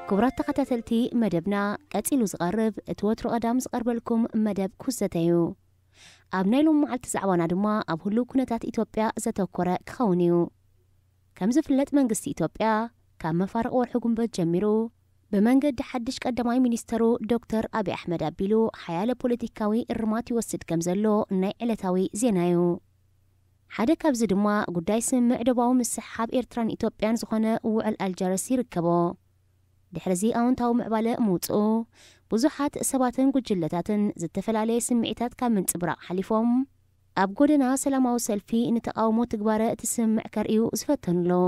ክቡራት ተኸታተልቲ መደብና፣ ቀጺሉ ዝቐርብ እቲ ወትሩ ቀዳም ዝቐርበልኩም መደብ ኩዘተ እዩ። ኣብ ናይ ሎም መዓልቲ ዛዕባና ድማ ኣብ ህሉው ኩነታት ኢትዮጵያ ዘተኮረ ክኸውን እዩ። ከም ዝፍለጥ መንግስቲ ኢትዮጵያ ካብ መፋርቕ ወርሒ ጉንበት ጀሚሩ ብመንገዲ ሓድሽ ቀዳማይ ሚኒስተሩ ዶክተር ኣብይ ኣሕመድ ኣቢሉ ሓያለ ፖለቲካዊ እርማት ይወስድ ከም ዘሎ ናይ ዕለታዊ ዜና እዩ። ሓደ ካብዚ ድማ ጉዳይ ስምምዕ ዶባዊ ምስሕሓብ ኤርትራን ኢትዮጵያን ዝኾነ ውዕል ኣልጀርስ ይርከቦ። ድሕሪዚ ኣወንታዊ ምዕባለ ምውፅኡ ብዙሓት ሰባትን ጉጅለታትን ዝተፈላለየ ስምዒታት ካብ ምንፅብራቕ ሓሊፎም ኣብ ጎደና ሰላማዊ ሰልፊ ንተቓውሞ ትግባረ እቲ ስምምዕ ከርእዩ ዝፈተኑ ኣለዉ።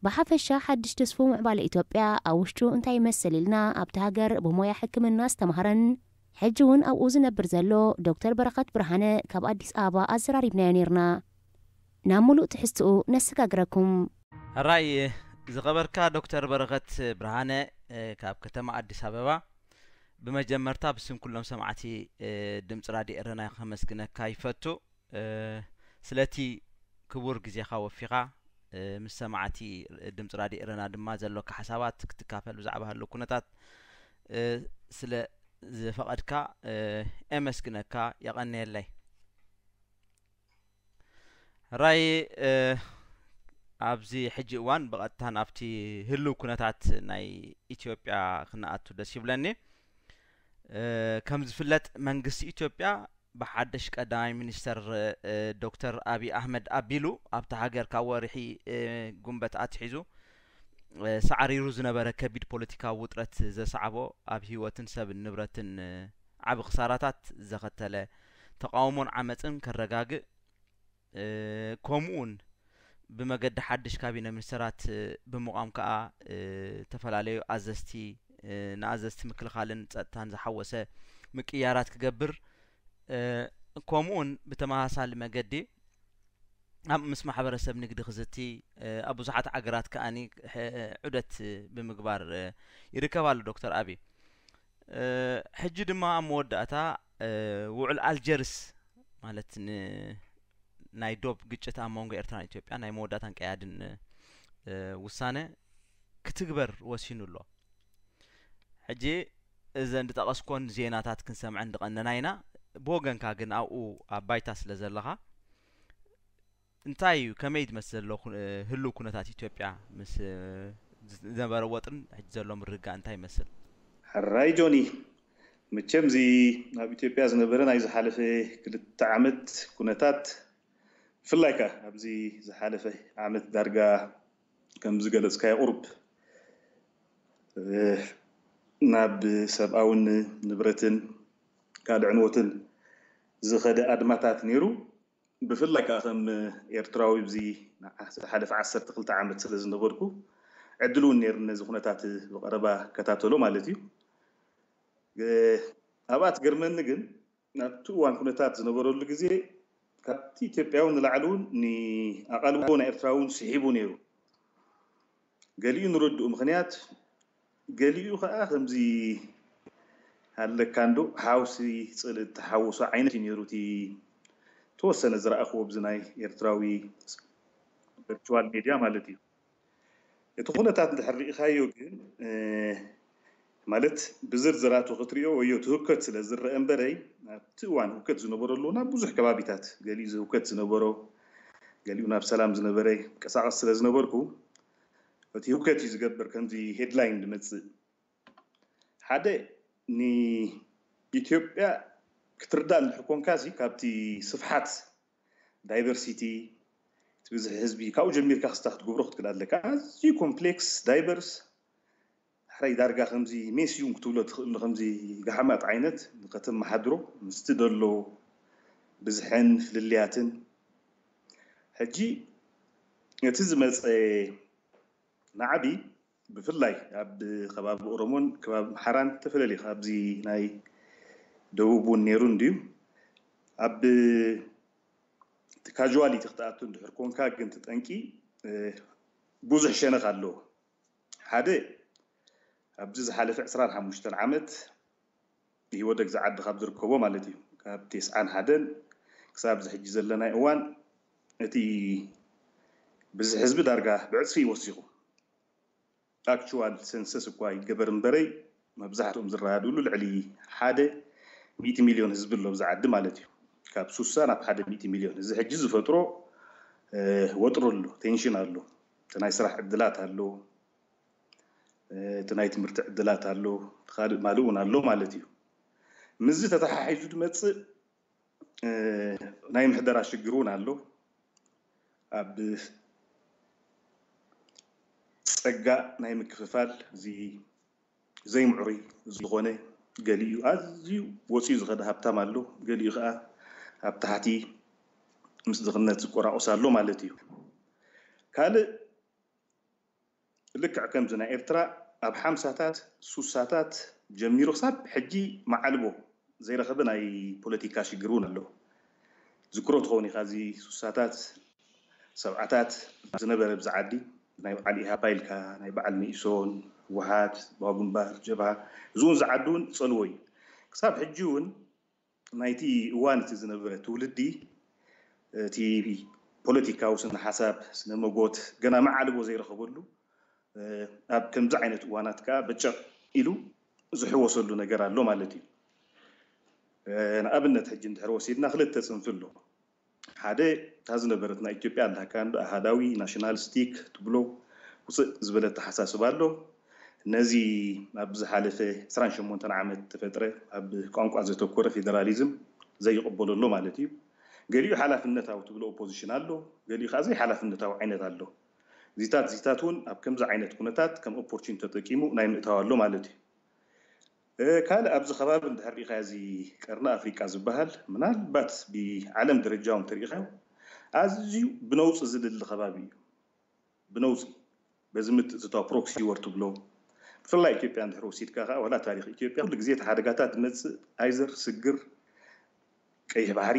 ብሓፈሻ ሓድሽ ተስፉ ምዕባለ ኢትዮጵያ ኣብ ውሽጡ እንታይ ይመስል ኢልና ኣብቲ ሃገር ብሞያ ሕክምና ዝተማህረን ሕጂ እውን ኣብኡ ዝነብር ዘሎ ዶክተር በረኸት ብርሃነ ካብ ኣዲስ ኣበባ ኣዘራሪብናዮ ነይርና። ናብ ሙሉእ ትሕዝትኡ ነሰጋግረኩም። ሕራይ ዝኸበርካ ዶክተር በረኸት ብርሃነ ካብ ከተማ ኣዲስ ኣበባ፣ ብመጀመርታ ብስም ኩሎም ሰማዕቲ ድምፂ ራድዮ ኤረና ከመስግነካ ይፈቱ። ስለቲ ክቡር ግዜኻ ወፊኻ ምስ ሰማዕቲ ድምፂ ራድዮ ኤረና ድማ ዘሎካ ሓሳባት ክትካፈል ብዛዕባ ህሉ ኩነታት ስለ ዝፈቐድካ የመስግነካ፣ የቐንየለይ። ራይ ኣብዚ ሕጂ እዋን ብቐጥታ ናብቲ ህልው ኩነታት ናይ ኢትዮጵያ ክነኣቱ ደስ ይብለኒ። ከም ዝፍለጥ መንግስቲ ኢትዮጵያ ብሓድሽ ቀዳማይ ሚኒስተር ዶክተር ኣብይ ኣህመድ ኣቢሉ ኣብታ ሃገር ካብ ወርሒ ጉንበት ኣትሒዙ ሳዕሪሩ ዝነበረ ከቢድ ፖለቲካዊ ውጥረት ዘስዓቦ ኣብ ህይወትን ሰብን ንብረትን ዓቢ ክሳራታት ዘኸተለ ተቓውሞን ዓመፅን ከረጋግእ ከምኡውን ብመገዲ ሓድሽ ካቢነ ሚኒስተራት ብምቋም ከኣ ዝተፈላለዩ ኣዘዝቲ ንኣዘዝቲ ምክልኻልን ጸጥታን ዝሓወሰ ምቅያራት ክገብር ከምኡውን ብተመሳሳሊ መገዲ ኣብ ምስ ማሕበረሰብ ንግዲ ክዝቲ ኣብ ብዙሓት ዓገራት ከኣኒ ዑደት ብምግባር ይርከብ ኣሎ ዶክተር ኣብይ። ሕጂ ድማ ኣብ መወዳእታ ውዕል ኣልጀርስ ማለት ናይ ዶብ ግጭት ኣብ መንጎ ኤርትራን ኢትዮጵያ ናይ መወዳእታን ቀያድን ውሳነ ክትግበር ወሲኑ ኣሎ። ሕጂ እዘን ዝጠቐስኮን ዜናታት ክንሰምዐን ዝቐነና ኢና። ብወገንካ ግን ኣብኡ ኣብ ባይታ ስለ ዘለኻ እንታይ እዩ፣ ከመይ ዝመስል ዘሎ ኩ- ህሉው ኩነታት ኢትዮጵያ ምስ ዝነበረ ወጥርን ሕጂ ዘሎ ምርግጋእ እንታይ ይመስል? ሕራይ ጆኒ፣ መቸም እዚ ኣብ ኢትዮጵያ ዝነበረ ናይ ዝሓለፈ ክልተ ዓመት ኩነታት ብፍላይ ከኣ ኣብዚ ዝሓለፈ ዓመት ዳርጋ ከም ዝገለጽካዮ ቁሩብ ናብ ሰብኣውን ንብረትን ካልእ ዕንወትን ዝኸደ ኣድማታት ነይሩ። ብፍላይ ከኣ ከም ኤርትራዊ ኣብዚ ዝሓለፈ ዓሰርተ ክልተ ዓመት ስለ ዝነበርኩ ዕድል እውን ነይሩ ነዚ ኩነታት ብቐረባ ከታተሎ ማለት እዩ። ኣብኣ ትገርመኒ ግን ኣብቲ እዋን ኩነታት ዝነበረሉ ግዜ ካብቲ ኢትዮጵያዊ ንላዕሊ እውን ንኣቓልቦ ናይ ኤርትራ እውን ስሒቡ ነይሩ። ገሊኡ ንረድኡ ምኽንያት ገሊኡ ከዓ ከምዚ ኣለካ እንዶ ሓውሲ ፅልእ እተሓወሶ ዓይነት እዩ ነይሩ እቲ ተወሰነ ዝረኣኽዎ ኣብዚ ናይ ኤርትራዊ ቨርቹዋል ሜድያ ማለት እዩ። እቲ ኩነታት እንድሕር ርኢኻዮ ግን ማለት ብዝርዝራቱ ክትሪኦ ወዮ እቲ ህውከት ስለ ዝረአ እምበረይ ኣብቲ እዋን ህውከት ዝነበረሉ ናብ ብዙሕ ከባቢታት ገሊኡ ህውከት ዝነበሮ ገሊኡ ናብ ሰላም ዝነበረ ቀሳቐስ ስለ ዝነበርኩ እቲ ህውከት እዩ ዝገብር ከምዚ ሄድላይን ዝመፅእ ሓደ ንኢትዮጵያ ክትርዳእ እንድሕር ኮንካ ሲ ካብቲ ስፍሓት ዳይቨርሲቲ እቲ ብዝሒ ህዝቢ ካብኡ ጀሚርካ ክስታ ክትገብሮ ክትክእል ኣለካ ኣዝዩ ኮምፕሌክስ ዳይቨርስ ሕራይ ዳርጋ ከምዚ ሜስዩም ክትብሎ ትኽእል ከምዚ ጋሓማት ዓይነት ንኸተመሓድሮ ምስቲ ደሎ ብዝሕን ፍልልያትን ሕጂ እቲ ዝመፀ ናዕቢ ብፍላይ ኣብ ከባቢ ኦሮሞን ከባቢ ኣምሓራን ተፈለልዩ ካብዚ ናይ ደቡብ እውን ነይሩ እንድዩ ኣብ እቲ ካዥዋሊቲ ክትኣቱ እንድሕር ኮንካ ግን እቲ ጠንቂ ብዙሕ ሸነኽ ኣለዎ ሓደ ኣብዚ ዝሓለፈ ዕስራን ሓሙሽተን ዓመት ኢህወደግ ዝዓዲ ካብ ዝርከቦ ማለት እዩ ካብ ቴስዓን ሓደን ክሳብ እዚ ሕጂ ዘለናይ እዋን እቲ ብዝሒ ህዝቢ ዳርጋ ብዕፅፊ እዩ ወሲኹ ኣክቹዋል ሰንሰስ እኳ ይገበር እምበረይ፣ መብዛሕትኦም ዝረኣድሉ ልዕሊ ሓደ ሚእቲ ሚልዮን ህዝቢ ኣሎ ብዛ ዓዲ ማለት እዩ። ካብ ሱሳ ናብ ሓደ ሚእቲ ሚልዮን። እዚ ሕጂ ዝፈጥሮ ወጥሮ ኣሎ፣ ቴንሽን ኣሎ፣ እቲ ናይ ስራሕ ዕድላት ኣሎ፣ እቲ ናይ ትምህርቲ ዕድላት ኣሎ፣ ካልእ ማልእ እውን ኣሎ ማለት እዩ። ምስዚ ተተሓሒዙ ዝመፅእ ናይ ምሕደራ ሽግር እውን ኣሎ። ኣብ ፀጋ ናይ ምክፍፋል እዚ ዘይምዕሩይ ዝኾነ፣ ገሊኡ ኣዝዩ ወፂኡ ዝኸደ ሃብታም ኣሎ፣ ገሊኡ ከዓ ኣብ ታሕቲ ምስ ድኽነት ዝቆራቆስ ኣሎ ማለት እዩ። ካልእ ልክዕ ከምዚ ናይ ኤርትራ ኣብ ሓምሳታት ሱሳታት ጀሚሩ ክሳብ ሕጂ መዓልቦ ዘይረኸበ ናይ ፖለቲካ ሽግር እውን ኣሎ። ዝክሮ ትኸውን ኢኻ፣ እዚ ሱሳታት ሰብዓታት ዝነበረ ብዚ ዓዲ ናይ በዓል ኢሃፓ ኢልካ ናይ በዓል መኢሶን፣ ህወሓት፣ ህዝባዊ ግንባር፣ ጀብሃ፣ እዚ እውን ዝዓዲ እውን ጸልዎ እዩ። ክሳብ ሕጂ እውን ናይቲ እዋን እቲ ዝነበረ ትውልዲ እቲ ፖለቲካዊ ስነ ሓሳብ ስነ መጎት ገና መዓልቦ ዘይረኸበሉ ኣብ ከምዚ ዓይነት እዋናት ከዓ በጨቕ ኢሉ ዝሕወሰሉ ነገር ኣሎ ማለት እዩ። ንኣብነት ሕጂ እንድሕር ወሲድና ክልተ ፅንፊ ኣሎ። ሓደ እታ ዝነበረት ናይ ኢትዮጵያ ኣላካ እንዶ ኣሃዳዊ ናሽናሊስቲክ ትብሎ ውፅእ ዝበለ ኣተሓሳስባ ኣሎ። ነዚ ኣብ ዝሓለፈ ዕስራን ሸሞንተን ዓመት ተፈጥረ ኣብ ቋንቋ ዘተኮረ ፌደራሊዝም ዘይቕበሎ ኣሎ ማለት እዩ። ገሊኡ ሓላፍነታዊ ትብሎ ኦፖዚሽን ኣሎ፣ ገሊኡ ከዓ ዘይሓላፍነታዊ ዓይነት ኣሎ። ዚታት ዚታት እውን ኣብ ከምዚ ዓይነት ኩነታት ከም ኦፖርቹኒቲ ተጠቂሙ ናይ ምእታው ኣሎ ማለት እዩ። ካልእ ኣብዚ ከባቢ እንድሕር ሪኢኻ እዚ ቀርኒ ኣፍሪቃ ዝበሃል ምናልባት ብዓለም ደረጃ እውን ተሪኢኻዮ ኣዝዩ ብነውፂ ዝልሊ ከባቢ እዩ። ብነውፂ በዚ ምትእትታው ፕሮክሲ ወር ትብሎ ብፍላይ ኢትዮጵያ እንድሕር ወሲድካ ከዓ ዋላ ታሪክ ኢትዮጵያ ኩሉ ግዜ እቲ ሓደጋታት ዝመፅእ ኣይዘር ስግር ቀይሕ ባሕሪ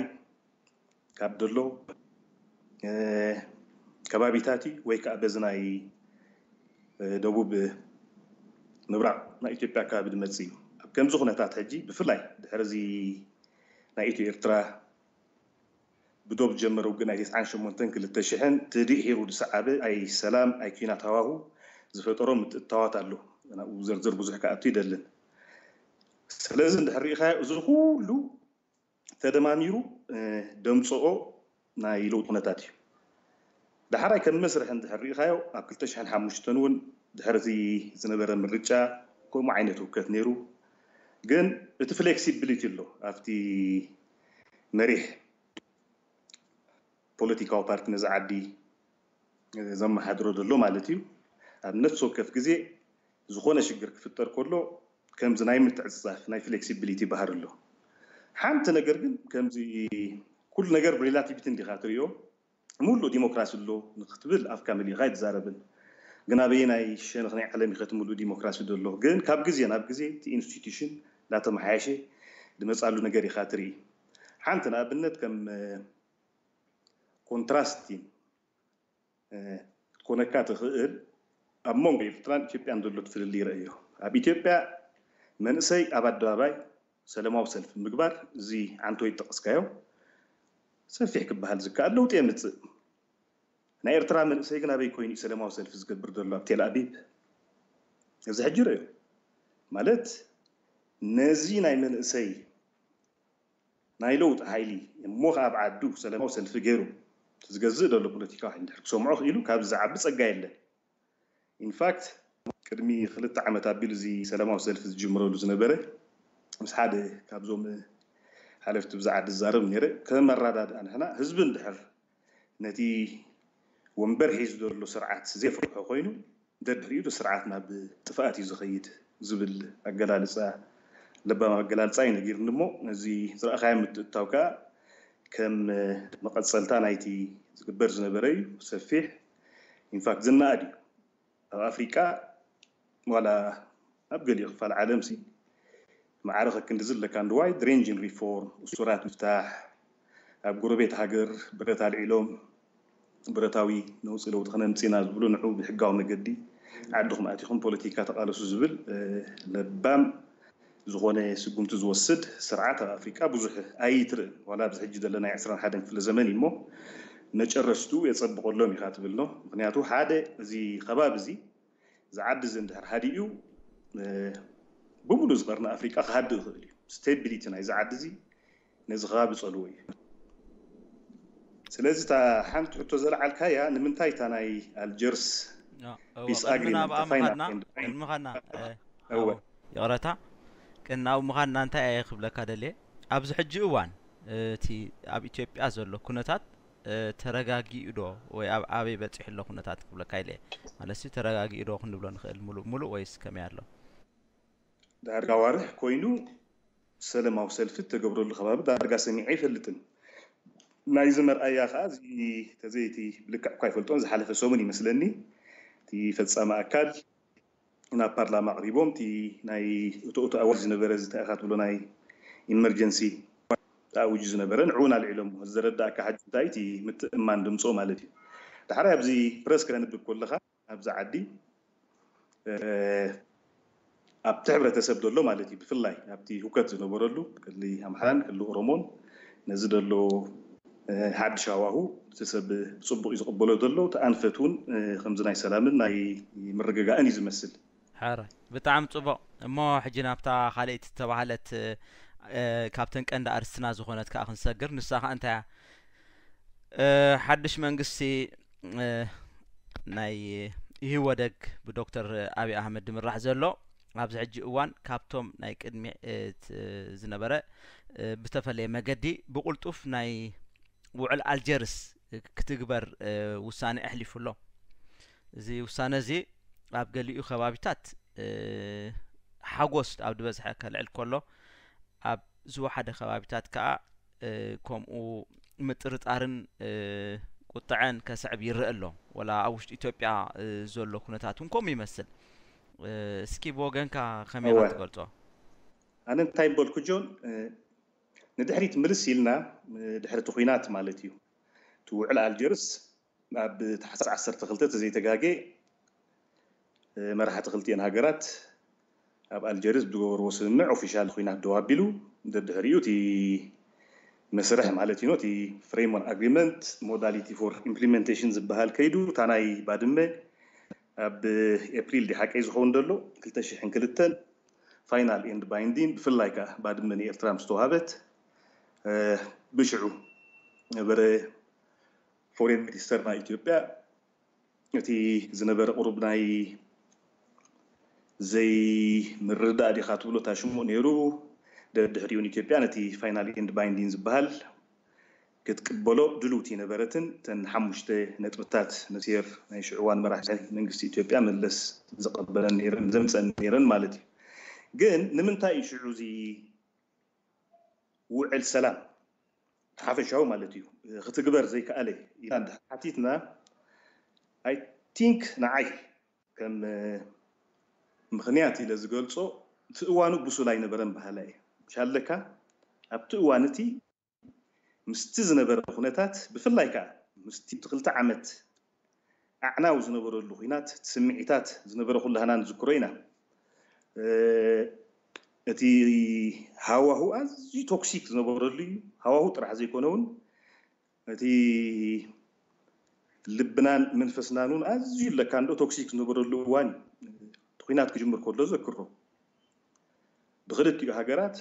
ካብ ደሎ ከባቢታት እዩ ወይ ከዓ በዚ ናይ ደቡብ ምብራቕ ናይ ኢትዮጵያ ኣከባቢ ዝመፅእ እዩ። ኣብ ከምዚ ኩነታት ሕጂ ብፍላይ ድሕሪ እዚ ናይ ኢትዮ ኤርትራ ብዶብ ዝጀመረ ውግእ ናይ ተስዓን ሸሞንተን ክልተ ሽሕን ትድሒሩ ዝሰዓበ ኣይ ሰላም ኣይ ኲናት ሃዋሁ ዝፈጠሮ ምትእትታዋት ኣሎ። ናብኡ ዘርዝር ብዙሕ ክኣቱ ይደልን። ስለዚ እንድሕር ሪኢኻዮ እዚ ኩሉ ተደማሚሩ ደምፅኦ ናይ ለውጢ ኩነታት እዩ። ዳሕራይ ከም መስርሒ እንድሕር ሪኢኻዮ ኣብ ክልተ ሽሕን ሓሙሽተን እውን ድሕሪ እቲ ዝነበረ ምርጫ ከምኡ ዓይነት ህውከት ነይሩ። ግን እቲ ፍሌክሲቢሊቲ ኣሎ ኣብቲ መሪሕ ፖለቲካዊ ፓርቲ ነዚ ዓዲ ዘመሓድሮ ዘሎ ማለት እዩ። ኣብ ነፍሲ ወከፍ ግዜ ዝኾነ ሽግር ክፍጠር ከሎ ከምዚ ናይ ምትዕፅፃፍ ናይ ፍሌክሲቢሊቲ ባህሪ ኣሎ። ሓንቲ ነገር ግን ከምዚ ኩሉ ነገር ብሪላቲቪቲ እንዲኻ ትሪኦ፣ ሙሉእ ዲሞክራሲ ኣሎ ንክትብል ኣፍካ መሊእኻ ኣይትዛረብን። ግን ኣበየናይ ሸነኽ ናይ ዓለም ኢኸ እቲ ሙሉእ ዲሞክራሲ ዘሎ? ግን ካብ ግዜ ናብ ግዜ እቲ ኢንስቲቱሽን እንዳተመሓየሸ ዝመፃሉ ነገር ኢኻ ትርኢ። ሓንቲ ንኣብነት ከም ኮንትራስቲን ክትኮነካ ትኽእል ኣብ መንጎ ኤርትራን ኢትዮጵያን ዘሎ ፍልልይ ረእዮ። ኣብ ኢትዮጵያ መንእሰይ ኣብ ኣደባባይ ሰላማዊ ሰልፊ ምግባር እዚ ዓንቶ ይጠቐስካዮ ሰፊሕ ክበሃል ዝከኣል ለውጢ የምፅእ። ናይ ኤርትራ መንእሰይ ግን ኣበይ ኮይኑ እዩ ሰላማዊ ሰልፊ ዝገብር ዘሎ? ኣብ ቴል ኣቢብ። እዚ ሕጂ ረእዮ ማለት ነዚ ናይ መንእሰይ ናይ ለውጢ ሓይሊ እሞ ከዓ ኣብ ዓዱ ሰላማዊ ሰልፊ ገይሩ ዝገዝእ ዘሎ ፖለቲካዊ ሓይሊ እንድሕር ክሰምዖ ክኢሉ ካብዚ ዝዓቢ ፀጋ የለን። ኢንፋክት ቅድሚ ክልተ ዓመት ኣቢሉ እዚ ሰላማዊ ሰልፊ ዝጅምረሉ ዝነበረ ምስ ሓደ ካብዞም ሓለፍቲ ብዛ ዓዲ ዝዛረብ ነይረ ከም መረዳድኣ ንሕና ህዝቢ እንድሕር ነቲ ወንበር ሒዙ ዘሎ ስርዓት ዘይፈርሖ ኮይኑ ደድሕሪኡ እቲ ስርዓት ናብ ጥፍኣት እዩ ዝኸይድ ዝብል ኣገላልፃ ለባም ኣገላልፃ እዩ ነጊርኒ እሞ ነዚ ዝረኣኻዮ ምትእትታው ከዓ ከም መቐፀልታ ናይቲ ዝግበር ዝነበረ እዩ። ሰፊሕ ኢንፋክት ዝነኣድ እዩ። ኣብ ኣፍሪቃ ዋላ ኣብ ገሊኡ ክፋል ዓለም ሲ ማዕረ ከክንዲ ዝለካ እንድዋይ ድሬንጅን ሪፎርም እሱራት ምፍታሕ ኣብ ጎረቤት ሃገር ብረት ኣልዒሎም ብረታዊ ነውፂ ለውጢ ክነምፅና ዝብሉ ንዑ ብሕጋዊ መገዲ ዓድኹም ኣቲኹም ፖለቲካ ተቃለሱ ዝብል ለባም ዝኾነ ስጉምቲ ዝወስድ ስርዓት ኣብ ኣፍሪቃ ብዙሕ ኣይትርእን። ዋላ ኣብዚ ሕጂ ዘለና ናይ ዕስራን ሓደን ክፍለ ዘመን እዩ እሞ መጨረሽትኡ የፀብቐሎም ኢኻ ትብል ነው። ምክንያቱ ሓደ እዚ ከባቢ እዚ እዚ ዓዲ እዚ እንድሕር ሃዲኡ፣ እ፣ ብምሉእ እዚ ቀርኒ ኣፍሪቃ ክሃድእ ይኽእል እዩ። ስቴቢሊቲ ናይዚ ዓዲ እዚ ነዚ ከባቢ ጸልዎ እዩ። ስለዚ እታ ሓንቲ ሕቶ ዘለዓልካያ፣ ንምንታይ እታ ናይ ኣልጀርስ ያ፣ እወ፣ ፒስ ቅድሚ ኣግሪመንት ናብኣ ፋይናል ምኻድና፣ ኤንድ ባይንዲንግ? ቅድሚ ምኻድና፣ እ፣ እወ። እወ፣ ይቕረታ፣ ቅድሚ ናብኡ ምኻድና እንታይ እየ ክብለካ ደልየ፣ ኣብዚ ሕጂ እዋን እቲ ኣብ ኢትዮጵያ ዘሎ ኩነታት፣ እ፣ ተረጋጊኡ ዶ ወይ ኣብ ኣበይ በጺሑ ኣሎ ኩነታት ክብለካ ኢለ እየ። ማለት ሲ ተረጋጊኡ ዶ ክንብሎ ንኽእል፣ ሙሉእ ሙሉእ ወይስ ከመይ ኣሎ? ዳርጋ ዋርሕ ኮይኑ ሰለማዊ ሰልፊ እተገብረሉ ከባቢ ዳርጋ ሰሚዐ ኣይፈልጥን። ናይዚ መርኣያ ከኣ፣ እዚ ተዘይቲ ብልክዕ እኳ ኣይፈልጦን፣ ዝሓለፈ ሰሙን ይመስለኒ፣ እቲ ፈጻሚ ኣካል ናብ ፓርላማ ኣቕሪቦም፣ እቲ ናይ እቶ እቶ ኣዋጅ ዝነበረ፣ እዚ እንታይ ኢኻ ትብሎ፣ ናይ ኢመርጀንሲ ተኣዊጁ ዝነበረ፣ ንዕኡ ኣልዒሎሞ። እዚ ዘረዳእካ ሕጂ እንታይ፣ እቲ ምትእምማን ድምጾ ማለት እዩ። ዳሕራይ ኣብዚ ፕረስ ከተንብብ ከለኻ፣ ኣብዚ ዓዲ፣ እ፣ ኣብቲ ሕብረተሰብ ዘሎ ማለት እዩ፣ ብፍላይ ኣብቲ ሁከት ዝነበረሉ ክሊ ኣምሓራን ክሊ ኦሮሞን፣ ነዚ ዘሎ፣ እ፣ ሓድሽ ሃዋሁ እቲ ሰብ ብጽቡቕ እዩ ዝቕበሎ ዘሎ። እቲ ኣንፈት እውን፣ እ፣ ከምዚ ናይ ሰላምን ናይ ምርግጋእን እዩ ዝመስል። ሕራይ፣ ብጣዕሚ ጽቡቕ። እሞ ሕጂ ናብታ ካልኣይቲ ዝተባህለት፣ እ፣ ካብተን ቀንዲ ኣርስትና ዝኾነት ከኣ ክንሰግር። ንሳ ከኣ እንታይ እያ? እ፣ ሓድሽ መንግስቲ፣ እ፣ ናይ ኢህወደግ ብዶክተር ኣብይ ኣህመድ ዝምራሕ ዘሎ፣ ኣብዚ ሕጂ እዋን ካብቶም ናይ ቅድሚ፣ እ፣ ት-፣ ዝነበረ፣ እ፣ ብተፈለየ መገዲ ብቕልጡፍ ናይ ውዕል ኣልጀርስ ክትግበር፣ እ፣ ውሳነ ኣሕሊፉ ኣሎ። እዚ ውሳነ እዚ ኣብ ገሊኡ ከባቢታት፣ እ፣ ሓጎስ ኣብ ዝበዝሐ ከልዕል ከሎ፣ ኣብ ዝወሓደ ከባቢታት ከኣ፣ እ፣ ከምኡ ምጥርጣርን፣ እ፣ ቁጥዐን ከስዕብ ይረአ ኣሎ። ወላ ኣብ ውሽጢ ኢትዮጵያ፣ እ፣ ዘሎ ኩነታት እውን ከምኡ ይመስል። እ፣ እስኪ ብወገንካ ከመይ ኢኻ እወ። ትገልጾ? ኣነ እንታይ በልኩ ጆን፣ እ፣ ንድሕሪት ምልስ ኢልና፣ እ፣ ድሕሪ እቲ ኹናት ማለት እዩ። እቲ ውዕል ኣልጀርስ ኣብ ታሕሳስ ዓሰርተ ክልተ ተዘይተጋጌ፣ እ፣ መራሕቲ ክልቲኤን ሃገራት ኣብ ኣልጀርስ ብዝገበርዎ ስምምዕ ኦፊሻል ኹናት ደው ኣቢሉ፣ ደድሕሪኡ እቲ መስርሕ ማለት እዩ፣ እቲ ፍሬምወርክ ኣግሪመንት ሞዳሊቲ ፎር ኢምፕሊመንቴሽን ዝበሃል ከይዱ፣ እታ ናይ ባድመ ኣብ ኤፕሪል ድዩ ሓቀይ ዝኸውን ዘሎ ክልተ ሽሕን ክልተን ፋይናል ኤንድ ባይንዲን፣ ብፍላይ ከኣ ባድመ ንኤርትራ ምስ ተዋህበት፣ እ፣ ብሽዑ ነበረ ፎሬን ሚኒስተር ናይ ኢትዮጵያ፣ እቲ ዝነበረ ቁሩብ ናይ ዘይምርዳእ ዲኻ ትብሎ፣ እታ ሽሙእ ነይሩ። ደድሕሪኡ ንኢትዮጵያ ነቲ ፋይናል ኤንድ ባይንዲን ዝበሃል ክትቅበሎ ድልውቲ ነበረትን፣ እተን ሓሙሽተ ነጥብታት ነሲር ናይ ሽዑ እዋን መራሒ መንግስቲ ኢትዮጵያ መለስ ዝቐበለን ነይረን፣ ዘምፀን ነይረን ማለት እዩ። ግን ንምንታይ እዩ ሽዑ እዚ ውዕል ሰላም ሓፈሻዊ ማለት እዩ ክትግበር ዘይከኣለ ኢልና እንድሕር ሓቲትና፣ ኣይ ቲንክ ንዓይ ከም፣ እ፣ ምኽንያት ኢለ ዝገልጾ፣ እቲ እዋኑ ብሱል ኣይነበረን በሃላይ እየ። ምሻለካ ኣብቲ እዋን እቲ ምስቲ ዝነበረ ኩነታት፣ ብፍላይ ከኣ ምስቲ እቲ ክልተ ዓመት ኣዕናዊ ዝነበረሉ ኹናት፣ እቲ ስምዒታት ዝነበረ ኩላህና ንዝክሮ ኢና። እ፣ እቲ ሃዋሁ ኣዝዩ ቶክሲክ ዝነበረሉ እዩ። ሃዋሁ ጥራሕ ዘይኮነ እውን፣ እቲ ልብናን መንፈስናን እውን ኣዝዩ ለካንዶ ቶክሲክ ዝነበረሉ እዋን እዩ። እቲ ኹናት ክጅምር ከሎ ዘክሮ፣ ብክልቲኡ ሃገራት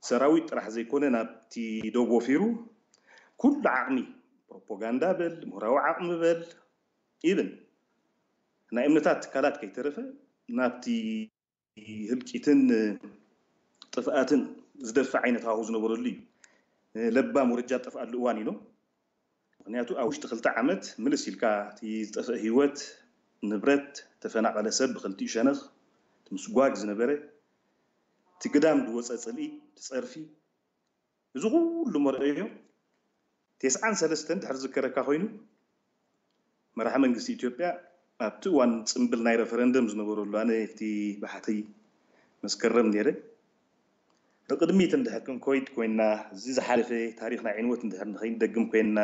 ሰራዊት ጥራሕ ዘይኮነ ናብቲ ዶብ ወፊሩ፣ ኩሉ ዓቕሚ፣ ፕሮፓጋንዳ በል፣ ምሁራዊ ዓቕሚ በል፣ ኢቭን ናይ እምነታት ትካላት ከይተረፈ ናብቲ ህልቂትን ጥፍኣትን ዝደፍእ ዓይነት ሃዋሁ ዝነበረሉ እዩ። ለባም ወረጃ ዝጠፍኣሉ እዋን እዩ። ምኽንያቱ ኣብ ውሽጢ ክልተ ዓመት ምልስ ኢልካ እቲ ዝጠፍአ ህይወት፣ ንብረት፣ ተፈናቐለ ሰብ ብክልቲኡ ሸነኽ፣ እቲ ምስጓግ ዝነበረ፣ እቲ ግዳም ዝወፀ ፅልኢ፣ እቲ ፀርፊ፣ እዚ ኩሉ መርኣዮ፣ ተስዓን ሰለስተን ድሕሪ ዝከረካ ኮይኑ፣ መራሒ መንግስቲ ኢትዮጵያ ኣብቲ እዋን ጽምብል ናይ ረፈረንደም ዝነበረሉ፣ ኣነ እቲ ባሕቲ መስከረም ነይረ። ንቕድሚት እንድሕር ክንኮይድ ኮይንና፣ እዚ ዝሓለፈ ታሪኽ ናይ ዕንወት እንድሕር ንኸይንደግም ኮይንና፣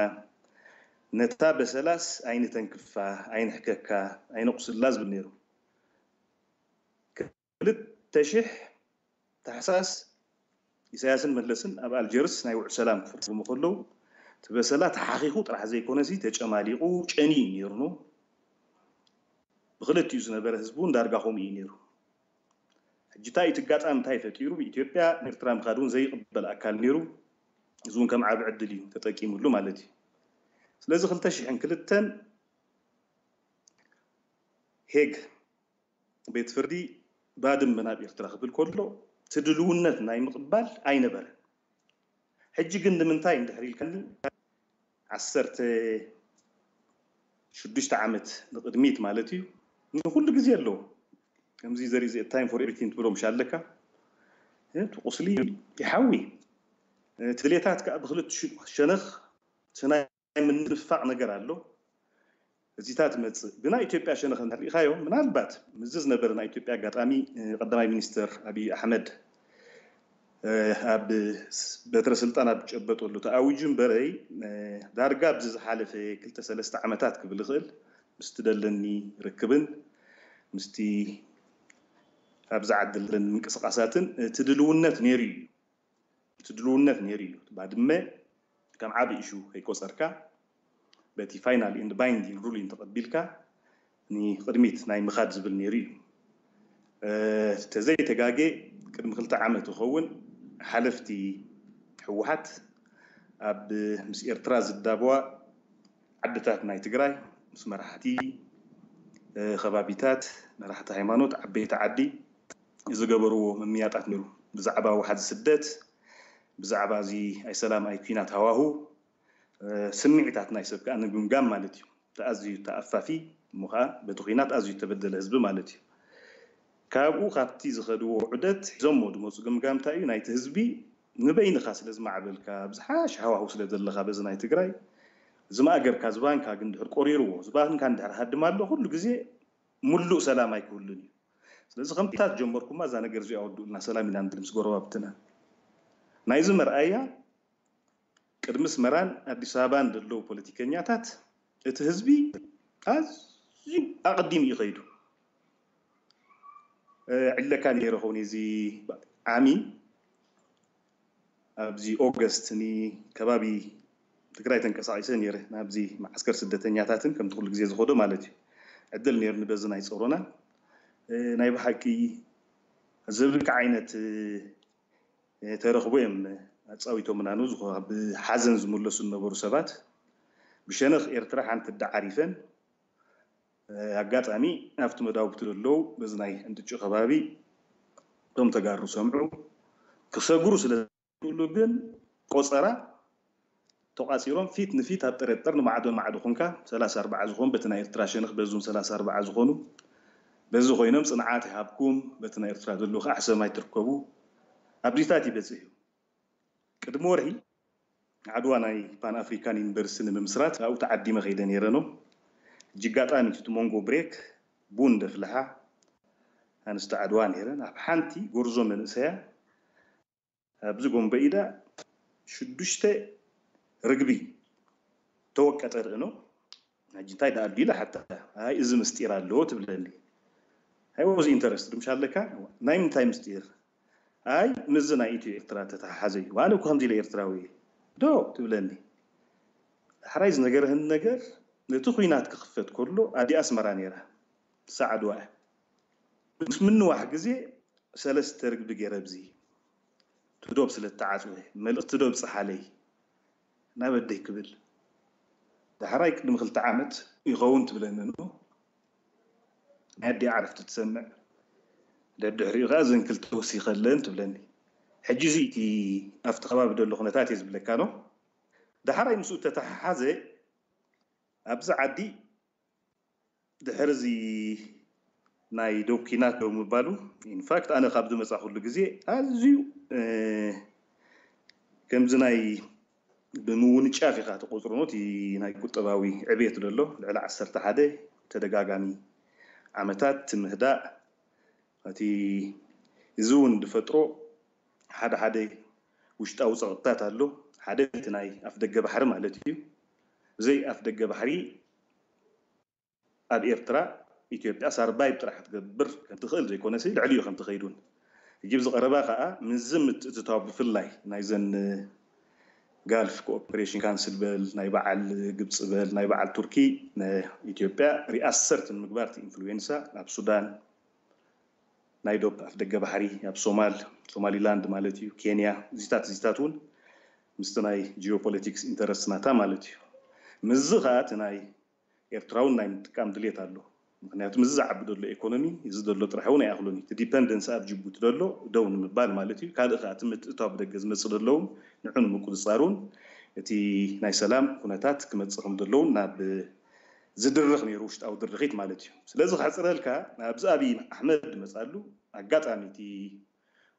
ነታ በሰላስ ኣይንተንክፋ፣ ኣይንሕከካ፣ ኣይነቑስላ ዝብል ነይሩ። ክልተ ሽሕ ታሕሳስ ኢሳያስን መለስን ኣብ ኣልጀርስ ናይ ውዕ ሰላም ክፍርሙ ከለዉ፣ እቲ በሰላ ተሓኺኹ ጥራሕ ዘይኮነሲ ተጨማሊቑ ጨንዩ ነይሩ ነው። ብክልቲኡ ዝነበረ ህዝቢ እውን ዳርጋ ከምኡ እዩ ነይሩ። ሕጂ እንታይ እቲ ኣጋጣሚ እንታይ ፈጢሩ? ኢትዮጵያ ኤርትራ ምኻድ እውን ዘይቕበል ኣካል ነይሩ። እዚ እውን ከም ዓቢ ዕድል እዩ ተጠቂምሉ ማለት እዩ። ስለዚ ክልተ ሽሕን ክልተን ሄግ ቤት ፍርዲ ባድመ ናብ ኤርትራ ክብል ከሎ እቲ ድልውነት ናይ ምቕባል ኣይነበረን። ሕጂ ግን ንምንታይ እንድሕር ኢልካኒ ዓሰርተ ሽዱሽተ ዓመት ንቕድሚት ማለት እዩ። ንኩሉ ግዜ ኣለዎ። ከምዚ ዘርኢ time for everything ትብሎ ምሽ ኣለካ። እቲ ቁስሊ ይሓዊ። እቲ ድሌታት ከዓ ብክልተ ሸነኽ ናይ ምንፋቕ ነገር ኣሎ። እዚታት ትመፅእ ብናይ ኢትዮጵያ ሸነኽ እንተሪኢኻዮ ምናልባት ምዚ ዝነበረ ናይ ኢትዮጵያ ኣጋጣሚ ቀዳማይ ሚኒስትር ኣብይ ኣሕመድ ኣብ በትረ ስልጣን ኣብ ዝጨበጠሉ ተኣዊጁ እምበረይ ዳርጋ ኣብዚ ዝሓለፈ ክልተ ሰለስተ ዓመታት ክብል ይኽእል ምስቲ ደለኒ ርክብን ምስቲ ኣብዚ ዓዲ ዘለኒ ምንቅስቃሳትን እቲ ድልውነት ነይሩ እዩ። እቲ ድልውነት ነይሩ እዩ። ባድመ ከም ዓቢ ኢሹ ከይቆጸርካ በቲ final and binding ruling ተቐቢልካ ንቕድሚት ናይ ምኻድ ዝብል ነይሩ እዩ። ተዘይተጋጌ ቅድሚ ክልተ ዓመት ይኸውን ሓለፍቲ ህወሓት ኣብ ምስ ኤርትራ ዝዳበዋ ዓድታት ናይ ትግራይ ምስ መራሕቲ ከባቢታት መራሕቲ ሃይማኖት ዓበይቲ ዓዲ ዝገበርዎ ምምያጣት ነይሩ። ብዛዕባ ዋሕዚ ስደት፣ ብዛዕባ እዚ ኣይሰላም ኣይኲናት ሃዋሁ ስምዒታት ናይ ሰብ ከዓ ንምግምጋም ማለት እዩ። ተኣዝዩ ተኣፋፊ እሞ ከዓ በቲ ኲናት ኣዝዩ ተበደለ ህዝቢ ማለት እዩ። ካብኡ ካብቲ ዝኸድዎ ዑደት ሒዞሞ ዝመፁ ግምጋም እንታይ እዩ? ናይቲ ህዝቢ ንበይንኻ ስለ ዝማዕበልካ ብዝሓሽ ሃዋሁ ስለ ዘለኻ በዚ ናይ ትግራይ ዝማእገርካ ዝባንካ ግን ድሕር ቆሪርዎ ዝባንካ እንድሕር ሃድም ኣሎ ኩሉ ግዜ ሙሉእ ሰላም ኣይክህሉን እዩ። ስለዚ ከምታት ጀመርኩማ እዛ ነገር እዚኣ ወድኡልና ሰላም ኢና ንብል ምስ ጎረባብትና። ናይዚ መርኣያ ቅድሚ ኣስመራን ኣዲስ ኣበባን ዘለዉ ፖለቲከኛታት እቲ ህዝቢ ኣዝዩ ኣቐዲሙ እዩ ከይዱ። ዕለካ ነይረ ኸውን እዚ ዓሚ ኣብዚ ኦገስት ንከባቢ ትግራይ ተንቀሳቒሰ ነይረ ናብዚ መዓስከር ስደተኛታትን ከምቲ ኩሉ ግዜ ዝኸዶ ማለት እዩ ዕድል ነይሩኒ በዚ ናይ ፀሮና ናይ ብሓቂ ዘብልካ ዓይነት ተረኽቦ እዮም ኣፃዊቶምና ን ብሓዘን ዝምለሱ ዝነበሩ ሰባት ብሸነኽ ኤርትራ ሓንቲ ዳዓሪፈን ኣጋጣሚ ኣብቲ መዳውብቲ ዘለዉ በዚ ናይ እንጥጩ ከባቢ እቶም ተጋሩ ሰምዑ ክሰግሩ ስለ ዝኽእሉ ግን ቆፀራ ተቋፂሮም ፊት ንፊት ኣብ ጥረጠር ንማዕዶ ማዕዶ ኮንካ ሰላሳ ኣርባዓ ዝኾኑ በቲ ናይ ኤርትራ ሸነኽ በዙም ሰላሳ ኣርባዓ ዝኾኑ በዚ ኮይኖም ፅንዓት ይሃብኩም በቲ ናይ ኤርትራ ዘለዉ ከዓ ሕሰማይ ትርከቡ ኣብዚታት ይበፅሕ እዩ። ቅድሚ ወርሒ ዓድዋ ናይ ፓን ኣፍሪካን ዩኒቨርሲቲ ንምምስራት ኣብኡ ተዓዲመ ከይደ ነይረ ነው። ሕጂ ኣጋጣሚ እቲ መንጎ ብሬክ ቡን ደፍልሓ ኣንስቲ ዓድዋ ነይረን ኣብ ሓንቲ ጎርዞ መንእሰያ ኣብዚ ጎንበ ኢዳ ሽዱሽተ ርግቢ ተወቀጠ ርእኖ። ሕጂ እንታይ ደኣ ኣሎ ኢለ ሓታ ኣይ እዚ ምስጢር ኣለዎ ትብለኒ። ኣይ ወዝ ኢንተረስት ድምሽ ኣለካ ናይ ምንታይ ምስጢር ኣይ ምዚ ናይ ኢትዮ ኤርትራ ተተሓሓዘ እዩ ኣነ እኮ ከምዚ ኢለ ኤርትራዊ እየ ዶ ትብለኒ። ሕራይ ዝነገርህን ነገር ነቲ ኩናት ክኽፈት ከሎ ኣዲ ኣስመራ ነይራ ሳዕድዋ ምስ ምንዋሕ ግዜ ሰለስተ ርግቢ ገይረ ኣብዚ ትዶብ ስለ ተዓፅወ መልእኽቲ ዶ ብፅሓለይ ናበደይ ክብል ዳሕራይ ቅድሚ ክልተ ዓመት ይኸውን ትብለኒ ኖ ናይ ኣዲ ዓረፍቲ ትሰምዕ ደድሕሪኡ ከዓ ዘን ክልተ ወሲኸለን ትብለኒ። ሕጂ እዚ እቲ ኣብቲ ከባቢ ደሎ ኩነታት እየ ዝብለካ ኖ ዳሕራይ ምስኡ ተተሓሓዘ ኣብዚ ዓዲ ድሕሪ እዚ ናይ ዶብ ኪናት ዶ ምባሉ ኢንፋክት ኣነ ካብ ዝመፃ ኩሉ ግዜ ኣዝዩ ከምዚ ናይ ብምውንጫፍ ኢኻ ትቆፅሮ ኖቲ ናይ ቁጠባዊ ዕቤት ደሎ ልዕሊ ዓሰርተ ሓደ ተደጋጋሚ ዓመታት ትምህዳእ እቲ እዚ እውን ዝፈጥሮ ሓደ ሓደ ውሽጣዊ ፀቕጥታት ኣሎ ሓደ እቲ ናይ ኣፍ ደገ ባሕሪ ማለት እዩ። ብዘይ ኣፍ ደገ ባሕሪ ኣብ ኤርትራ ኢትዮጵያ ሳርባይብ ጥራሕ ክትገብር ከምትኽእል ዘይኮነሲ ልዕሊኡ ከምትኸይዱን እጅብ ዝቐረባ ከዓ ምዚ ምትእትታው ብፍላይ ናይዘን ጋልፍ ኮኦፕሬሽን ካንስል በል፣ ናይ በዓል ግብፂ በል፣ ናይ በዓል ቱርኪ ንኢትዮጵያ ሪኣሰርት ንምግባር እቲ ኢንፍሉዌንሳ ኣብ ሱዳን፣ ናይ ዶብ ኣፍ ደገ ባሕሪ፣ ኣብ ሶማል፣ ሶማሊላንድ ማለት እዩ፣ ኬንያ፣ እዚታት እዚታት እውን ምስቲ ናይ ጂኦፖለቲክስ ኢንተረስት ናታ ማለት እዩ። ምስዚ ከዓ እቲ ናይ ኤርትራውን ናይ ምጥቃም ድሌት ኣሎ። ምክንያቱ ምስዚ ዝዓቢ ዘሎ ኤኮኖሚ እዚ ዘሎ ጥራሕ እውን ኣይኣኽሎን እዩ። እቲ ዲፐንደንስ ኣብ ጅቡቲ ዘሎ ደው ንምባል ማለት እዩ። ካልእ ከዓ እቲ ምትእታው ብደገ ዝመፅእ ዘሎ እውን ንዑ ንምቁፅፃሩን እቲ ናይ ሰላም ኩነታት ክመፅእ ከም ዘለውን ናብ ዝድርኽ ነይሩ፣ ውሽጣዊ ድርኺት ማለት እዩ። ስለዚ ከሕፅረልካ ኣብዚ ኣብይ ኣሕመድ መፃሉ ኣጋጣሚ እቲ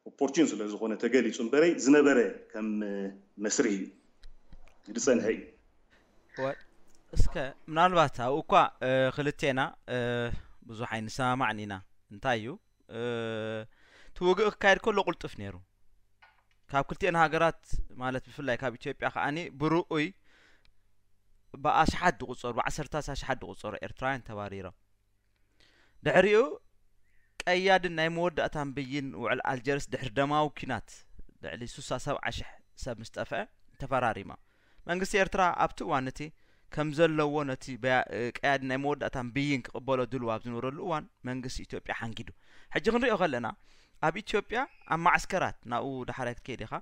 ኦፖርቹን ስለ ዝኾነ ተገሊፁ እምበረይ ዝነበረ ከም መስርሕ እዩ ዝፀንሐ እዩ። እስከ ምናልባት ኣብኡ እኳ ክልቴና ብዙሕ ኣይንሰማማዕን ኢና። እንታይ እዩ እቲ ውግእ ክካየድ ከሎ ቁልጡፍ ነይሩ። ካብ ክልቲኤን ሃገራት ማለት ብፍላይ ካብ ኢትዮጵያ ከዓኒ ብርኡይ ብኣሽሓት ዝቁፀሩ ብዓሰርታት ኣሽሓት ዝቁፀሩ ኤርትራውያን ተባሪሮም። ድሕሪኡ ቀያድን ናይ መወዳእታን ብይን ውዕል ኣልጀርስ ድሕሪ ደማዊ ኲናት ልዕሊ ሱሳ ሰብዓ ሽሕ ሰብ ምስ ጠፍአ ተፈራሪማ። መንግስቲ ኤርትራ ኣብቲ እዋን እቲ ከም ዘለዎ ነቲ ቀያድን ናይ መወዳእታን ብይን ክቕበሎ ድልው ኣብ ዝነበረሉ እዋን መንግስቲ ኢትዮጵያ ሓንጊዱ። ሕጂ ክንሪኦ ከለና ኣብ ኢትዮጵያ ኣብ ማዕስከራት ናብኡ ዳሕራይ ክትከይድ ኢኻ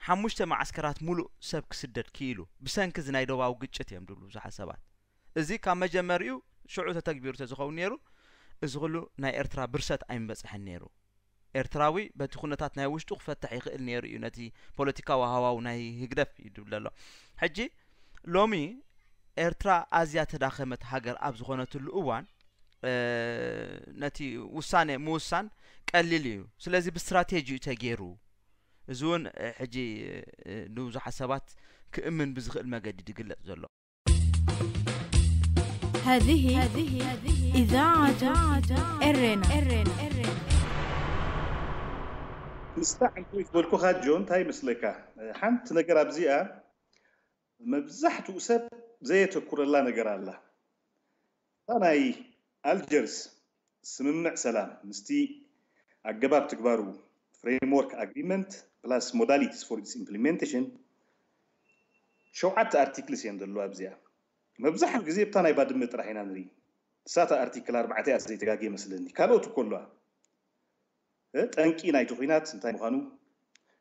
ሓሙሽተ ማዕስከራት ሙሉእ ሰብ ክስደድ ክኢሉ ብሰንኪ እዚ ናይ ዶባዊ ግጭት እዮም ድብሉ ብዙሓት ሰባት። እዚ ካብ መጀመሪኡ ሽዑ ተተግቢሩ ተዝኸውን ነይሩ እዚ ኩሉ ናይ ኤርትራ ብርሰት ኣይምበፅሐን ነይሩ። ኤርትራዊ በቲ ኩነታት ናይ ውሽጡ ክፈትሕ ይኽእል ነይሩ እዩ። ነቲ ፖለቲካዊ ሃዋው ናይ ህግደፍ እዩ ድብል ዘሎ። ሕጂ ሎሚ ኤርትራ ኣዝያ ተዳኸመት ሃገር ኣብ ዝኾነትሉ እዋን ነቲ ውሳኔ ምውሳን ቀሊል እዩ። ስለዚ ብስትራቴጂ እዩ ተገይሩ። እዚ እውን ሕጂ ንብዙሓት ሰባት ክእምን ብዝኽእል መገዲ ድግለጽ ዘሎ። هذه إذاعة إرينا ምስታ ዕንኩይ ዝበልኩኻ ጆ እንታይ ይመስለካ? ሓንቲ ነገር ኣብዚኣ መብዛሕትኡ ሰብ ዘየተኩረላ ነገር ኣላ። እታ ናይ ኣልጀርስ ስምምዕ ሰላም ምስቲ ኣገባብ ትግባሩ ፍሬምወርክ ኣግሪመንት plus modalities for its implementation ሸውዓተ ኣርቲክልስ እየን ዘለዋ ኣብዚኣ። መብዛሕትኡ ግዜ ብታ ናይ ባድመ ጥራሕ ኢና ንርኢ። ንሳታ ኣርቲክል ኣርባዕተ እያ ዘይተጋግየ መስለኒ። ካልኦት እኮ ኣለዋ። ጠንቂ ናይቲ ኲናት እንታይ ምዃኑ፣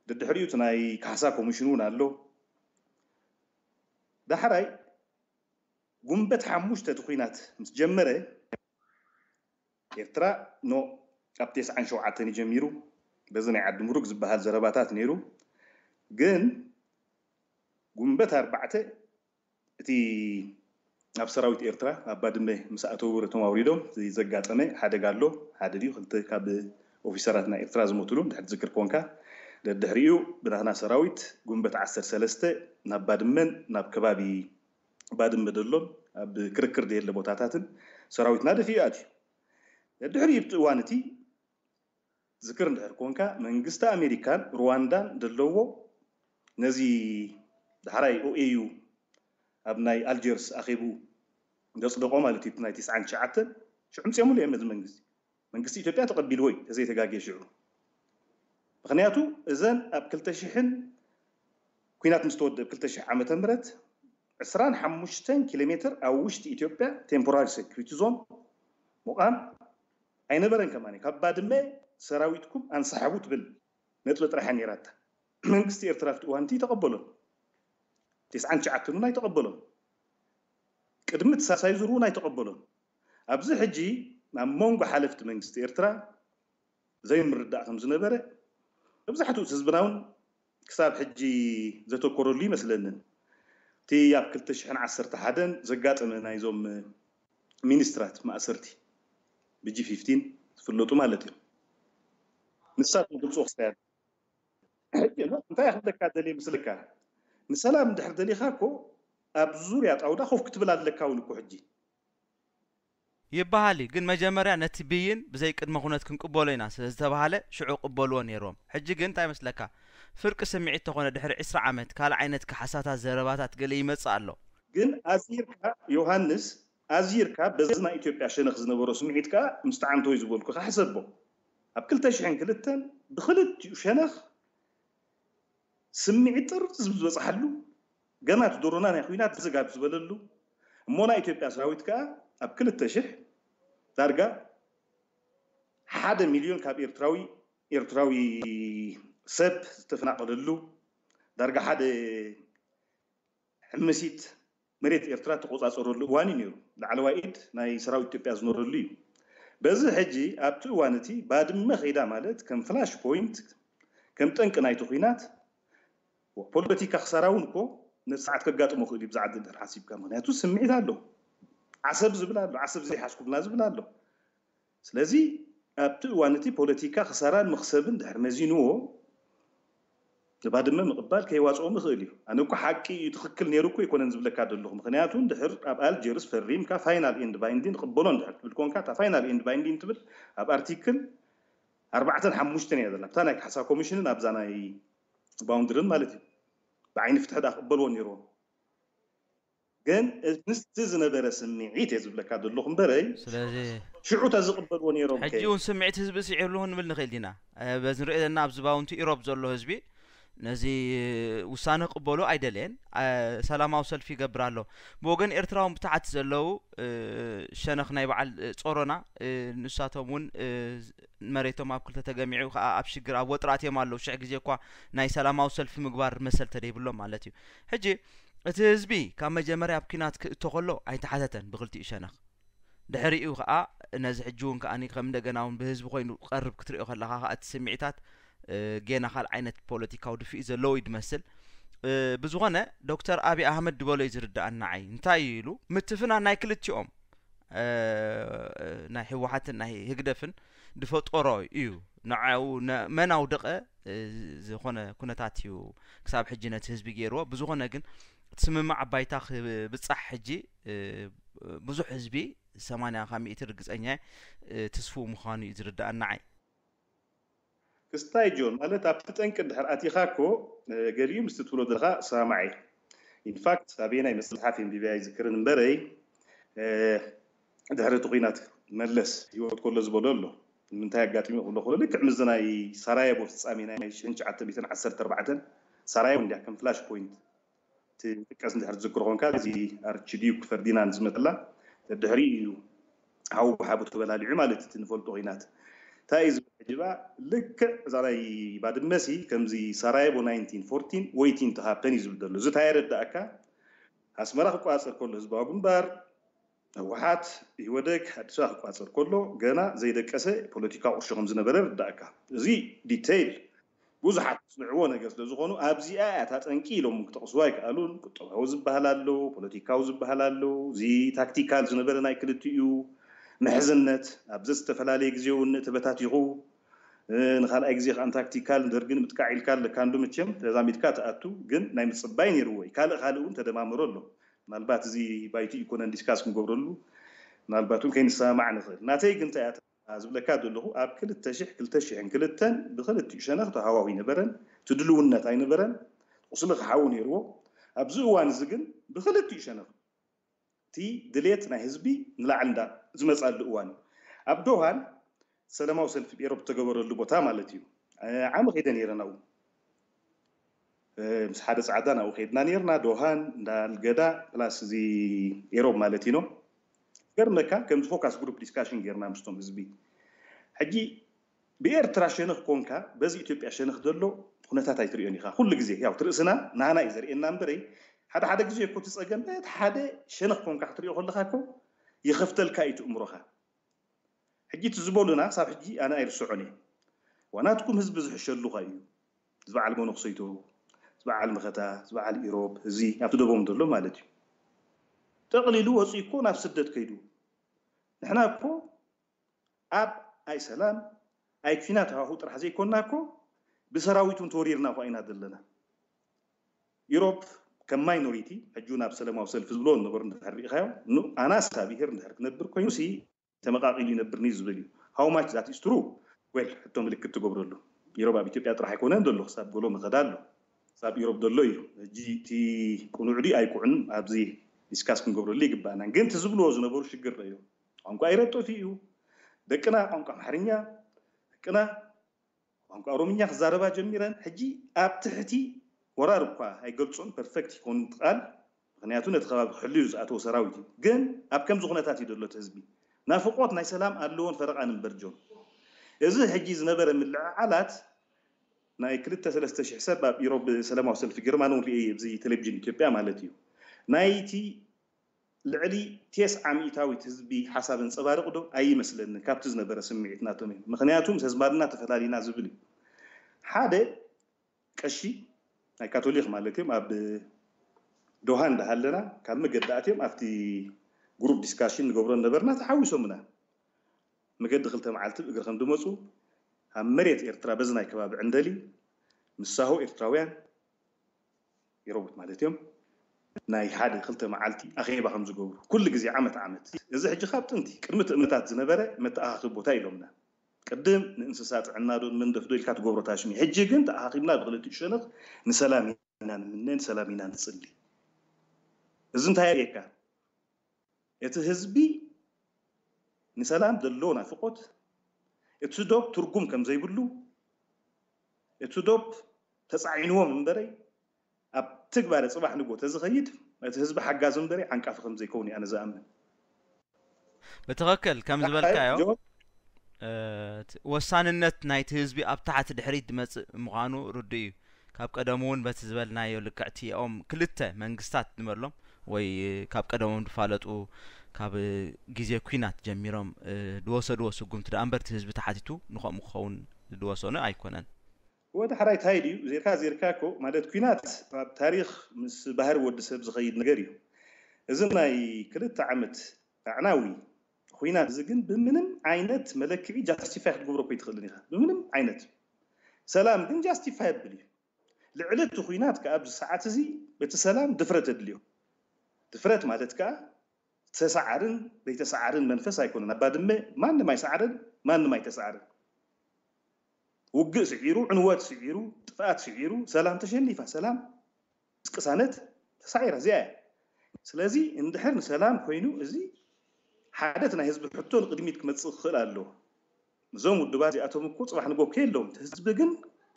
ደድሕሪኡ እቲ ናይ ካሕሳ ኮሚሽን እውን ኣሎ። ዳሕራይ ጉንበት ሓሙሽተ እቲ ኲናት ምስ ጀመረ ኤርትራ ኖ ኣብ ተስዓን ሸውዓተን እዩ ጀሚሩ። በዚ ናይ ዓዲ ምሩግ ዝበሃል ዘረባታት ነይሩ። ግን ጉንበት ኣርባዕተ እቲ ኣብ ሰራዊት ኤርትራ ኣብ ባድመ ምስ ኣተው እቶም ኣውሪዶም ዘጋጠመ ሓደጋ ኣሎ። ሓደ ድዩ ክልተ ካብ ኦፊሰራት ናይ ኤርትራ ዝሞትሉ ድሕር ትዝክር ኮንካ። ደድሕሪኡ ብናትና ሰራዊት ጉንበት ዓሰርተ ሰለስተ ናብ ባድመን ናብ ከባቢ ባድመ ደሎን ኣብ ክርክር ደየለ ቦታታትን ሰራዊትና ደፊኡ ኣትዩ። ደድሕሪኡ ብቲ እዋን እቲ ዝክር እንድሕር ኮንካ መንግስቲ ኣሜሪካን ሩዋንዳን ደለዎ ነዚ ዳሕራይ ኦኤዩ ኣብ ናይ ኣልጀርስ ኣኼቡ ዘፅደቆ ማለት እዩ ናይ ትስዓን ትሽዓተን ሽዑ ምፅኦምሉ እዮም ነዚ መንግስቲ መንግስቲ ኢትዮጵያ ተቐቢልዎ እዩ ተዘይተጋግየ ሽዑ ምክንያቱ እዘን ኣብ ክልተ ሽሕን ኩናት ምስ ተወድእ ክልተ ሽሕ ዓመተ ምህረት ዕስራን ሓሙሽተን ኪሎ ሜትር ኣብ ውሽጢ ኢትዮጵያ ቴምፖራሪ ሴኩሪቲ ዞን ምቋም ኣይነበረን ከማን ካብ ባድመ ሰራዊትኩም ኣንሰሓቡ ትብል ነጥቢ ጥራሕያ ነይራታ መንግስቲ ኤርትራ ኣብቲ እዋንቲ ተቐበሎን ቴስዓን ትሽዓተን እውን ኣይተቐበሎን ቅድሚ ተሳሳይ ዙር እውን ኣይተቐበሎን ኣብዚ ሕጂ ናብ መንጎ ሓለፍቲ መንግስቲ ኤርትራ ዘይምርዳእ ከም ዝነበረ መብዛሕትኡ ህዝብና እውን ክሳብ ሕጂ ዘተኮረሉ ይመስለንን እቲ ኣብ ክልተ ሽሕን ዓሰርተ ሓደን ዘጋጠመ ናይዞም ሚኒስትራት ማእሰርቲ ብጂ ፊፍቲን ዝፍለጡ ማለት እዮም ንሳቶም ግልፅዎ ክስታይ ሕጂ እንታይ ክብለካ ደልየ ምስለካ ንሰላም እንድሕር ደሊኻ እኮ ኣብ ዙርያ ጣውዳ ኮፍ ክትብል ኣለካ እውን እኮ ሕጂ ይበሃል እዩ። ግን መጀመርያ ነቲ ብይን ብዘይ ቅድመ ኩነት ክንቅበሎ ኢና ስለ ዝተባሃለ ሽዑ ቅበልዎ ነይርዎም። ሕጂ ግን እንታይ መስለካ? ፍርቂ ስምዒት ተኾነ ድሕሪ ዕስራ ዓመት ካልእ ዓይነት ካሕሳታት ዘረባታት ገለ ይመጽእ ኣሎ። ግን ኣዚርካ ዮሃንስ ኣዚርካ በዚ ናይ ኢትዮጵያ ሸነኽ ዝነበሮ ስምዒት ከኣ ምስ ጠዓምተወይ ዝበልኩኻ ሕሰቦ። ኣብ ክልተ ሽሕን ክልተን ብኽልቲኡ ሸነኽ ስምዒት ጥርዚ ዝበጽሓሉ ገና እቲ ድሮና ናይ ኲናት ዝግ ኣብ ዝበለሉ፣ እሞ ናይ ኢትዮጵያ ሰራዊት ከኣ ኣብ ክልተ ሽሕ ዳርጋ ሓደ ሚልዮን ካብ ኤርትራዊ ኤርትራዊ ሰብ ዝተፈናቐለሉ፣ ዳርጋ ሓደ ሕምሲት መሬት ኤርትራ ተቆጻጸረሉ እዋን እዩ ነይሩ። ላዕለዋይ ኢድ ናይ ሰራዊት ኢትዮጵያ ዝኖረሉ እዩ። በዚ ሕጂ ኣብቲ እዋን እቲ ባድመ ከይዳ ማለት ከም ፍላሽ ፖይንት፣ ከም ጠንቂ ናይቲ ኲናት፣ ፖለቲካ ክሳራ እውን እኮ ነቲ ሰዓት ከጋጥሞ ክእል እዩ ብዛዕባ ድር ሓሲብካ። ምክንያቱ ስምዒት ኣሎ። ዓሰብ ዝብል ኣሎ፣ ዓሰብ ዘይሓዝኩምና ዝብል ኣሎ። ስለዚ ኣብቲ እዋን እቲ ፖለቲካ ክሳራን መኽሰብን ድሕር መዚንዎ፣ ንባድመ ምቕባል ከይዋፅኦም ይኽእል እዩ። ኣነ እኮ ሓቂ እዩ፣ ትኽክል ነይሩ እኮ ኣይኮነን ዝብለካ ዘለኹ። ምክንያቱ ድሕር ኣብ ኣልጀርስ ፈሪምካ ፋይናል ኤንድ ባይንዲን ቅበሎ ድሕር ትብል ኮንካ፣ እታ ፋይናል ኤንድ ባይንዲን ትብል ኣብ ኣርቲክል ኣርባዕተን ሓሙሽተን እያ ዘላ። ኣብታ ናይ ካሕሳ ኮሚሽንን ኣብዛ ናይ ባውንድርን ማለት እዩ። ብዓይኒ ፍትሒ ዳ ክቕበልዎ ነይርዎም። ግን ምስቲ ዝነበረ ስምዒት እየ ዝብለካ ዘለኹ እምበረይ፣ ስለዚ ሽዑ ተዝቕበልዎ ነይሮም ከ? ሕጂ እውን ስምዒት ህዝቢ ስዒርሉ ንብል ንኽእል ዲና። እ፣ በዚ ንሪኦ ዘለና ኣብዚ ባውንቲ ኢሮብ ዘሎ ህዝቢ ነዚ ውሳነ ክቕበሎ ኣይደለየን። እ፣ ሰላማዊ ሰልፊ ይገብር ኣሎ። ብወገን ኤርትራውን ብታሕቲ ዘለዉ፣ እ፣ ሸነኽ ናይ በዓል፣ እ፣ ጾሮና፣ እ፣ ንሳቶም እውን፣ እ፣ መሬቶም ኣብ ክልተ ተገሚዑ ከዓ ኣብ ሽግር ኣብ ወጥራት እዮም ኣለዉ። ሽሕ ግዜ እኳ ናይ ሰላማዊ ሰልፊ ምግባር መሰል ተደይብሎም ማለት እዩ። ሕጂ እቲ ህዝቢ ካብ መጀመርያ ኣብ ኲናት ክእቶ ከሎ ኣይተሓተተን ብክልቲኡ ሸነኽ። ድሕሪኡ ከዓ ነዚ ሕጂ እውን ከዓ ከም እንደገና እውን ብህዝቢ ኮይኑ ክቐርብ ክትሪኦ ከለኻ ከዓ እቲ ስምዒታት፣ እ፣ ጌና ካልእ ዓይነት ፖለቲካዊ ድፍኢ ዘለዎ እዩ ዝመስል። እ፣ ብዝኾነ ዶክተር ኣብይ ኣህመድ ድበሎ እዩ ዝርድኣኒ ንዓይ። እንታይ እዩ ኢሉ ምትፍናን ናይ ክልቲኦም፣ እ፣ ናይ ህወሓትን ናይ ህግደፍን ድፈጠሮ እዩ። ንዓኡ ነ-፣ መን ኣውደቐ፣ እ፣ ዝኾነ ኩነታት እዩ ክሳብ ሕጂ ነቲ ህዝቢ ገይርዎ። ብዝኾነ ግን እቲ ስምምዕ ኣባይታ ክብጻሕ ሕጂ፣ እ፣ ብዙሕ ህዝቢ ሰማንያ ካብ ሚእቲ ርግጸኛ እየ፣ እ፣ ትስፉው ምዃኑ እዩ ዝርድኣኒ ንዓይ። ክስታይ ጆን፣ ማለት ኣብቲ ጠንቂ ድሕር ኣቲኻ እኮ፣ እ፣ ገሊኡ ምስቲ ትብሎ ዘለኻ ሰማማዕ እየ። ኢንፋክት ኣበየናይ መጽሓፍ የንቢበያ ኣይዝክርን እምበረይ፣ እ፣ ድሕሪ እቲ ኲናት መለስ ህይወት ከሎ ዝበሎ ኣሎ። ንምንታይ ኣጋጢሙ ክብሎ ከሎ ልክዕ ምስዚ ናይ ሳራየቦ ፍጻሜ ናይ ሽሕን ትሽዓተ ሚእትን ዓሰርተ ኣርባዕተን ሳራየቦ እንድያ ከም ፍላሽ ፖይንት ትጥቀስ እንድሕር ትዝክሮ ኮንካ፣ እዚ ኣርችዲዩክ ፈርዲናንድ ዝመተላ ድሕሪ እዩ ሓው ብሓቡ ተበላሊዑ ማለት እቲ ንፈልጦ ኲናት። እንታይ እዩ ዝብል ሕጂ ባ? ልክዕ እዛ ናይ ባድመሲ ከምዚ ሳራየቦ ናይንቲን ፎርቲን waiting to happen እዩ ዝብል ዘሎ። እዚ እንታይ የረዳእካ? ኣስመራ ክቆጻጸር ከሎ ህዝባዊ ግንባር፣ ህወሓት፣ ኢህወደግ ኣዲስ ኣበባ ክቆጻጸር ከሎ ገና ዘይደቀሰ ፖለቲካዊ ቁርሾ ከም ዝነበረ ይርዳእካ። እዚ ዲቴይል ብዙሓት ዝስምዕዎ ነገር ስለ ዝኾኑ ኣብዚኣ እያ እታ ጠንቂ ኢሎም ክጠቕስዋ ኣይከኣሉን። ቁጠባዊ ዝበሃል ኣሎ፣ ፖለቲካዊ ዝበሃል ኣሎ። እዚ ታክቲካል ዝነበረ ናይ ክልቲኡ ምሕዝነት ኣብዚ ዝተፈላለየ ግዜ እውን ተበታቲኹ፣ እ፣ ንኻልኣይ ግዜ ከዓ ታክቲካል ደርግን ምጥቃዕ ኢልካ ኣለካ እንዶ መቸም ተዛሚድካ ትኣቱ፣ ግን ናይ ምጽባይ ነይርዎ እዩ። ካልእ ካልእ እውን ተደማምሮ ኣሎ። ምናልባት እዚ ባይቱ ይኮነን ዲስካስ ክንገብረሉ፣ ምናልባት እውን ከይንሰማማዕ ንኽእል። ናተይ ግን እንታይ እያ ዝብለካ ዘለኹ፣ ኣብ ክልተ ሽሕ፣ ክልተ ሽሕን ክልተን ብክልቲኡ ሸነኽ ተሃዋሁ ኣይነበረን፣ ትድልውነት ኣይነበረን፣ ቁስሊ ክሓዊ ነይርዎ። ኣብዚ እዋን እዚ ግን ብክልቲኡ ሸነኽ እቲ ድሌት ናይ ህዝቢ ንላዕሊ እንዳ ዝመጻሉ እዋን እዩ። ኣብ ዶሃን ሰላማዊ ሰልፊ ኤሮፕ ዝተገበረሉ ቦታ ማለት እዩ። እ፣ ዓሚ ከይደ ነይረ ናብኡ። እ፣ ምስ ሓደ ጻዕዳ ናብኡ ከይድና ነይርና፣ ዶሃን፣ እንዳ ኣልገዳ፣ ፕላስ እዚ ኤሮፕ ማለት እዩ። ገርመካ ከምዚ ፎካስ ግሩፕ ዲስካሽን ጌርና ምስቶም ህዝቢ። ሕጂ ብኤርትራ ሸነኽ ኮንካ በዚ ኢትዮጵያ ሸነኽ ዘሎ ኩነታት ኣይትርእዮን ኢኻ። ኩሉ ግዜ ያው ትርእስና ናና እዩ ዘርእየና እምበረይ፣ ሓደ ሓደ ግዜ እኮ እቲ ጸገም በቲ ሓደ ሸነኽ ኮንካ ክትርእዮ ከለኻ እኮ ይኸፍተልካ እዩ እቲ እምሮኻ። ሕጂ እቲ ዝበሉና ክሳብ ሕጂ ኣነ ኣይርስዖን እየ። ዋናትኩም ህዝቢ ዝሕሸሉኻ እዩ። ዝበዓል መነኩሰይቶ፣ ዝበዓል መኸታ፣ ዝበዓል ኢሮብ፣ እዚ ኣብቲ ደቦም ዘሎ ማለት እዩ። ጠቕሊሉ ወፂኡ እኮ ናብ ስደት ከይዱ። ንሕና እኮ ኣብ ኣይ ሰላም ኣይ ኲናት ሃዋሁ ጥራሕ ዘይኮንና እኮ ብሰራዊት እውን ተወሪርና እኳ ኢና ዘለና። ኢሮብ ከም ማይኖሪቲ ሕጂ እውን ኣብ ሰላማዊ ሰልፊ ዝብሎ ነበሩ እንድሕር ሪኢኻዮ፣ ኑ ኣናሳ ብሄር እንድሕር ክነብር ኮይኑ ሲ ተመቃቂሉ ይነብር ኒ ዝብል እዩ። How much that is true? Well፣ ሕቶ ምልክት ትገብረሉ። ኢሮብ ኣብ ኢትዮጵያ ጥራሕ ኣይኮነን ዘሎ፣ ክሳብ ጎሎ መኸዳ ኣሎ። ክሳብ ኢሮብ ዘሎ እዩ። ሕጂ እቲ ቅኑዕ ድዩ ኣይቁዕን ኣብዚ ዲስካስ ክንገብረሉ ይግባእና። ግን እቲ ዝብልዎ ዝነበሩ ሽግር ረእዮ። ቋንቋ ኢሮብ ጠፊኡ እዩ። ደቅና ቋንቋ ኣምሓርኛ፣ ደቅና ቋንቋ ኦሮምኛ ክዛረባ ጀሚረን። ሕጂ ኣብ ትሕቲ ወራር እኳ ኣይገልጾን፣ ፐርፌክት ይኮን ቃል፣ ምክንያቱ ነቲ ከባቢ ክሕልዩ ዝኣተወ ሰራዊት እዩ። ግን ኣብ ከምዚ ኩነታት እዩ ዘሎ እቲ ህዝቢ። ናፍቆት ናይ ሰላም ኣለዎን ፈረቓን እምበር ጆን። እዚ ሕጂ ዝነበረ ምልዕዓላት ናይ ክልተ ሰለስተ ሽሕ ሰብ ኣብ ኢሮብ ሰላማዊ ሰልፊ ጌርማን እውን ርእየ ኣብዚ ቴሌቪዥን ኢትዮጵያ ማለት እዩ። ናይቲ ልዕሊ ቴስዓ ሚእታዊት ህዝቢ ሓሳብ እንፀባርቕ ዶ ኣይመስለኒ ካብቲ ዝነበረ ስምዒት ናቶም እዩ። ምክንያቱ ምስ ህዝባድና ተፈላሊና ዝብል እዩ። ሓደ ቀሺ ናይ ካቶሊክ ማለት እዮም ኣብ ዶሃ እንዳሃለና ካብ መገዲ ኣትዮም ኣብቲ ግሩፕ ዲስካሽን ንገብሮ ነበርና ተሓዊሶምና። መገዲ ክልተ መዓልቲ ብእግሪ ከም ዝመፁ ኣብ መሬት ኤርትራ በዚ ናይ ከባቢ ዕንደሊ ምሳሆ ኤርትራውያን የረቡት ማለት እዮም ናይ ሓደ ክልተ መዓልቲ ኣኼባ ከም ዝገብሩ ኩሉ ግዜ ዓመት ዓመት። እዚ ሕጂ ካብ ጥንቲ ቅድሚ ትእምታት ዝነበረ መተኣኻኺቢ ቦታ ኢሎምና። ቅድም ንእንስሳ ጥዕና ዶ መንደፍ ዶ ኢልካ ትገብሮ ታሽሚ። ሕጂ ግን ተኣኻኺብና ብክልቲኡ ሸነኽ ንሰላም ኢና ንምነ፣ ንሰላም ኢና ንጽሊ። እዚ እንታይ የርእየካ? እቲ ህዝቢ ንሰላም ዘለዎ ናፍቆት፣ እቲ ዶብ ትርጉም ከም ዘይብሉ፣ እቲ ዶብ ተጻዒንዎም እምበረይ ኣብ ትግባረ ጽባሕ ንግሆ ተዝኸይድ እቲ ህዝቢ ሓጋዚ እምበረይ ዓንቃፊ ከም ዘይከውን እየ ኣነ ዝኣምን። ብትኽክል ከም ዝበልካዮ እ፣ እቲ ወሳንነት ናይቲ ህዝቢ ኣብ ታሕቲ ድሕሪት ዝመጽእ ምዃኑ ርዱእ እዩ። ካብ ቀደሙ እውን በቲ ዝበልናዮ ልክዕ እቲኦም ክልተ መንግስታት ንበሎም ወይ ካብ ቀደሞም ዝፋለጡ ካብ ግዜ ኲናት ጀሚሮም እ፣ ዝወሰድዎ ስጉምቲ ደኣ እምበር እቲ ህዝቢ ተሓቲቱ ንኸምኡ ክኸውን ዝወሰኑ ኣይኮነን። ወደ ሓራይ ታይ ድዩ ዜርካ ዜርካ እኮ ማለት ኲናት ኣብ ታሪኽ ምስ ባህሪ ወዲ ሰብ ዝኸይድ ነገር እዩ። እዚ ናይ ክልተ ዓመት ኣዕናዊ ኲናት እዚ ግን ብምንም ዓይነት መለክዒ ጃስቲፋይ ክትገብሮ እኮ ኣይትኽእልን ኢኻ። ብምንም ዓይነት ሰላም ግን ጃስቲፋይ የብል እዩ። ልዕሊ እቲ ኲናት ከኣ ኣብዚ ሰዓት እዚ እቲ ሰላም ድፍረት የድልዮ። ድፍረት ማለት ከኣ ተሰዓርን ዘይተሰዓርን መንፈስ ኣይኮነን። ኣብ ባድመ ማንም ኣይሰዓርን፣ ማንም ኣይተሰዓርን። ውግእ ስዒሩ፣ ዕንወት ስዒሩ፣ ጥፍኣት ስዒሩ፣ ሰላም ተሸኒፋ፣ ሰላም ምስ ቅሳነት ተሳዒራ እዚኣ እያ። ስለዚ እንድሕር ንሰላም ኮይኑ እዚ ሓደ እቲ ናይ ህዝቢ ሕቶ ንቅድሚት ክመፅእ ክኽእል ኣለዎ። እዞም ውድባት እዚኣቶም እኮ ፅባሕ ንጎ ከየለዎም እቲ ህዝቢ ግን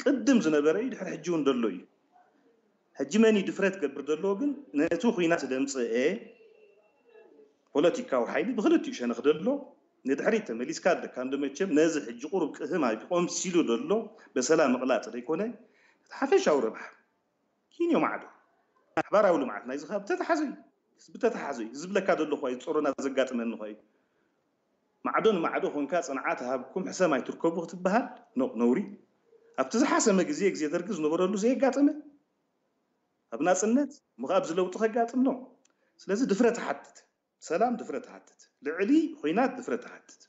ቅድም ዝነበረ እዩ፣ ድሕሪ ሕጂ እውን ዘሎ እዩ። ሕጂ መን እዩ ድፍረት ገብር ዘለዎ ግን ነቲ ኲናት ደምፅአ ፖለቲካዊ ሓይሊ ብክልቲኡ ሸነኽ ደሎ ንድሕሪት ተመሊስካ ኣለካ እንዶ መቸም ነዚ ሕጂ ቁሩብ ቅህም ኣቢቆም ሲሉ ደሎ በሰላም ምቕላጥ ዘይኮነ እቲ ሓፈሻዊ ረብሓ ኪንዮ ማዕዶ ሓባራዊ ልምዓት ናይዚ ካብ ተተሓዘ እዩ። ህዝቢ ተተሓዘ እዩ። ዝብለካ ደሎ ኳ እዩ ጸሮና ዘጋጥመኒ ኳ እዩ። ማዕዶ ንማዕዶ ኮንካ ጽንዓት ሃብኩም ሕሰም ኣይትርከቡ ክትበሃል ኖቕ ነውሪ። ኣብቲ ዝሓሰመ ግዜ ግዜ ደርጊ ዝነበረሉ ዘየጋጠመ ኣብ ናጽነት ምኻብ ዝለውጢ ከጋጥም ነው። ስለዚ ድፍረት ሓትት ሰላም ድፍረት ትሓትት፣ ልዕሊ ኹናት ድፍረት ትሓትት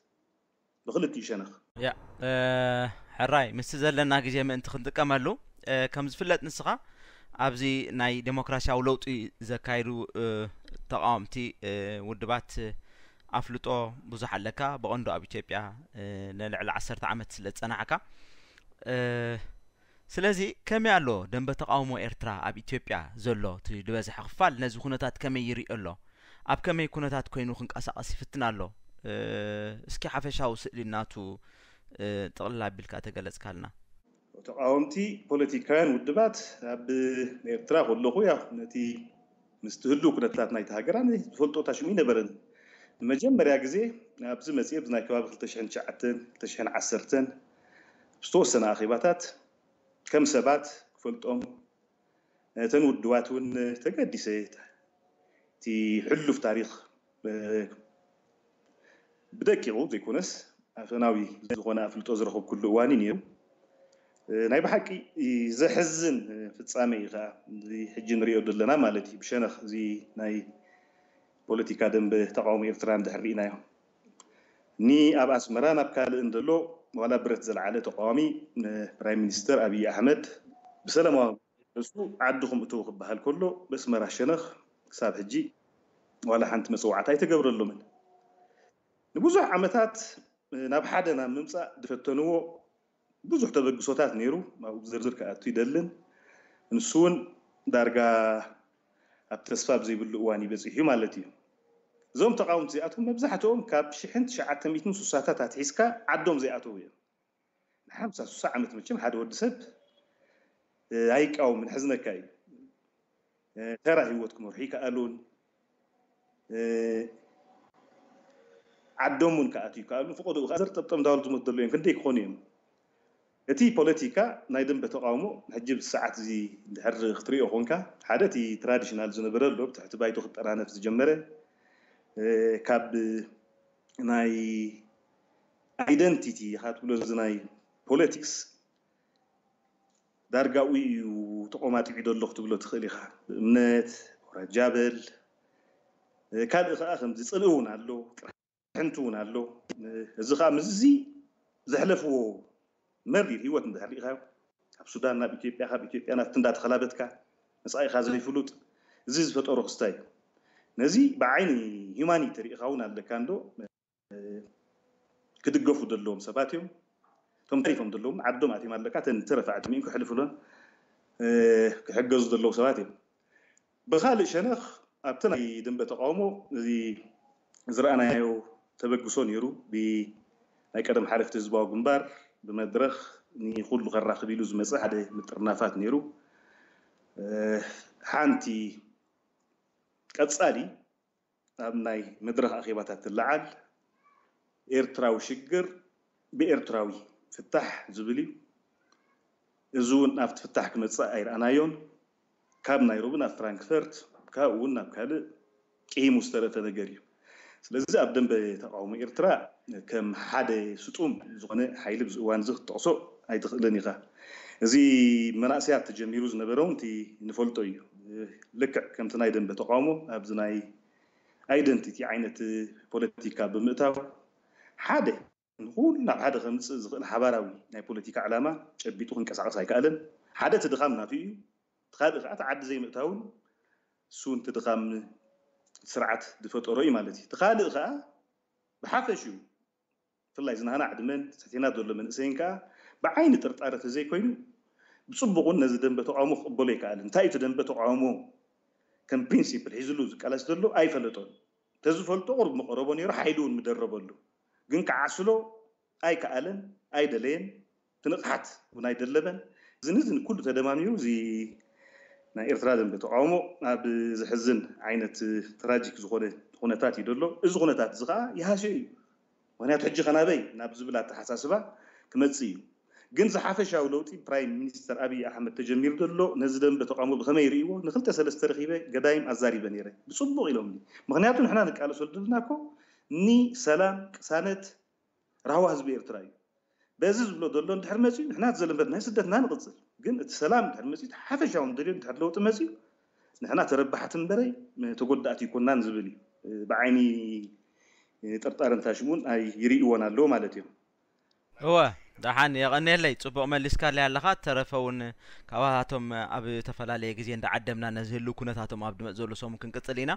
ብኽልቲኡ ሸነኽ። ያ ሕራይ ምስቲ ዘለና ግዜ ምእንቲ ክንጥቀመሉ፣ ከም ዝፍለጥ ንስኻ ኣብዚ ናይ ዴሞክራሲያዊ ለውጢ ዘካይዱ ተቃወምቲ ውድባት ኣፍልጦ ብዙሕ ኣለካ፣ ብቐንዱ ኣብ ኢትዮጵያ ንልዕሊ ዓሰርተ ዓመት ስለ ዝጸናሕካ። ስለዚ ከመይ ኣሎ ደንበ ተቃውሞ ኤርትራ ኣብ ኢትዮጵያ ዘሎ እቲ ዝበዝሐ ክፋል ነዚ ኩነታት ከመይ ይሪኦ ኣሎ? ኣብ ከመይ ኩነታት ኮይኑ ክንቀሳቀስ ይፍትን ኣሎ? እስኪ ሓፈሻዊ ስእሊ ናቱ ጥቕልል ኣቢልካ ተገለጽካልና። ተቃወምቲ ፖለቲካውያን ውድባት ኣብ ኤርትራ ከለኹ ያ ነቲ ምስቲ ህሉው ኩነታት ናይቲ ሃገራ ዝፈልጦ ታሽሙ ይነበረን። ንመጀመርያ ግዜ ኣብዚ መፅኤ ብናይ ከባቢ ክልተ ሽሕን ትሽዓተን ክልተ ሽሕን ዓሰርተን ዝተወሰነ ኣኼባታት ከም ሰባት ክፈልጦም ነተን ውድባት እውን ተገዲሰ እቲ ሕሉፍ ታሪክ ብደቂቁ ዘይኮነስ ኣፈናዊ ዝኾነ ኣፍልጦ ዝረኸብኩሉ እዋን እዩ ነይሩ። ናይ ብሓቂ ዘሕዝን ፍፃመ እዩ ከዓ እዚ ሕጂ ንሪኦ ዘለና ማለት እዩ። ብሸነኽ እዚ ናይ ፖለቲካ ደንበ ተቃውሞ ኤርትራ እንድሕር ርኢናዮ እኒ ኣብ ኣስመራ ናብ ካልእ እንደሎ ዋላ ብረት ዘልዓለ ተቃዋሚ ፕራይም ሚኒስተር ኣብይ ኣሕመድ ብሰላማዊ እሱ ዓድኹም እተው ክበሃል ከሎ በስመራ ሸነኽ ክሳብ ሕጂ ዋላ ሓንቲ መፅዋዕታ ኣይተገብረሎምን። ንብዙሕ ዓመታት ናብ ሓደ ናብ ምምፃእ ዝፈተንዎ ብዙሕ ተበግሶታት ነይሩ። ኣብኡ ዝርዝር ክኣቱ ይደልን ንሱ እውን ዳርጋ ኣብ ተስፋ ብዘይብሉ እዋን ይበፂሕ እዩ ማለት እዩ። እዞም ተቃውምቲ እዚኣቶም መብዛሕትኦም ካብ ሽሕን ትሽዓተ ሚእትን ስሳታት ኣትሒዝካ ዓዶም ዘይኣተው እዮም። ንሓምሳ ስሳ ዓመት መቸም ሓደ ወዲ ሰብ ኣይቃወምን፣ ሕዝነካ እዩ። ተራ ህይወት ክመርሑ ይከኣሉን፣ ዓዶም እውን ክኣትዩ ይከኣሉን። ፍቆድኡ ከዓ ዘርጠብጠብ እንዳበሉ ዝመቱ ዘለዉ እዮም። ክንደይ ክኾኑ እዮም? እቲ ፖለቲካ ናይ ደንበ ተቃውሞ ሕጂ ብሰዓት እዚ እንድሕር ክትሪኦ ኮንካ፣ ሓደ እቲ ትራዲሽናል ዝነበረ ኣሎ፣ ብትሕቲ ባይቶ ክጠራነፍ ዝጀመረ፣ ካብ ናይ ኣይደንቲቲ ኢኻ ትብሎ፣ እዚ ናይ ፖለቲክስ ዳርጋ ኡይ እዩ ተቆማጢዑ ዘሎ ክትብሎ ትኽእል ኢኻ። ብእምነት ወራጃ በል፣ ካልእ ከዓ ከምዚ ጽልኢ እውን ኣሎ፣ ቅርሕንቲ እውን ኣሎ። እዚ ከዓ ምስዚ ዘሕለፍዎ መሪር ህይወት እንድሕር ርኢኻዮ፣ ካብ ሱዳን ናብ ኢትዮጵያ፣ ካብ ኢትዮጵያ ናብቲ እንዳተኸላበትካ፣ መጻኢኻ ዘይፍሉጥ፣ እዚ ዝፈጠሮ ክስታይ እዩ። ነዚ ብዓይኒ ሂዩማኒቲ ርኢኻ እውን ኣለካ እንዶ፣ ክድገፉ ዘለዎም ሰባት እዮም። እቶም ተሪፎም ዘለዎም ዓዶም ኣትዮም ኣለካ፣ እተን ዝተረፋ ዕድሚኦም ክሕልፉለን ክሕገዙ ዘለዉ ሰባት እዮም። ብኻልእ ሸነኽ ኣብቲ ናይ ደንበ ተቃውሞ እዚ ዝረኣናዮ ተበግሶ ነይሩ። ብናይ ቀደም ሓለፍቲ ህዝባዊ ግንባር ብመድረኽ ንኹሉ ከራኽብ ኢሉ ዝመፀ ሓደ ምጥርናፋት ነይሩ። ሓንቲ ቀጻሊ ኣብ ናይ መድረኽ ኣኼባታት ትለዓል፣ ኤርትራዊ ሽግር ብኤርትራዊ ፍታሕ ዝብል እዩ። እዚ እውን ኣብቲ ፍታሕ ክመጽእ ኣይረኣናዮን። ካብ ናይሮቢ ናብ ፍራንክፈርት፣ ካብኡ እውን ናብ ካልእ ቂሂሙ ዝተረፈ ነገር እዩ። ስለዚ ኣብ ደንበ ተቃውሞ ኤርትራ ከም ሓደ ስጡም ዝኾነ ሓይሊ ኣብዚ እዋን እዚ ክትጠቕሶ ኣይትኽእልን ኢኻ። እዚ መናእሰያት ተጀሚሩ ዝነበረ እውን እቲ ንፈልጦ እዩ። ልክዕ ከምቲ ናይ ደንበ ተቃውሞ ኣብዚ ናይ ኣይደንቲቲ ዓይነት ፖለቲካ ብምእታው ሓደ ንኹሉ ናብ ሓደ ከምፅእ ዝኽእል ሓባራዊ ናይ ፖለቲካ ዕላማ ጨቢጡ ክንቀሳቐስ ኣይከኣለን። ሓደ እቲ ድኻም ናቱ እዩ። እቲ ካልእ ከዓ እቲ ዓዲ ዘይምእታውን እሱ እውን እቲ ድኻም ስርዓት ዝፈጠሮ እዩ ማለት እዩ። እቲ ካልእ ከዓ ብሓፈሽኡ ብፍላይ ዝናህና ዕድመን ትሕቴና ዘሎ መንእሰይን ከዓ ብዓይኒ ጥርጣረ ተዘይኮይኑ ብፅቡቕ እውን ነዚ ደንበ ተቃውሞ ክቕበሎ ኣይከኣልን። እንታይ እዩ እቲ ደንበ ተቃውሞ ከም ፕሪንሲፕል ሒዝሉ ዝቃለስ ዘሎ ኣይፈለጦን። ተዝፈልጦ ቁሩብ ምቐረቦ ነይሩ፣ ሓይሉ እውን ምደረበሉ። ግን ክዓስሎ ኣይከኣለን፣ ኣይደለየን፣ ትንቕሓት እውን ኣይደለበን። እዝን እዝን ኩሉ ተደማሚሩ እዚ ናይ ኤርትራ ደንበ ተቃውሞ ኣብ ዘሕዝን ዓይነት ትራጂክ ዝኾነ ኩነታት እዩ ዘሎ። እዚ ኩነታት እዚ ከዓ ይሃስዮ እዩ። ምክንያቱ ሕጂ ከናበይ ናብ ዝብል ኣተሓሳስባ ክመጽእ እዩ። ግን ዝሓፈሻዊ ለውጢ ፕራይም ሚኒስተር ኣብይ ኣሕመድ ተጀሚሩ ዘሎ ነዚ ደንበ ተቃውሞ ብኸመይ ይርእይዎ? ንክልተ ሰለስተ ረኺበ ገዳይም ኣዛሪበ ነይረ። ብጽቡቕ ኢሎምኒ። ምክንያቱ ንሕና ንቃለሰሉ ዘለና እኮ ንሰላም፣ ቅሳነት፣ ራህዋ ህዝቢ ኤርትራ እዩ። በዚ ዝብሎ ዘሎ እንድሕር መጺኡ ንሕና እቲ ዘለንበት ናይ ስደትና ንቕጽል። ግን እቲ ሰላም እንድሕር መጺኡ፣ እቲ ሓፈሻዊ ንደልዮ እንድሕር ለውጢ መጺኡ ንሕና ተረባሕቲ እምበረይ ተጎዳእቲ ኣይኮናን ዝብል እዩ። ብዓይኒ ጥርጣረ እንታሽሙን ኣይ ይርእይዎን ኣለዉ ማለት እዮም። እወ፣ ደሓን የቐንየለይ። ጽቡቕ መሊስካለይ ኣለኻ። ተረፈ እውን ካባታቶም ኣብ ዝተፈላለየ ግዜ እንዳዓደምና ነዚ ህልው ኩነታቶም ኣብ ድመጽ ዘሎ ሰሙን ክንቅጽል ኢና።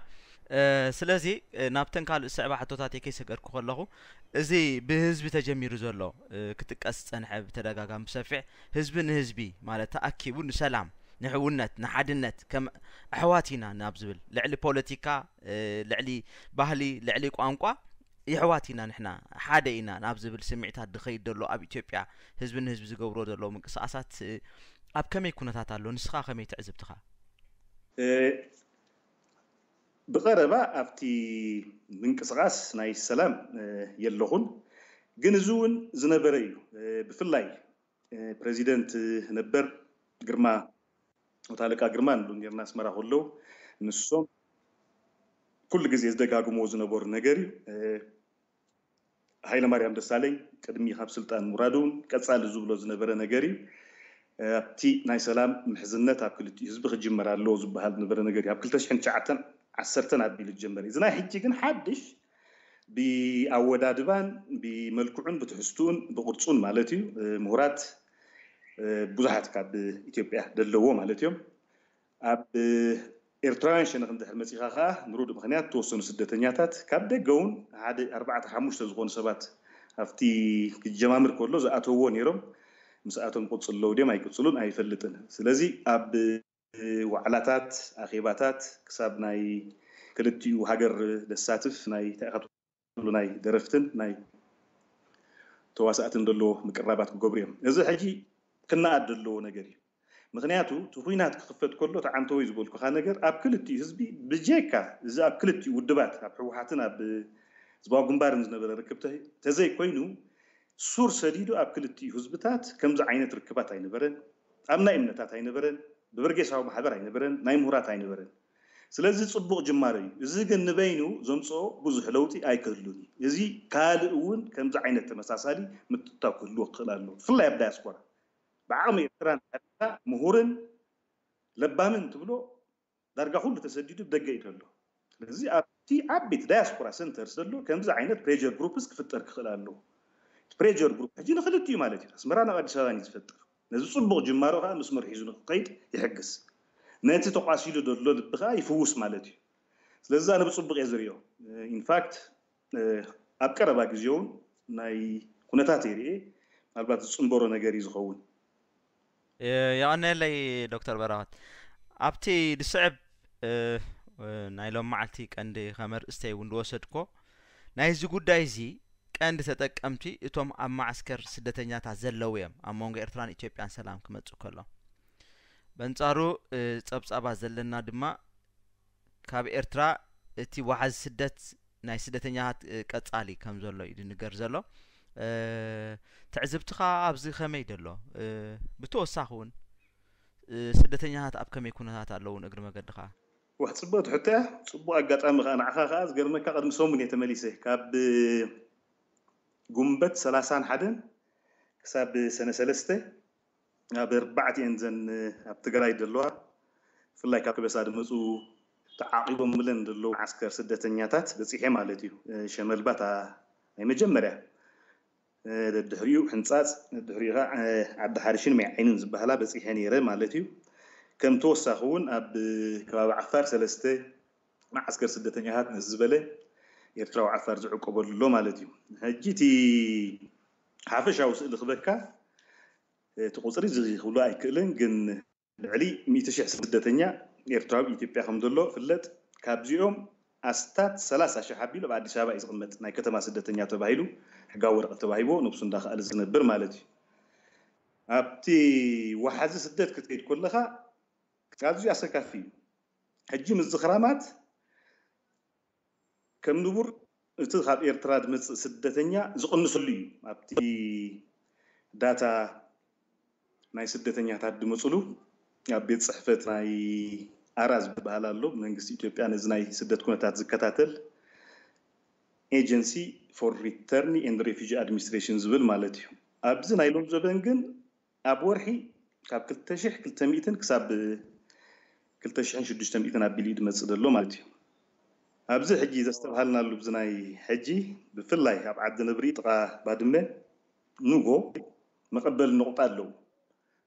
እ፣ ስለዚ፣ እ፣ ናብተን ካልእ ዝስዕባ ሕቶታተይ ከይሰገድኩ ከለኹ፣ እዚ ብህዝቢ ተጀሚሩ ዘሎ፣ እ፣ ክጥቀስ ዝጸንሐ ብተደጋጋሚ ብሰፊሕ ህዝቢ ንህዝቢ ማለት ተኣኪቡ ንሰላም፣ ንሕውነት፣ ንሓድነት ከም ኣሕዋት ኢና ናብ ዝብል ልዕሊ ፖለቲካ፣ እ፣ ልዕሊ ባህሊ፣ ልዕሊ ቋንቋ የሕዋት ኢና ንሕና፣ ሓደ ኢና ናብ ዝብል ስምዒታት ዝኸይድ ዘሎ ኣብ ኢትዮጵያ ህዝቢ ንህዝቢ ዝገብሮ ዘሎ ምንቅስቓሳት፣ እ፣ ኣብ ከመይ ኩነታት ኣሎ? ንስኻ ከመይ ትዕዝብትኻ? እ፣ ብቐረባ ኣብቲ ምንቅስቓስ ናይ ሰላም፣ እ፣ የለኹን። ግን እዚ እውን ዝነበረ እዩ። እ፣ ብፍላይ፣ እ፣ ፕሬዚደንት ነበር ግርማ፣ ወታለቃ ግርማ ንብሉ ነርና ኣስመራ ከለዉ፣ ንሶም ኩሉ ግዜ ዝደጋግምዎ ዝነበሩ ነገር እዩ። እ፣ ሃይለማርያም ደሳለኝ ቅድሚ ካብ ስልጣን ምውራዱ እውን ቀጻሊ ዝብሎ ዝነበረ ነገር እዩ። እ፣ ኣብቲ ናይ ሰላም ምሕዝነት ኣብ ክልቲኡ ህዝቢ ክጅመር ኣለዎ ዝበሃል ዝነበረ ነገር እዩ። ኣብ ክልተ ሽሕን ትሽዓተን ዓሰርተን ኣቢሉ ዝጀመረ እዩ። እዚ ናይ ሕጂ ግን ሓድሽ ብኣወዳድባን ብመልክዑን ብትሕዝትኡን ብቕርጹን ማለት እዩ። እ፣ ምሁራት፣ እ፣ ብዙሓት ካብ ኢትዮጵያ ደለዎ ማለት እዮም። ኣብ ኤርትራውያን ሸነኽ እንድሕር መጺኻ ከኣ ምሩድ ምኽንያት ተወሰኑ ስደተኛታት ካብ ደገ እውን ሓደ ኣርባዕተ ሓሙሽተ ዝኾኑ ሰባት ኣብቲ ክጀማምር ከሎ ዝኣተውዎ ነይሮም። ምስኣቶም ይቕጽሉ ኣለዉ ድዮም ኣይቅጽሉን ኣይፈልጥን። ስለዚ ኣብ ዋዕላታት፣ ኣኼባታት ክሳብ ናይ ክልቲኡ ሃገር ዘሳትፍ ናይ እንታይ ኢኻ ትብሉ ናይ ደረፍትን ናይ ተዋሳእትን ዘለዎ ምቅራባት ክገብሩ እዮም። እዚ ሕጂ ክነኣድ ዘለዎ ነገር እዩ። ምኽንያቱ እቲ ኲናት ክኽፈት ከሎ እቲ ዓንተወይ ዝበልኩኻ ነገር ኣብ ክልቲኡ ህዝቢ ብጀካ እዚ ኣብ ክልቲኡ ውድባት ኣብ ህወሓትን ኣብ ህዝባዊ ግንባርን ዝነበረ ርክብ ተዘይኮይኑ ሱር ሰዲዱ ኣብ ክልቲኡ ህዝብታት ከምዚ ዓይነት ርክባት ኣይነበረን። ኣብ ናይ እምነታት ኣይነበረን፣ ብበርጌሳዊ ማሕበር ኣይነበረን፣ ናይ ምሁራት ኣይነበረን። ስለዚ ጽቡቕ ጅማሮ እዩ። እዚ ግን ንበይኑ ዘምጽኦ ብዙሕ ለውጢ ኣይክህሉን እዩ። እዚ ካልእ እውን ከምዚ ዓይነት ተመሳሳሊ ምትእትታው ክህልዎ ክኽእል ኣለዎ። ብፍላይ ኣብ ዳያስፖራ ብዓቕሚ ኤርትራ እንተሃሊካ ምሁርን ለባምን ትብሎ ዳርጋ ኩሉ ተሰዲዱ ብደገ እዩ ዘሎ። ስለዚ ኣብቲ ዓበይቲ ዳያስፖራ ሰንተር ዘሎ ከምዚ ዓይነት ፕሬጀር ግሩፕስ ክፍጠር ክኽእል ኣለዎ። ፕሬጀር ግሩፕ ሕጂ ንክልቲኡ ማለት እዩ ኣስመራ ናብ ኣዲስ ኣበባ እዩ ዝፈጥር። ነዚ ፅቡቕ ጅማሮ ከዓ መስመር ሒዙ ንክኸይድ ይሕግዝ። ነቲ ተቋሲሉ ዘሎ ልቢ ከዓ ይፍውስ ማለት እዩ። ስለዚ ኣነ ብፅቡቕ እየ ዝሪኦ። ኢንፋክት ኣብ ቀረባ ግዜ እውን ናይ ኩነታት ይርኤ ምናልባት ዝፅንበሮ ነገር እዩ ዝኸውን። የቐነለይ ዶክተር በረኸት። ኣብቲ ዝስዕብ ናይ ሎም መዓልቲ ቀንዲ ከመርእስተይ እውን ዝወሰድኮ ናይዚ ጉዳይ እዚ ቀንዲ ተጠቀምቲ እቶም ኣብ ማዓስከር ስደተኛታት ዘለዉ እዮም ኣብ መንጎ ኤርትራን ኢትዮጵያን ሰላም ክመጽእ ከሎ። በንጻሩ ጸብጻባት ዘለና ድማ ካብ ኤርትራ እቲ ዋሕዚ ስደት ናይ ስደተኛታት ቀጻሊ ከም ዘሎ እዩ ዝንገር ዘሎ። ትዕዝብትኻ ኣብዚ ከመይ ደሎ? ብተወሳኺ እውን ስደተኛታት ኣብ ከመይ ኩነታት ኣለውን እግሪ መገድኻ? ዋሕ ጽቡቅ ትሕቶ እያ። ጽቡቅ ኣጋጣሚ ከዓ ንዓኻ ከዓ ዝገርመካ ቅድሚ ሰሙን እየ ተመሊሰ ካብ ጉንበት ሰላሳን ሓደን ክሳብ ሰነ ሰለስተ ኣብ ኣርባዕቲኤን ዘን ኣብ ትግራይ ዘለዋ ብፍላይ ካብ ከበሳ ዝመፁ ተዓቂቦም ብለን ዘለዉ ዓስከር ስደተኛታት በፂሐ ማለት እዩ። ሸመልባታ ናይ መጀመርያ ድሕሪኡ ሕንፃፅ ድሕሪኡ ከዓ ዓዲ ሓርሽን ማይ ዓይንን ዝበሃላ በፂሐ ነይረ ማለት እዩ። ከም ተወሳኺ እውን ኣብ ከባቢ ዓፋር ሰለስተ መዓስከር ስደተኛታት ነዚ ዝበለ ኤርትራዊ ዓፋር ዝዕቆበሉ ኣሎ ማለት እዩ። ሕጂ እቲ ሓፈሻዊ ስእሊ ክበካ እቲ ቁፅሪ እዚ ክብሎ ኣይክእልን፣ ግን ልዕሊ ሚእቲ ሽሕ ስደተኛ ኤርትራዊ ኢትዮጵያ ከም ዘሎ ፍለጥ። ካብዚኦም ኣስታት ሰላሳ ሽሕ ኣቢሉ ኣብ ኣዲስ ኣበባ እዩ ዝቕመጥ። ናይ ከተማ ስደተኛ ተባሂሉ ሕጋዊ ወረቐት ተባሂቦ ነብሱ እንዳኸኣለ ዝነብር ማለት እዩ። ኣብቲ ዋሓዚ ስደት ክትከይድ ከለኻ ኣዝዩ ኣሰካፊ እዩ። ሕጂ ምዝኽራማት ከም ንቡር እቲ ካብ ኤርትራ ዝመፅእ ስደተኛ ዝቕንስሉ እዩ። ኣብቲ ዳታ ናይ ስደተኛታት ዝመፅሉ ኣብ ቤት ፅሕፈት ናይ ኣራ ዝበሃል ኣሎ መንግስቲ ኢትዮጵያ ነዚ ናይ ስደት ኩነታት ዝከታተል ኤጀንሲ for return and refugee administration ዝብል ማለት እዩ። ኣብዚ ናይ ሎም ዘበን ግን ኣብ ወርሒ ካብ ክልተ ሽሕ ክልተ ሚእትን ክሳብ ክልተ ሽሕን ሽዱሽተ ሚእትን ኣቢሉ እዩ ዝመፅእ ዘሎ ማለት እዩ። ኣብዚ ሕጂ ዘስተብሃልናሉ ብዚ ናይ ሕጂ ብፍላይ ኣብ ዓዲ ነብሪ ጥቓ ባድመ ኑጎ መቐበሊ ነቑጣ ኣለዉ።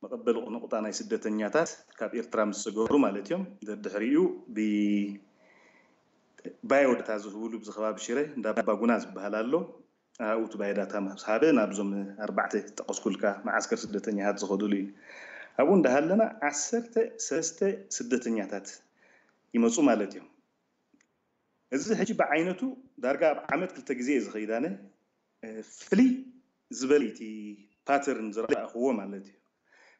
መቐበሊ ነቑጣ ናይ ስደተኛታት ካብ ኤርትራ ምስ ሰገሩ ማለት እዮም። ደድሕሪኡ ብ ባዮዳታ ዝህብሉ ብዚ ከባቢ ሽረ እንዳ ባጉና ዝበሃል ኣሎ። ኣብኡ እቲ ባዮዳታ ምስ ሃበ ናብዞም ኣርባዕተ ጠቐስኩልካ መዓስከር ስደተኛታት ዝኸድሉ እዩ። ኣብኡ እንዳሃለና ዓሰርተ ሰለስተ ስደተኛታት ይመፁ ማለት እዮም። እዚ ሕጂ ብዓይነቱ ዳርጋ ኣብ ዓመት ክልተ ግዜ እየ ዝኸይድ ኣነ። ፍልይ ዝበለ እቲ ፓተርን ዝረኣኽዎ ማለት እዩ።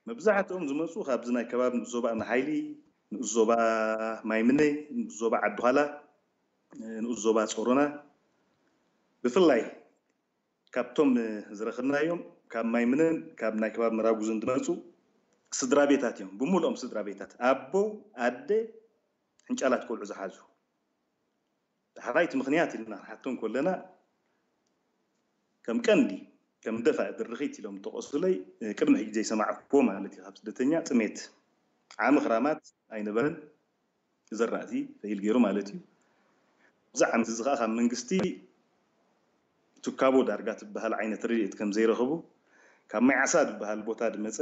መብዛሕትኦም ዝመፁ ካብዚ ናይ ከባቢ ንኡስ ዞባ እምኒ ሓይሊ፣ ንኡስ ዞባ ማይምነ፣ ንኡስ ዞባ ዓዲ ዃላ፣ ንኡስ ዞባ ጾሮና፣ ብፍላይ ካብቶም ዝረኸብናዮም ካብ ማይምነን ካብ ናይ ከባቢ መራጉዝን ዝመፁ ስድራ ቤታት እዮም። ብምሉኦም ስድራ ቤታት ኣቦ፣ ኣደ፣ ሕንጫላት ቆልዑ ዝሓዙ። ዳሕራይ እቲ ምኽንያት ኢልና ክንሓቶ እንከለና ከም ቀንዲ ከም ደፋኢ ድርኺት ኢሎም ዝጠቐሱለይ ቅድሚ ሕጂ ዘይሰማዕኩዎ ማለት እዩ ካብ ስደተኛ ጥሜት ዓሚ ክራማት ኣይነበረን። ዘራእቲ ፈይል ገይሩ ማለት እዩ። እዚ ዓመት እዚ ከዓ ካብ መንግስቲ ትካቦ ዳርጋ ትበሃል ዓይነት ረድኤት ከም ዘይረኸቡ ካብ ማይ ዓሳ ዝበሃል ቦታ ዝመፀ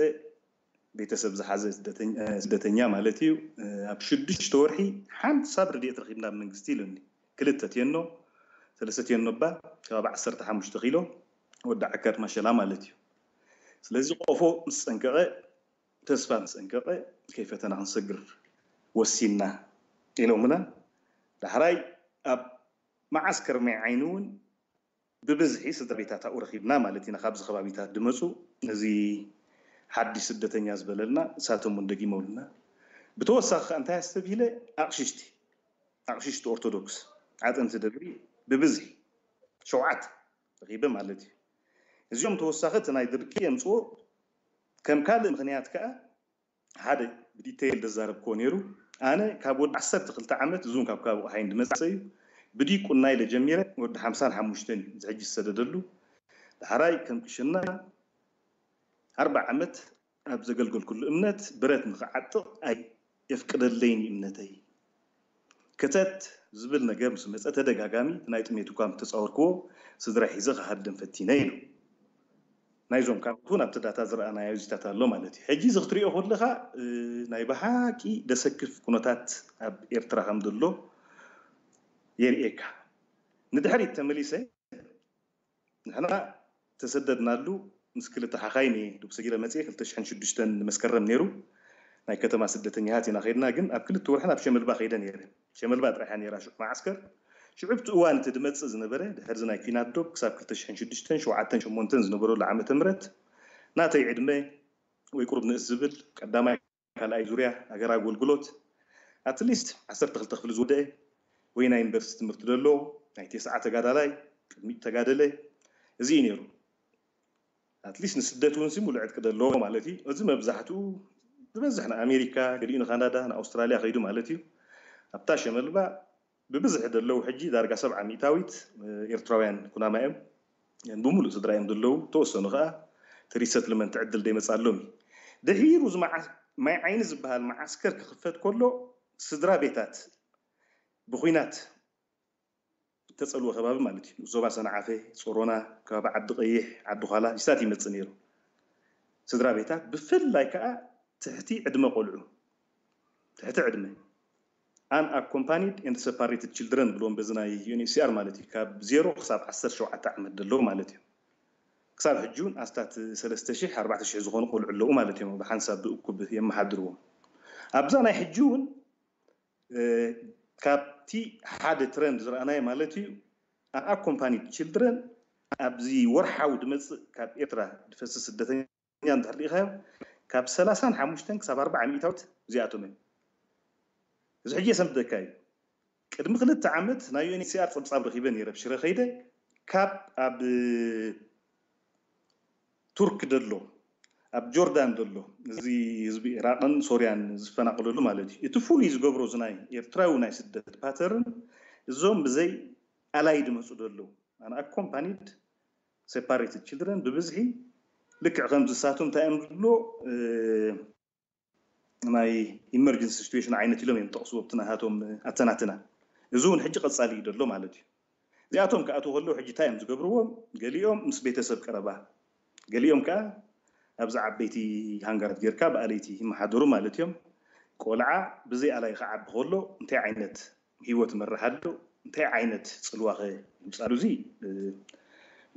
ቤተሰብ ዝሓዘ ስደተኛ ማለት እዩ ኣብ ሽዱሽተ ወርሒ ሓንሳብ ረድኤት ረኺብና ኣብ መንግስቲ ኢሉኒ። ክልተ ቴኖ ሰለስተ ቴኖ እባ ከባቢ ዓሰርተ ሓሙሽተ ኪሎ ወዲ ዓከር ማሸላ ማለት እዩ። ስለዚ ቆፎ ምስ ፀንቀቐ ተስፋ ምስ ፀንቀቐ ከይፈተና ክንሰግር ወሲንና ኢሎምና። ዳሕራይ ኣብ መዓስከር ማይ ዓይኒ እውን ብብዝሒ ስድራ ቤታት ኣብኡ ረኺብና ማለት ኢና። ካብዚ ከባቢታት ዝመፁ እዚ ሓድሽ ስደተኛ ዝበለልና እሳቶም እውን ደጊመውልና። ብተወሳኺ ከኣ እንታይ ኣስተብሂለ? ኣቕሽሽቲ ኣቕሽሽቲ ኦርቶዶክስ ዓጠንቲ ደብሪ ብብዝሒ ሸውዓት ረኺበ ማለት እዩ። እዚኦም ተወሳኺ እቲ ናይ ድርቂ የምፅዎ። ከም ካልእ ምኽንያት ከኣ ሓደ ብዲቴይል ዘዛረብክዎ ነይሩ። ኣነ ካብ ወዲ ዓሰርተ ክልተ ዓመት፣ እዙን ካብ ከባቢ ቆሓይን ዝመፀ እዩ፣ ብዲቁና ኢለ ጀሚረ። ወዲ ሓምሳን ሓሙሽተን እዩ እዚ ሕጂ ዝሰደደሉ። ዳሕራይ ከም ቅሽና ኣርባዓ ዓመት ኣብ ዘገልገልኩሉ እምነት ብረት ንኽዓጥቕ ኣየፍቅደለይን እዩ እምነተይ። ክተት ዝብል ነገር ምስ መፀ ተደጋጋሚ ናይ ጥሜት እኳ ምተፃወርክዎ ስድራ ሒዘ ክሃድም ፈቲነ ኢሉ። ናይዞም ካልኦት እውን ኣብቲ ዳታ ዝረኣናዮ እዚታት ኣሎ ማለት እዩ። ሕጂ እዚ ክትሪኦ ከለኻ ናይ ብሓቂ ደሰክፍ ኩነታት ኣብ ኤርትራ ከም ዘሎ የርእየካ። ንድሕሪት ተመሊሰ ንሕና ተሰደድናሉ ምስ ክልተ ሓኻይም እየ ዱብ ሰጊረ መፅየ። ክልተ ሽሕን ሽዱሽተን መስከረም ነይሩ። ናይ ከተማ ስደተኛታት ኢና ከይድና፣ ግን ኣብ ክልተ ወርሒ ናብ ሸመልባ ከይደ ነይረ። ሸመልባ ጥራሕ እያ ነይራ ሽዑ መዓስከር። ሽዑ ኣብቲ እዋን እቲ ድመፅእ ዝነበረ ድሕርዚ ናይ ኲናት ዶብ ክሳብ ክልተ ሽሕን ሽዱሽተን ሸውዓተን ሸሞንተን ዝነበረሉ ዓመተ ምህረት ናተይ ዕድመ ወይ ቁሩብ ንእስ ዝብል ቀዳማይ ካልኣይ ዙርያ ሃገር ኣገልግሎት ኣትሊስት ዓሰርተ ክልተ ክፍሊ ዝወደአ ወይ ናይ ዩኒቨርሲቲ ትምህርቲ ደሎ ናይ ቴስዓ ተጋዳላይ ቅድሚት ተጋደለ እዚ እዩ ነይሩ። ኣትሊስት ንስደት እውን ሲ ሙሉእ ዕጥቂ ደለዎ ማለት እዩ። እዚ መብዛሕትኡ ዝበዝሕ ንኣሜሪካ፣ ገሊኡ ንካናዳ፣ ንኣውስትራልያ ከይዱ ማለት እዩ። ኣብታ ሸመልባ ብብዝሒ ደለዉ ሕጂ ዳርጋ ሰብዓ ሚእታዊት ኤርትራውያን ኩናማ እዮም። ብሙሉእ ስድራ እዮም ዘለዉ። ተወሰኑ ከዓ እቲ ሪሰትልመንት ዕድል ደይመፅኣሎም እዩ። ድሒሩ እዚ መዓ- ማይ ዓይኒ ዝበሃል መዓስከር ክኽፈት ከሎ ስድራ ቤታት ብኩናት ተፀልወ ከባቢ ማለት እዩ። ዞባ ሰንዓፈ፣ ጾሮና፣ ከባቢ ዓዲ ቀይሕ፣ ዓዲ ዃላ ይሳት ይመፅእ ነይሩ። ስድራ ቤታት ብፍላይ ከዓ ትሕቲ ዕድመ ቆልዑ ትሕቲ ዕድመ unaccompanied and separated children ብሎም በዚ ናይ ዩኤንኤችሲኣር ማለት እዩ። ካብ ዜሮ ክሳብ ዓሰርተ ሸውዓተ ዓመት ደለዉ ማለት እዩ። ክሳብ ሕጂ እውን ኣስታት ሰለስተ ሽሕ ኣርባዕተ ሽሕ ዝኾኑ ቆልዑ ኣለዉ ማለት እዮም። ብሓንሳብ ብእኩብ የመሓድርዎም። ኣብዛ ናይ ሕጂ እውን ካብቲ ሓደ ትረንድ ዝረኣናዮ ማለት እዩ። Unaccompanied children ኣብዚ ወርሓዊ ድመፅእ ካብ ኤርትራ ድፈስስ ስደተኛ እንድሕር ርኢኻዮ ካብ ሰላሳን ሓሙሽተን ክሳብ ኣርባዓ ሚእታዊት እዚኣቶም እዮም። እዚ ሕጂ የሰንብደካ እዩ። ቅድሚ ክልተ ዓመት ናይ ዩኤንኤችሲኣር ፀብፃብ ረኺበ ነይረ ብሽረ ከይደ ካብ ኣብ ቱርክ ደሎ ኣብ ጆርዳን ደሎ እዚ ህዝቢ ኢራቅን ሶርያን ዝፈናቀለሉ ማለት እዩ። እቲ ፍሉይ ዝገብሮ እዚ ናይ ኤርትራዊ ናይ ስደት ፓተርን እዞም ብዘይ ኣላይ ድመፁ ደሎ unaccompanied separated children ብብዝሒ ልክዕ ከም ዝሳቶም እንታይ እዮም ዝብሎ ናይ ኢመርጀንሲ ሲትዌሽን ዓይነት ኢሎም እዮም ጠቕስዎ ኣብቲ ናሃቶም ኣተናትና። እዚ እውን ሕጂ ቀፃሊ እዩ ደሎ ማለት እዩ። እዚኣቶም ክኣትዉ ከለዉ ሕጂ እንታይ እዮም ዝገብርዎም? ገሊኦም ምስ ቤተሰብ ቀረባ፣ ገሊኦም ከዓ ኣብዚ ዓበይቲ ሃንጋራት ጌርካ ብኣለይቲ ይመሓደሩ ማለት እዮም። ቆልዓ ብዘይ ኣላይ ክዓቢ ከሎ እንታይ ዓይነት ህይወት ይመርሓሉ፣ እንታይ ዓይነት ፅልዋኸ ይምፃሉ? እዚ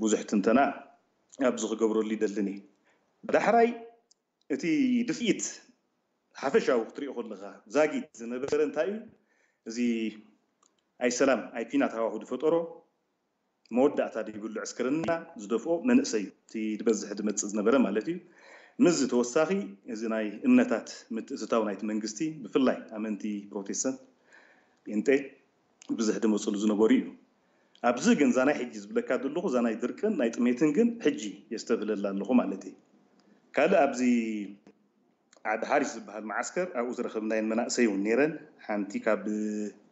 ብዙሕ ትንተና ኣብዚ ክገብረሉ ይደልን እየ። ዳሕራይ እቲ ድፍኢት ሓፈሻዊ ክትሪኦ ከለኻ ዛጊት ዝነበረ እንታይ እዩ? እዚ ኣይ ሰላም ኣይ ኲናት ሃዋሁ ዝፈጠሮ መወዳእታ ዘይብሉ ዕስክርና ዝደፍኦ መንእሰይ እዩ እቲ ዝበዝሕ ዝመፅእ ዝነበረ ማለት እዩ። ምስዚ ተወሳኺ እዚ ናይ እምነታት ምትእትታው ናይቲ መንግስቲ ብፍላይ ኣመንቲ ፕሮቴስታንት ጴንጤ ብዝሕ ድመፅሉ ዝነበሩ እዩ። ኣብዚ ግን እዛ ናይ ሕጂ ዝብለካ ዘለኹ እዛ ናይ ድርቅን ናይ ጥሜትን ግን ሕጂ የስተብህለላ ኣለኹ ማለት እዩ። ካልእ ኣብዚ ዓዲ ሓሪሽ ዝበሃል መዓስከር ኣብኡ ዝረኸብናየን መናእሰይ እውን ነይረን። ሓንቲ ካብ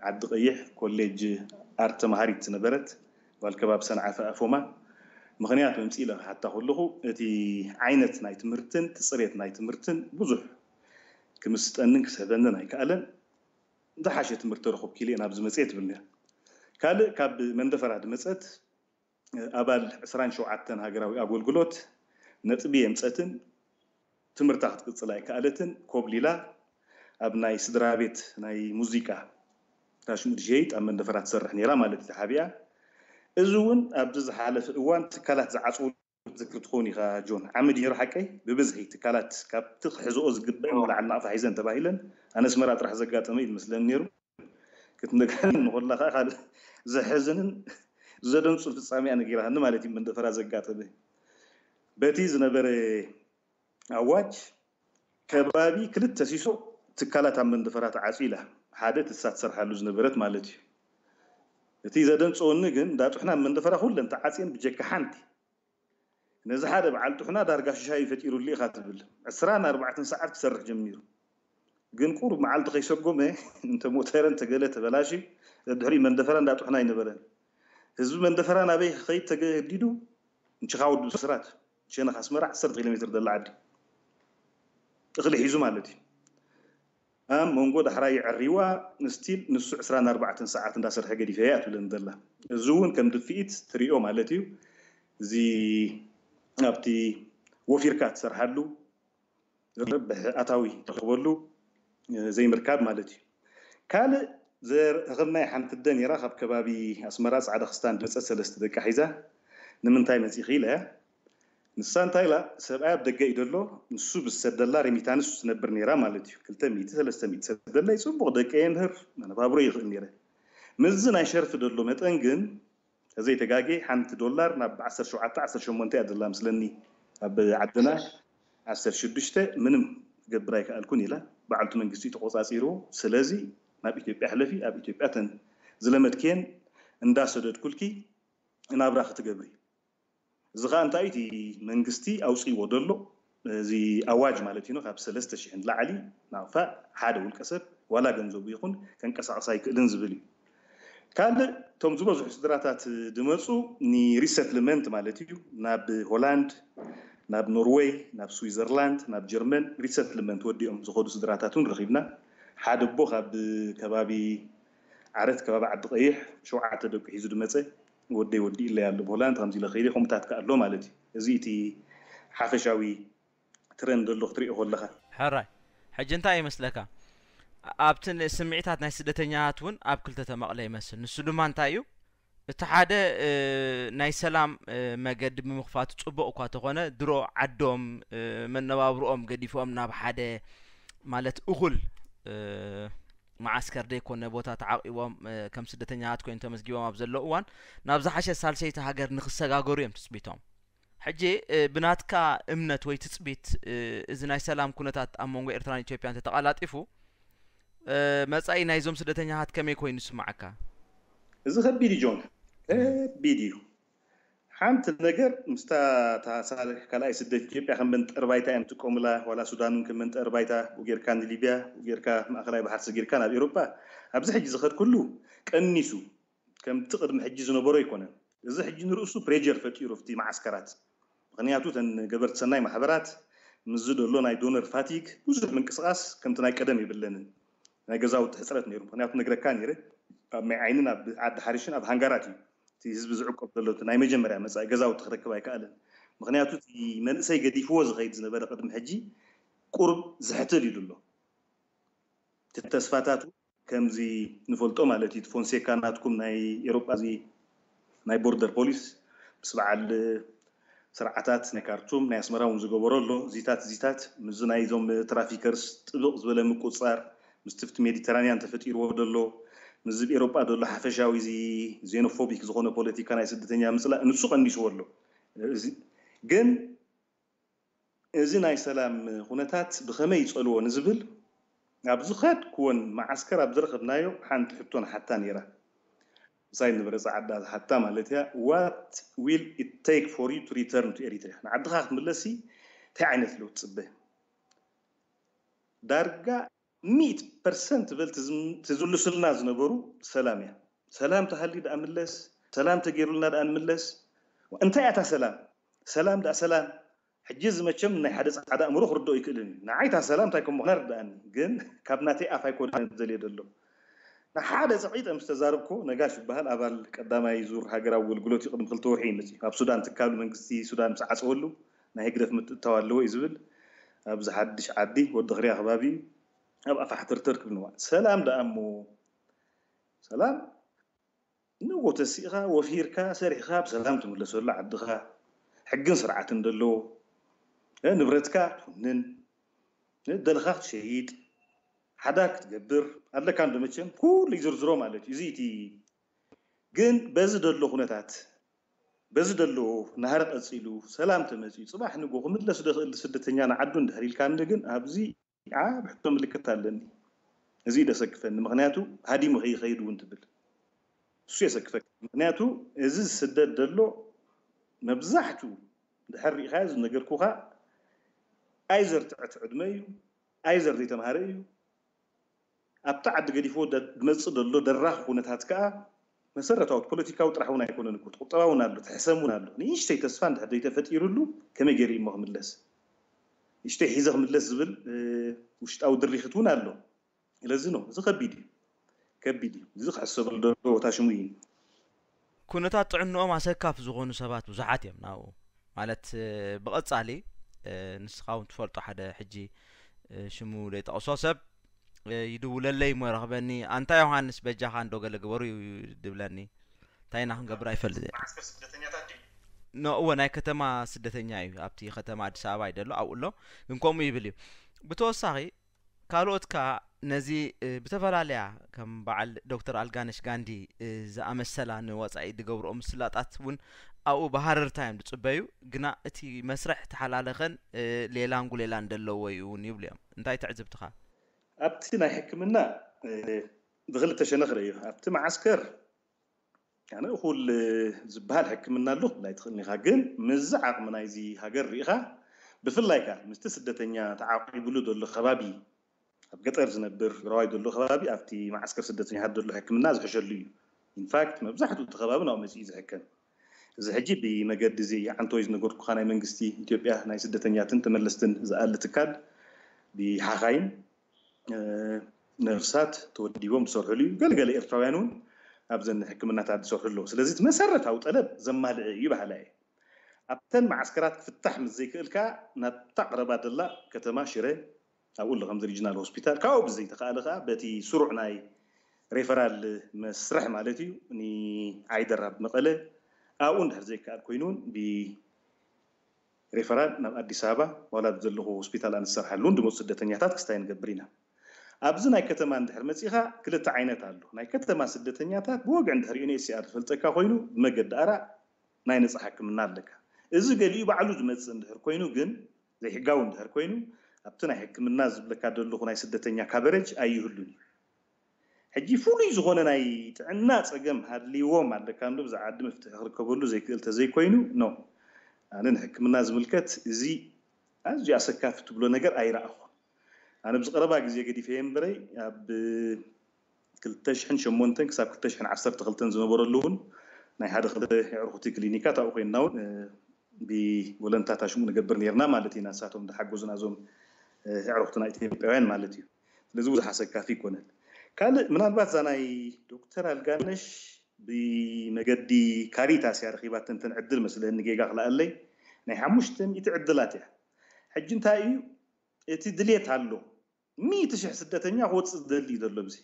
ዓዲ ቀይሕ ኮሌጅ ኣርት ተምሃሪት ዝነበረት ጓል ከባቢ ሰንዓፈ ኣፎማ ምኽንያት መምፅእ ኢለ ክሓታ ከለኹ እቲ ዓይነት ናይ ትምህርትን እቲ ፅሬት ናይ ትምህርትን ብዙሕ ክምስጠንን ክስሕበንን ኣይከኣለን። ዝሓሸ ትምህርቲ ረኹብ ኪልኤ ናብዚ መፅኤ ትብል ነራ። ካልእ ካብ መንደፈራ ድመፀት ኣባል ዕስራን ሸውዓተን ሃገራዊ ኣገልግሎት ነጥቢ የምፀትን ትምህርታ ክትቅፅል ኣይከኣለትን ኮብሊላ ኣብ ናይ ስድራ ቤት ናይ ሙዚቃ ታሽሙድ ሸይጥ ኣብ መንደፈራ ትሰርሕ ነራ ማለት እዩ ተሓቢኣ። እዚ እውን ኣብዚ ዝሓለፈ እዋን ትካላት ዝዓፅው ትዝክር ትኸውን ኢኻ ጆን። ዓሚ ድዩ ነይሩ ሓቀይ? ብብዝሒ ትካላት ካብቲ ክሕዝኦ ዝግበአን ንላዕሊ ናቕፋ ሒዘን ተባሂለን ኣነ ኣስመራ ጥራሕ ዘጋጠመ እዩ ዝመስለኒ ነይሩ። ክትነግረኒ ከላ ከዓ ካልእ ዘሕዝንን ዘደንጹን ፍጻሜ እያ ነጊራትኒ ማለት እዩ። መንደፈራ ዘጋጠመ በቲ ዝነበረ ኣዋጅ ከባቢ ክልተ ሲሶ ትካላት ኣብ መንደፈራ ተዓፅዩ ኢላ። ሓደ ትሳ ትሰርሓሉ ዝነበረት ማለት እዩ። እቲ ዘደንፀወኒ ግን እንዳ ጥሕና ኣብ መንደፈራ ኩለን ተዓፅየን ብጀካ ሓንቲ። ነዚ ሓደ በዓል ጥሕና ዳርጋ ሽሻይ ፈጢሩሉ ኢኻ ትብል። ዕስራን ኣርባዕተን ሰዓት ክሰርሕ ጀሚሩ። ግን ቁሩብ መዓልቲ ከይሰጎመ እንተ ሞተረ እንተ ገለ ተበላሽዩ፣ ድሕሪኡ መንደፈራ እንዳ ጥሕና ኣይነበረን። ህዝቢ መንደፈራ ናበይ ክኸይድ ተገዲዱ? ንችኻ ወዲ ብስራት፣ ሸነኽ ኣስመራ ዓሰርተ ኪሎ ሜትር ዘላ ዓዲ እኽሊ ሒዙ ማለት እዩ። ኣብ መንጎ ዳሕራይ የዕሪዋ፣ ስቲል ንሱ ዕስራን ኣርባዕተን ሰዓት እንዳሰርሐ ገዲፈያ እያ ትብለኒ ዘላ። እዚ እውን ከም ድፍኢት ትሪኦ ማለት እዩ። እዚ ኣብቲ ወፊርካ ትሰርሓሉ፣ ዝረብሕ ኣታዊ ትረኽበሉ፣ እ፣ ዘይምርካብ ማለት እዩ። ካልእ ዘረኸብናይ ሓንቲ ኣደ ነይራ፣ ካብ ከባቢ ኣስመራ ጻዕዳ ክስታን ድመጸት ሰለስተ ደቃ ሒዛ። "ንምንታይ መጺኺ?" ኢለያ። ንሳ እንታይ ኢላ፣ "ሰብኣይ ኣብ ደገ እዩ ደሎ፣ ንሱ ብዝሰደላ ሬሚታንስ ትነብር ነይራ ማለት እዩ። ክልተ ሚእቲ፣ ሰለስተ ሚእቲ ሰደለይ፣ ጽቡቕ ደቀ የምህር፣ መነባብሮ ይኽእል ነይረ። ምስዚ ናይ ሸርፊ ደሎ መጠን ግን፣ ተዘይተጋጌ ሓንቲ ዶላር ናብ ዓሰርተ ሸውዓተ፣ ዓሰርተ ሸሞንተ እያ ዘላ ምስለኒ፣ ኣብ ዓድና ዓሰርተ ሽዱሽተ፣ ምንም ክገብር ኣይከኣልኩን" ኢላ። በዓልቱ መንግስቲ ተቆጻጺርዎ። "ስለዚ ናብ ኢትዮጵያ ሕለፊ፣ ኣብ ኢትዮጵያ ተን ዝለመድክየን እንዳሰደድኩልኪ ናብራ ክትገብሪ። እዚ ኸኣ እንታይ እቲ መንግስቲ ኣውጺእዎ ዘሎ፣ እዚ ኣዋጅ ማለት እዩ፣ ካብ ሰለስተ ሽሕ ንላዕሊ ናቕፋ ሓደ ውልቀ ሰብ ዋላ ገንዘቡ ይኹን ከንቀሳቕስ ኣይክእልን ዝብል እዩ። ካልእ፣ እቶም ዝበዝሑ ስድራታት ድመጹ ንሪሰትልመንት ማለት እዩ፣ ናብ ሆላንድ፣ ናብ ኖርወይ፣ ናብ ስዊዘርላንድ፣ ናብ ጀርመን ሪሰትልመንት ወዲኦም ዝኸዱ ስድራታት እውን ረኺብና። ሓደ ኣቦ ካብ ከባቢ ዓረት፣ ከባቢ ዓዲ ቀይሕ፣ ሸውዓተ ደቁ ሒዙ ድመጸ፣ "ወደይ ወዲእለይ ኣሎ ብሆላንድ፣ ከምዚ ኢለ ከይደ" ከምኡታት ከኣ ኣሎ ማለት እዩ። እዚ እቲ ሓፈሻዊ ትረንድ ኣሎ ክትሪኦ ከለኻ። ሕራይ። ሕጂ እንታይ ይመስለካ? ኣብቲ ን-፣ ስምዒታት ናይ ስደተኛታት እውን ኣብ ክልተ ተመቕለ ይመስል። ንሱ ድማ እንታይ እዩ? እቲ ሓደ፣ እ፣ ናይ ሰላም፣ እ፣ መገዲ ብምኽፋቱ ጽቡቕ እኳ ተኾነ፣ ድሮ ዓዶም፣ እ፣ መነባብሮኦም ገዲፎም ናብ ሓደ ማለት እኹል፣ እ፣ መዓስከር ዘይኮነ ቦታ ተዓቂቦም፣ እ፣ ከም ስደተኛታት ኮይኖም ተመዝጊቦም ኣብ ዘለዉ እዋን፣ ናብ ዝሓሸ ሳልሰይቲ ሃገር ንኽሰጋገሩ እዮም ትጽቢቶም። ሕጂ፣ እ፣ ብናትካ እምነት ወይ ትጽቢት፣ እ፣ እዚ ናይ ሰላም ኩነታት ኣብ መንጎ ኤርትራን ኢትዮጵያን ተተቐላጢፉ፣ እ፣ መጻኢ ናይዞም ስደተኛታት ከመይ ኮይኑ ይስምዓካ? እዚ ከቢድ እዩ ጆን፣ ከቢድ እዩ። ሓንቲ ነገር ምስታ እታ ሳልሕ ካልኣይ ስደት ኢትዮጵያ ከም መንጠር ባይታ እዮም ጥቀሙላ፣ ዋላ ሱዳን እውን ከም መንጠር ባይታ፣ ብኡ ጌርካ ንሊብያ፣ ብኡ ጌርካ ማእከላይ ባሕሪ ሰጊርካ ናብ ኤውሮጳ። ኣብዚ ሕጂ ዝኸድኩሉ ቀኒሱ፣ ከምቲ ቅድሚ ሕጂ ዝነበሮ ኣይኮነን። እዚ ሕጂ ንርእሱ ፕሬጀር ፈጢሩ ኣብቲ መዓስከራት። ምኽንያቱ እተን ገበርቲ ሰናይ ማሕበራት ምስዚ ዘሎ ናይ ዶነር ፋቲግ ብዙሕ ምንቅስቓስ ከምቲ ናይ ቀደም የብለንን። ናይ ገዛውቲ ሕፅረት ነይሩ። ምኽንያቱ ነግረካ ነይረ፣ ኣብ ማይ ዓይንን ኣብ ዓዲ ሓሪሽን ኣብ ሃንጋራት እዩ እቲ ህዝቢ ዝዕቆብ ዘሎ። እቲ ናይ መጀመርያ መጻኢ ገዛውቲ ክረክብ ኣይከኣለን። ምኽንያቱ እቲ መንእሰይ ገዲፍዎ ዝኸይድ ዝነበረ ቅድሚ ሕጂ ቁሩብ ዝሕትል ኢሉ ኣሎ። እቲ ተስፋታቱ ከምዚ ንፈልጦ ማለት እዩ፣ እቲ ፎንሴካ ናትኩም ናይ ኤሮጳ እዚ ናይ ቦርደር ፖሊስ ምስ በዓል ስርዓታት ናይ ካርቱም ናይ ኣስመራ እውን ዝገበሮ ኣሎ። እዚታት እዚታት ምስዚ ናይዞም ትራፊከርስ ጥብቕ ዝበለ ምቁፅፃር ምስቲ ኣብቲ ሜዲተራንያን ተፈጢርዎ ዘሎ ምስዚ ኣብ ኤሮጳ ዘሎ ሓፈሻዊ እዚ ዜኖፎቢክ ዝኾነ ፖለቲካ ናይ ስደተኛ ምፅላእ ንሱ ቀኒስዎ ኣሎ። እዚ ግን እዚ ናይ ሰላም ኩነታት ብኸመይ ይጸልዎ ንዝብል፣ ኣብ ዝኸድክወን መዓስከር ኣብ ዝረኸብናዮ ሓንቲ ሕቶ ንሓታ ነይራ። ምሳይ ዝነበረ ጸዓዳ ዝሓታ ማለት እያ፣ "What will it take for you to return to Eritrea?" ንዓድኻ ክትምለስሲ እንታይ ዓይነት ለውጢ ትጽበ? ዳርጋ ሚእቲ ፐርሰንት በል ትዝም-፣ ትዝልሱልና ዝነበሩ ሰላም እያ። "ሰላም ተሃልዩ ደኣ ምለስ፣ ሰላም ተገይሩልና ደኣ ንምለስ?" እንታይ እያ እታ ሰላም? ሰላም ደኣ ሰላም። ሕጂ እዚ መቸም ናይ ሓደ ጻዕዳ ኣእምሮ ክርድኦ ኣይክእልን እዩ። ንዓይ እታ ሰላም እንታይ ከም ምዃና ይርድኣኒ፣ ግን ካብ ናተይ ኣፍ ኣይኮነን ዝደልዮ ዘሎ። ንሓደ ጸቒጠ ምስ ተዛረብኩ፣ ነጋሽ ይበሃል፣ ኣባል ቀዳማይ ዙር ሃገራዊ ኣገልግሎት እዩ፣ ቅድሚ ክልተ ወርሒ እዩ መጺኡ። ኣብ ሱዳን ትካሉ መንግስቲ ሱዳን ምስ ዓጸወሉ፣ ናይ ህግደፍ ምትእትታው ኣለዎ እዩ ዝብል። ኣብዚ ሓድሽ ዓዲ፣ ወዲ ክርያ ከባቢ እዩ። ኣብ ኣፋሕተርተር ክብል ንዋ። ሰላም ደኣ እሞ፣ ሰላም ንጎ ተሲእኻ፣ ወፊርካ፣ ሰሪሕኻ፣ ብሰላም ትምለሰሉ ዓድኻ፣ ሕግን ስርዓትን ደለዎ፣ እ፣ ንብረትካ ትውንን፣ እ፣ ደልኻ ክትሸይጥ፣ ሓዳር ክትገብር ኣለካ እንዶ መቸም፣ ኩሉ ይዝርዝሮ ማለት እዩ። እዚ እቲ ግን በዚ ደሎ ኩነታት በዚ ዘሎ ናህሪ ቀፂሉ ሰላም ተመፂኡ ፅባሕ ንጎ ክምለስ ደኽእል ስደተኛ ንዓዱ እንድሕር ኢልካኒ ግን ኣብዚ ዓብ ሕቶ ምልክት ኣለኒ። እዚ ደሰክፈኒ ምክንያቱ ሃዲሙ ከይኸይድ እውን ትብል እሱ የሰክፈክ ምክንያቱ እዚ ዝስደድ ዘሎ መብዛሕቱ ድሕር ርኢኻዮ ዝነገርኩኻ ኣይዘር ትዕት ዕድመ እዩ ኣይዘር ዘይተምሃረ እዩ ኣብቲ ዓዲ ገዲፍዎ ዝመፅእ ዘሎ ደራኺ ኩነታት ከዓ መሰረታዊ ፖለቲካዊ ጥራሕ እውን ኣይኮነን እኮ ትቁጠባ እውን ኣሎ ትሕሰም እውን ኣሎ ንእሽተይ ተስፋ እንድሕር ዘይተፈጢሩሉ ከመይ ገይሩ እሞ ክምለስ ንእሽተይ ሒዘ ክምለስ ዝብል ውሽጣዊ ድሪኽት እውን ኣሎ ስለዚ ነው እዚ ከቢድ እዩ ከቢድ እዩ እዚ ክሕሰበሉ ዘለዎ ቦታ ሽሙ እዩ ኩነታት ጥዕንኦም ኣሰካፊ ዝኾኑ ሰባት ብዙሓት እዮም ናብኡ ማለት ብቐጻሊ ንስኻ እውን ትፈልጦ ሓደ ሕጂ ሽሙ ዘይጠቕሶ ሰብ ይድውለለይ እሞ ይረኽበኒ ኣንታ ዮሃንስ በጃኻ እንዶ ገለ ግበሩ እዩ ድብለኒ እንታይ ኢና ክንገብር ኣይፈልጥ እወ ናይ ከተማ ስደተኛ እዩ ኣብቲ ከተማ ኣዲስ ኣበባ ይደሎ ኣብኡ ኣሎ ግን ከምኡ ይብል እዩ ብተወሳኺ ካልኦት ከኣ ነዚ ብተፈላለያ ከም በዓል ዶክተር ኣልጋነሽ ጋንዲ ዝኣመሰላ ንወጻኢ ዝገብርኦ ምስላጣት እውን ኣብኡ ብሃረርታ እዮም ዝጽበዩ ግና እቲ መስርሕ ተሓላለኸን ሌላን ጉሌላን ዘለዎ እዩ እውን ይብሉ እዮም እንታይ ትዕዝብትኻ ኣብቲ ናይ ሕክምና ብክልተ ሸነኽ ርእዮ ኣብቲ መዓስከር ኣነ እኹል ዝበሃል ሕክምና ኣሎ ክብል ኣይትኽእልን ኢኻ ግን ምዚ ዓቕሚ ናይዚ ሃገር ርኢኻ ብፍላይ ከ ምስቲ ስደተኛ ተዓቂብሉ ዘሎ ከባቢ ኣብ ገጠር ዝነብር ትግራዋይ ዘሎ ከባቢ ኣብቲ መዓስከር ስደተኛታት ዘሎ ሕክምና ዝሕሸሉ እዩ ኢንፋክት መብዛሕትኡ እቲ ከባቢ ናብኡ መፂኡ ዝሕከም እዚ ሕጂ ብመገዲ እዚ ዓንተወይ ዝነገርኩኻ ናይ መንግስቲ ኢትዮጵያ ናይ ስደተኛትን ተመለስትን ዝኣሊ ትካል ብሓኻይም ነርሳት ተወዲቦም ዝሰርሕሉ እዩ ገለገለ ኤርትራውያን እውን ኣብዘን ሕክምናታት ዝሰርሑ ኣለዉ ስለዚ እቲ መሰረታዊ ጠለብ ዘማልዐ እዩ በሃላ እየ ኣብተን መዓስከራት ክፍታሕ ምስ ዘይክእል ከዓ ናብታ ቀረባ ደላ ከተማ ሽረ ኣብኡ ኣሎ ከምዚ ሪጅናል ሆስፒታል ካብኡ ብዘይተኻእለ ከዓ በቲ ስሩዕ ናይ ሬፈራል መስርሕ ማለት እዩ ንዓይደር ኣብ መቐለ ኣብኡ እንድሕር ዘይከኣል ኮይኑ እውን ብ ሬፈራል ናብ ኣዲስ ኣበባ ዋላ ዘለኹ ሆስፒታል ኣንሰርሓሉ እውን ድመፁ ስደተኛታት ክስታይ ንገብር ኢና ኣብዚ ናይ ከተማ እንድሕር መፂኻ ክልተ ዓይነት ኣሎ ናይ ከተማ ስደተኛታት ብወግዒ እንድሕር ዩኤንኤችሲኣር ዝፈልጠካ ኮይኑ ብመገዲ ኣራ ናይ ነፃ ሕክምና ኣለካ እዚ ገሊኡ ባዕሉ ዝመፅእ እንድሕር ኮይኑ ግን ዘይሕጋዊ እንድሕር ኮይኑ ኣብቲ ናይ ሕክምና ዝብለካ ዘለኹ ናይ ስደተኛ ካቨሬጅ ኣይህሉን እዩ ሕጂ ፍሉይ ዝኾነ ናይ ጥዕና ፀገም ሃልይዎም ኣለካ እንዶ ብዛ ዓዲ መፍትሒ ክርከበሉ ዘይክእል ተዘይኮይኑ ኖ ኣነ ንሕክምና ዝምልከት እዚ ኣዝዩ ኣሰካፊ ትብሎ ነገር ኣይረኣኹን ኣነ ብዝቀረባ ግዜ ገዲፈየ እምበረይ ኣብ ክልተ ሽሕን ሸሞንተን ክሳብ ክልተ ሽሕን ዓሰርተ ክልተን ዝነበረሉ እውን ናይ ሓደ ክልተ የዕርኹቲ ክሊኒካት ኣብኡ ኮይንና እውን ብወለንታታ ሽሙ ንገብር ነርና ማለት ኢና ንሳቶም ዝሓገዙና እዞም ኣዕሩኽትና ኢትዮጵያውያን ማለት እዩ ስለዚ ብዙሕ ኣሰካፊ ይኮነን ካልእ ምናልባት እዛ ናይ ዶክተር ኣልጋነሽ ብመገዲ ካሪታስ እያ ረኪባተን ተን ዕድል መስለኒ ጌጋ ክልኣለይ ናይ ሓሙሽተ ሚእቲ ዕድላት እያ ሕጂ እንታይ እዩ እቲ ድሌት ኣሎ ሚእቲ ሽሕ ስደተኛ ክወፅእ ዝደሊ እዩ ዘሎ ብዚ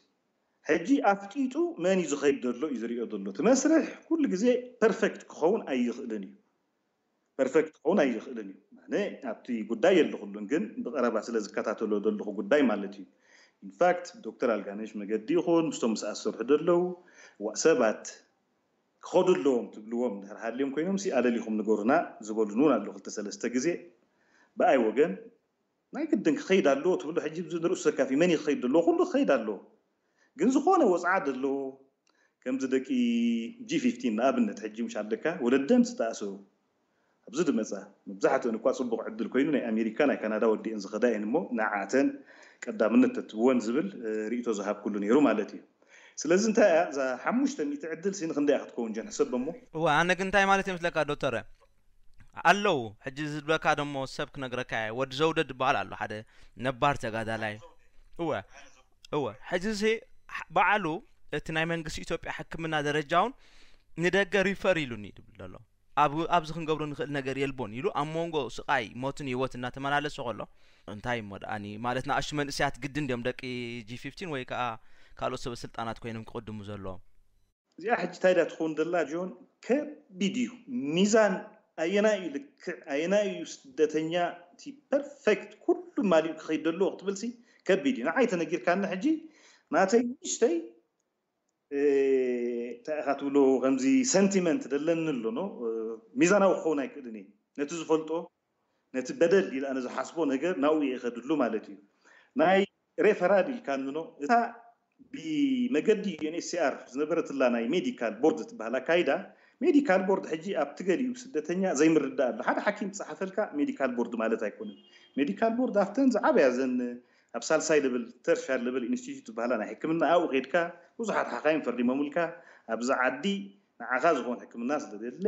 ሕጂ ኣፍጢጡ መን እዩ ዝኸይድ ዘሎ እዩ ዝሪኦ ዘሎ እቲ መስርሕ ኩሉ ግዜ ፐርፌክት ክኸውን ኣይኽእልን እዩ ፐርፌክት ክኸውን ኣይኽእልን እዩ ኣነ ኣብቲ ጉዳይ የለኹሉን ግን ብቀረባ ስለ ዝከታተሎ ዘለኹ ጉዳይ ማለት እዩ ኢንፋክት ዶክተር ኣልጋነሽ መገዲ ይኹን ምስቶም ምስኣ ዝሰርሑ ዘለዉ ሰባት ክኸዱ ኣለዎም ትብልዎም ድሕር ሃልዮም ኮይኖም ሲ ኣለሊኹም ንገሩና ዝበሉን እውን ኣለዉ ክልተ ሰለስተ ግዜ ብኣይ ወገን ናይ ግድን ክኸይድ ኣለዎ ትብሎ ሕጂ ንርእሱ ዘካፊ መን ክኸይድ ኣለዎ ኩሉ ክኸይድ ኣለዎ ግን ዝኾነ ወፅዓ ዘለዎ ከምዚ ደቂ ጂ ፊፍቲን ንኣብነት ሕጂ ምሽ ኣለካ ወለደም ዝተኣሰሩ ኣብዚ ዝመፃ መብዛሕትአን እኳ ፅቡቕ ዕድል ኮይኑ ናይ ኣሜሪካ ናይ ካናዳ ወዲአን ዝኸዳ እየን እሞ ንዓተን ቀዳምነት ተትብወን ዝብል ርእቶ ዝሃብኩሉ ነይሩ ማለት እዩ ስለዚ እንታይ እያ እዛ ሓሙሽተ ሚእቲ ዕድል ሲ ንክንደይ ክትከውን ጀን ሕሰብ እሞ እወ ኣነ ግን እንታይ ማለት እዮም ስለካ ዶክተር ኣለዉ ሕጂ ዝብለካ ደሞ ሰብ ክነግረካ እየ ወዲ ዘውደ ዝበሃል ኣሎ ሓደ ነባር ተጋዳላይ እወ እወ ሕጂ ሲ በዓሉ እቲ ናይ መንግስቲ ኢትዮጵያ ሕክምና ደረጃውን ንደገ ሪፈር ኢሉኒ ይብል ዘሎ ኣብዚ ክንገብሮ ንኽእል ነገር የልቦን ኢሉ ኣብ መንጎ ስቓይ ሞትን ህይወት እናተመላለሰ ከሎ እንታይ እሞ ደኣኒ ማለት ንኣሽቱ መንእሰያት ግድን ድዮም ደቂ ጂ ፊፍቲን ወይ ከዓ ካልኦት ሰበ ስልጣናት ኮይኖም ክቕድሙ ዘለዎም እዚኣ ሕጂ እንታይ ዳ ትኸውን ደላ ጆን ከቢድ እዩ ሚዛን ኣየናይ እዩ ልክዕ ኣየናይ እዩ ስደተኛ እቲ ፐርፌክት ኩሉ ማሊኡ ክኸይድ ዘለዎ ክትብል ሲ ከቢድ እዩ ንዓይ ተነጊርካኒ ሕጂ ናተይ ንእሽተይ እንታይ ኢኻ ትብሎ ከምዚ ሰንቲመንት ደለኒ ኣሎ ኖ ሚዛናዊ ክኸውን ኣይክእልን እዩ። ነቲ ዝፈልጦ፣ ነቲ በደል ኢለ ኣነ ዝሓስቦ ነገር ናብኡ እየ እኸድሉ ማለት እዩ። ናይ ሬፈራል ኢልካ እንኖ እታ ብመገዲ ዩ ኤን ኤች ሲ ኣር ዝነበረትላ ናይ ሜዲካል ቦርድ ትበሃል ኣካይዳ፣ ሜዲካል ቦርድ ሕጂ ኣብቲ ገሊኡ ስደተኛ ዘይምርዳእ ኣሎ። ሓደ ሓኪም ዝፀሓፈልካ ሜዲካል ቦርድ ማለት ኣይኮነን። ሜዲካል ቦርድ ኣብተን ዝዓበያ ዘን ኣብ ሳልሳይ ለብል ተርሻር ለብል ኢንስቲትዩት ዝበሃላ ናይ ሕክምና ኣብኡ ከድካ ብዙሓት ሓኻይም ፈሪሞምልካ ኣብዚ ዓዲ ንዓኻ ዝኾን ሕክምና ስለዘለ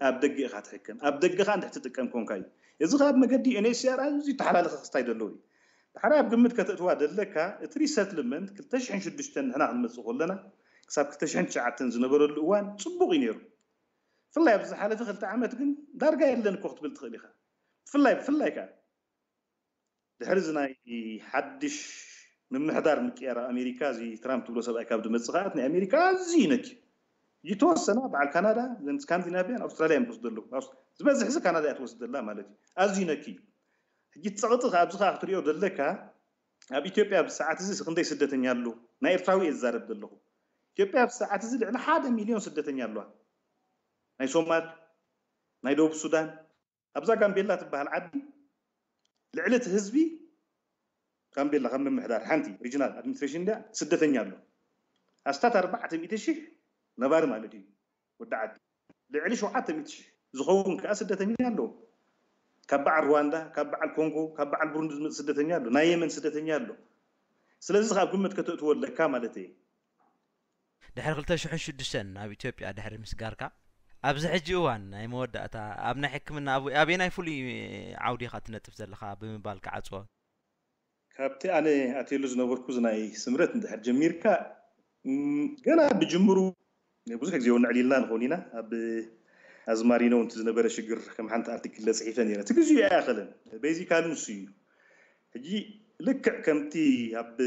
ኣብ ደገ ኢኻ ትሕከም። ኣብ ደገኻ እንድሕር ትጥቀም ኮንካ እዩ። እዚ ካብ መገዲ ኤን ኤች ሲ ኣር ኣዝዩ ተሓላለኸ ክስታይ ዘለዎ እዩ። ድሓር ኣብ ግምት ከተእትዋ ደለካ እቲ ሪሰትልመንት ክልተ ሽሕን ሽዱሽተን ንሕና ክንመፅእ ከለና ክሳብ ክልተ ሽሕን ትሽዓተን ዝነበረሉ እዋን ፅቡቕ እዩ ነይሩ። ብፍላይ ኣብዚ ዝሓለፈ ክልተ ዓመት ግን ዳርጋ የለን እኮ ክትብል ትኽእል ኢኻ። ብፍላይ ብፍላይ ከዓ ድሕሪ እዚ ናይ ሓድሽ ምምሕዳር ምቅያር ኣብ ኣሜሪካ እዚ ትራምፕ ትብሎ ሰብኣይ ካብ ዝመፅእ ከኣ ናይ ኣሜሪካ ኣዝዩ ይነኪ። ዝተወሰና በዓል ካናዳ፣ ዘን ስካንዲናቪያን፣ ኣውስትራልያ እዮም ዝወስዱ ኣለዉ። ኣውስ-፣ ዝበዝሕ እዚ ካናዳ እያ ትወስድ ዘላ ማለት እዩ። ኣዝዩ ይነኪ እዩ። ሕጂ እቲ ፀቕጢ ከኣ ኣብዚ ከኣ ክትሪኦ ዘለካ ኣብ ኢትዮጵያ ኣብዚ ሰዓት እዚ ክንደይ ስደተኛ ኣሎ? ናይ ኤርትራዊ እየ ዝዛረብ ዘለኹ። ኢትዮጵያ ኣብዚ ሰዓት እዚ ልዕሊ ሓደ ሚልዮን ስደተኛ ኣለዋ። ናይ ሶማል፣ ናይ ደቡብ ሱዳን፣ ኣብዛ ጋምቤላ ትበሃል ዓዲ ልዕሊ እቲ ህዝቢ ጋምቤላ ካብ ምምሕዳር ሓንቲ ሪጅናል ኣድሚኒስትሬሽን እንድያ ስደተኛ ኣሎ። ኣስታት ኣርባዕተ ሚእቲ ሺሕ ነባሪ ማለት እዩ ወዲ ዓዲ። ልዕሊ ሸውዓተ ሚእቲ ሺሕ ዝኸውን ከዓ ስደተኛ ኣሎ። ካብ በዓል ሩዋንዳ፣ ካብ በዓል ኮንጎ፣ ካብ በዓል ብሩንዲ ዝመፅእ ስደተኛ ኣሎ። ናይ የመን ስደተኛ ኣሎ። ስለዚ ካብ ግምት ከተእትዎ ኣለካ ማለት እየ። ድሕሪ ክልተ ሽሕን ሽዱሽተን ናብ ኢትዮጵያ ድሕሪ ምስጋርካ፣ ኣብዚ ሕጂ እዋን ናይ መወዳእታ ኣብ ናይ ሕክምና ኣብ-፣ ኣበየናይ ፍሉይ ዓውዲ ኢኻ ትነጥፍ ዘለኻ ብምባል ክዓጽዎ? ካብቲ ኣነ ኣትየሉ ዝነበርኩ እዚ ናይ ስምረት እንድሕር ጀሚርካ፣ እም፣ ገና ብጅምሩ ብዙሕ ግዜ እውን ነዕሊልና ንኸውን ኢና። ኣብ ኣዝማሪኖ እንት ዝነበረ ሽግር ከም ሓንቲ ኣርቲክል ለጽሒፈ ነይረ። እቲ ግዜኡ ኣይኣኸለን። ቤዚካሊ ንሱ እዩ። ሕጂ ልክዕ ከምቲ ኣብ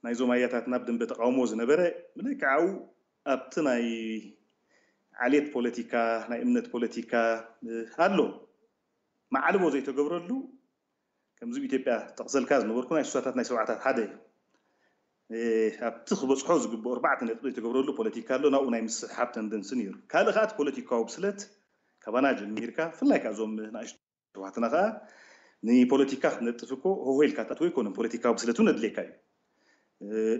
ናይዞም ኣያታትና ኣብ ደንበ ተቃውሞ ዝነበረ፣ ልክዕ ኣብኡ ኣብቲ ናይ ዓሌት ፖለቲካ፣ ናይ እምነት ፖለቲካ፣ እ፣ ኣሎ። ማዕልቦ ዘይተገብረሉ፣ ከምዚ ኣብ ኢትዮጵያ ጠቕሰልካ ዝነበርኩ ናይ ስሳታት ናይ ሰብዓታት ሓደ እዩ። እ፣ ኣብቲ ክበጽሖ ዝግብኦ ኣርባዕተ ነጥቢ ዘይተገብረሉ ፖለቲካ ኣሎ፣ ናብኡ ናይ ምስሕሓብ ተንደንሲ ነይሩ። ካልእ ከኣ እቲ ፖለቲካዊ ብስለት ካባና ጀሚርካ፣ ብፍላይ ከኣ እዞም ንኣሽቱ ኣሕዋትና ከኣ ንፖለቲካ ክትነጥፍ እኮ ሆሆ ኢልካ ትኣትዎ ኣይኮነን። ፖለቲካዊ ብስለት እውን ኣድልየካ እዩ። እ፣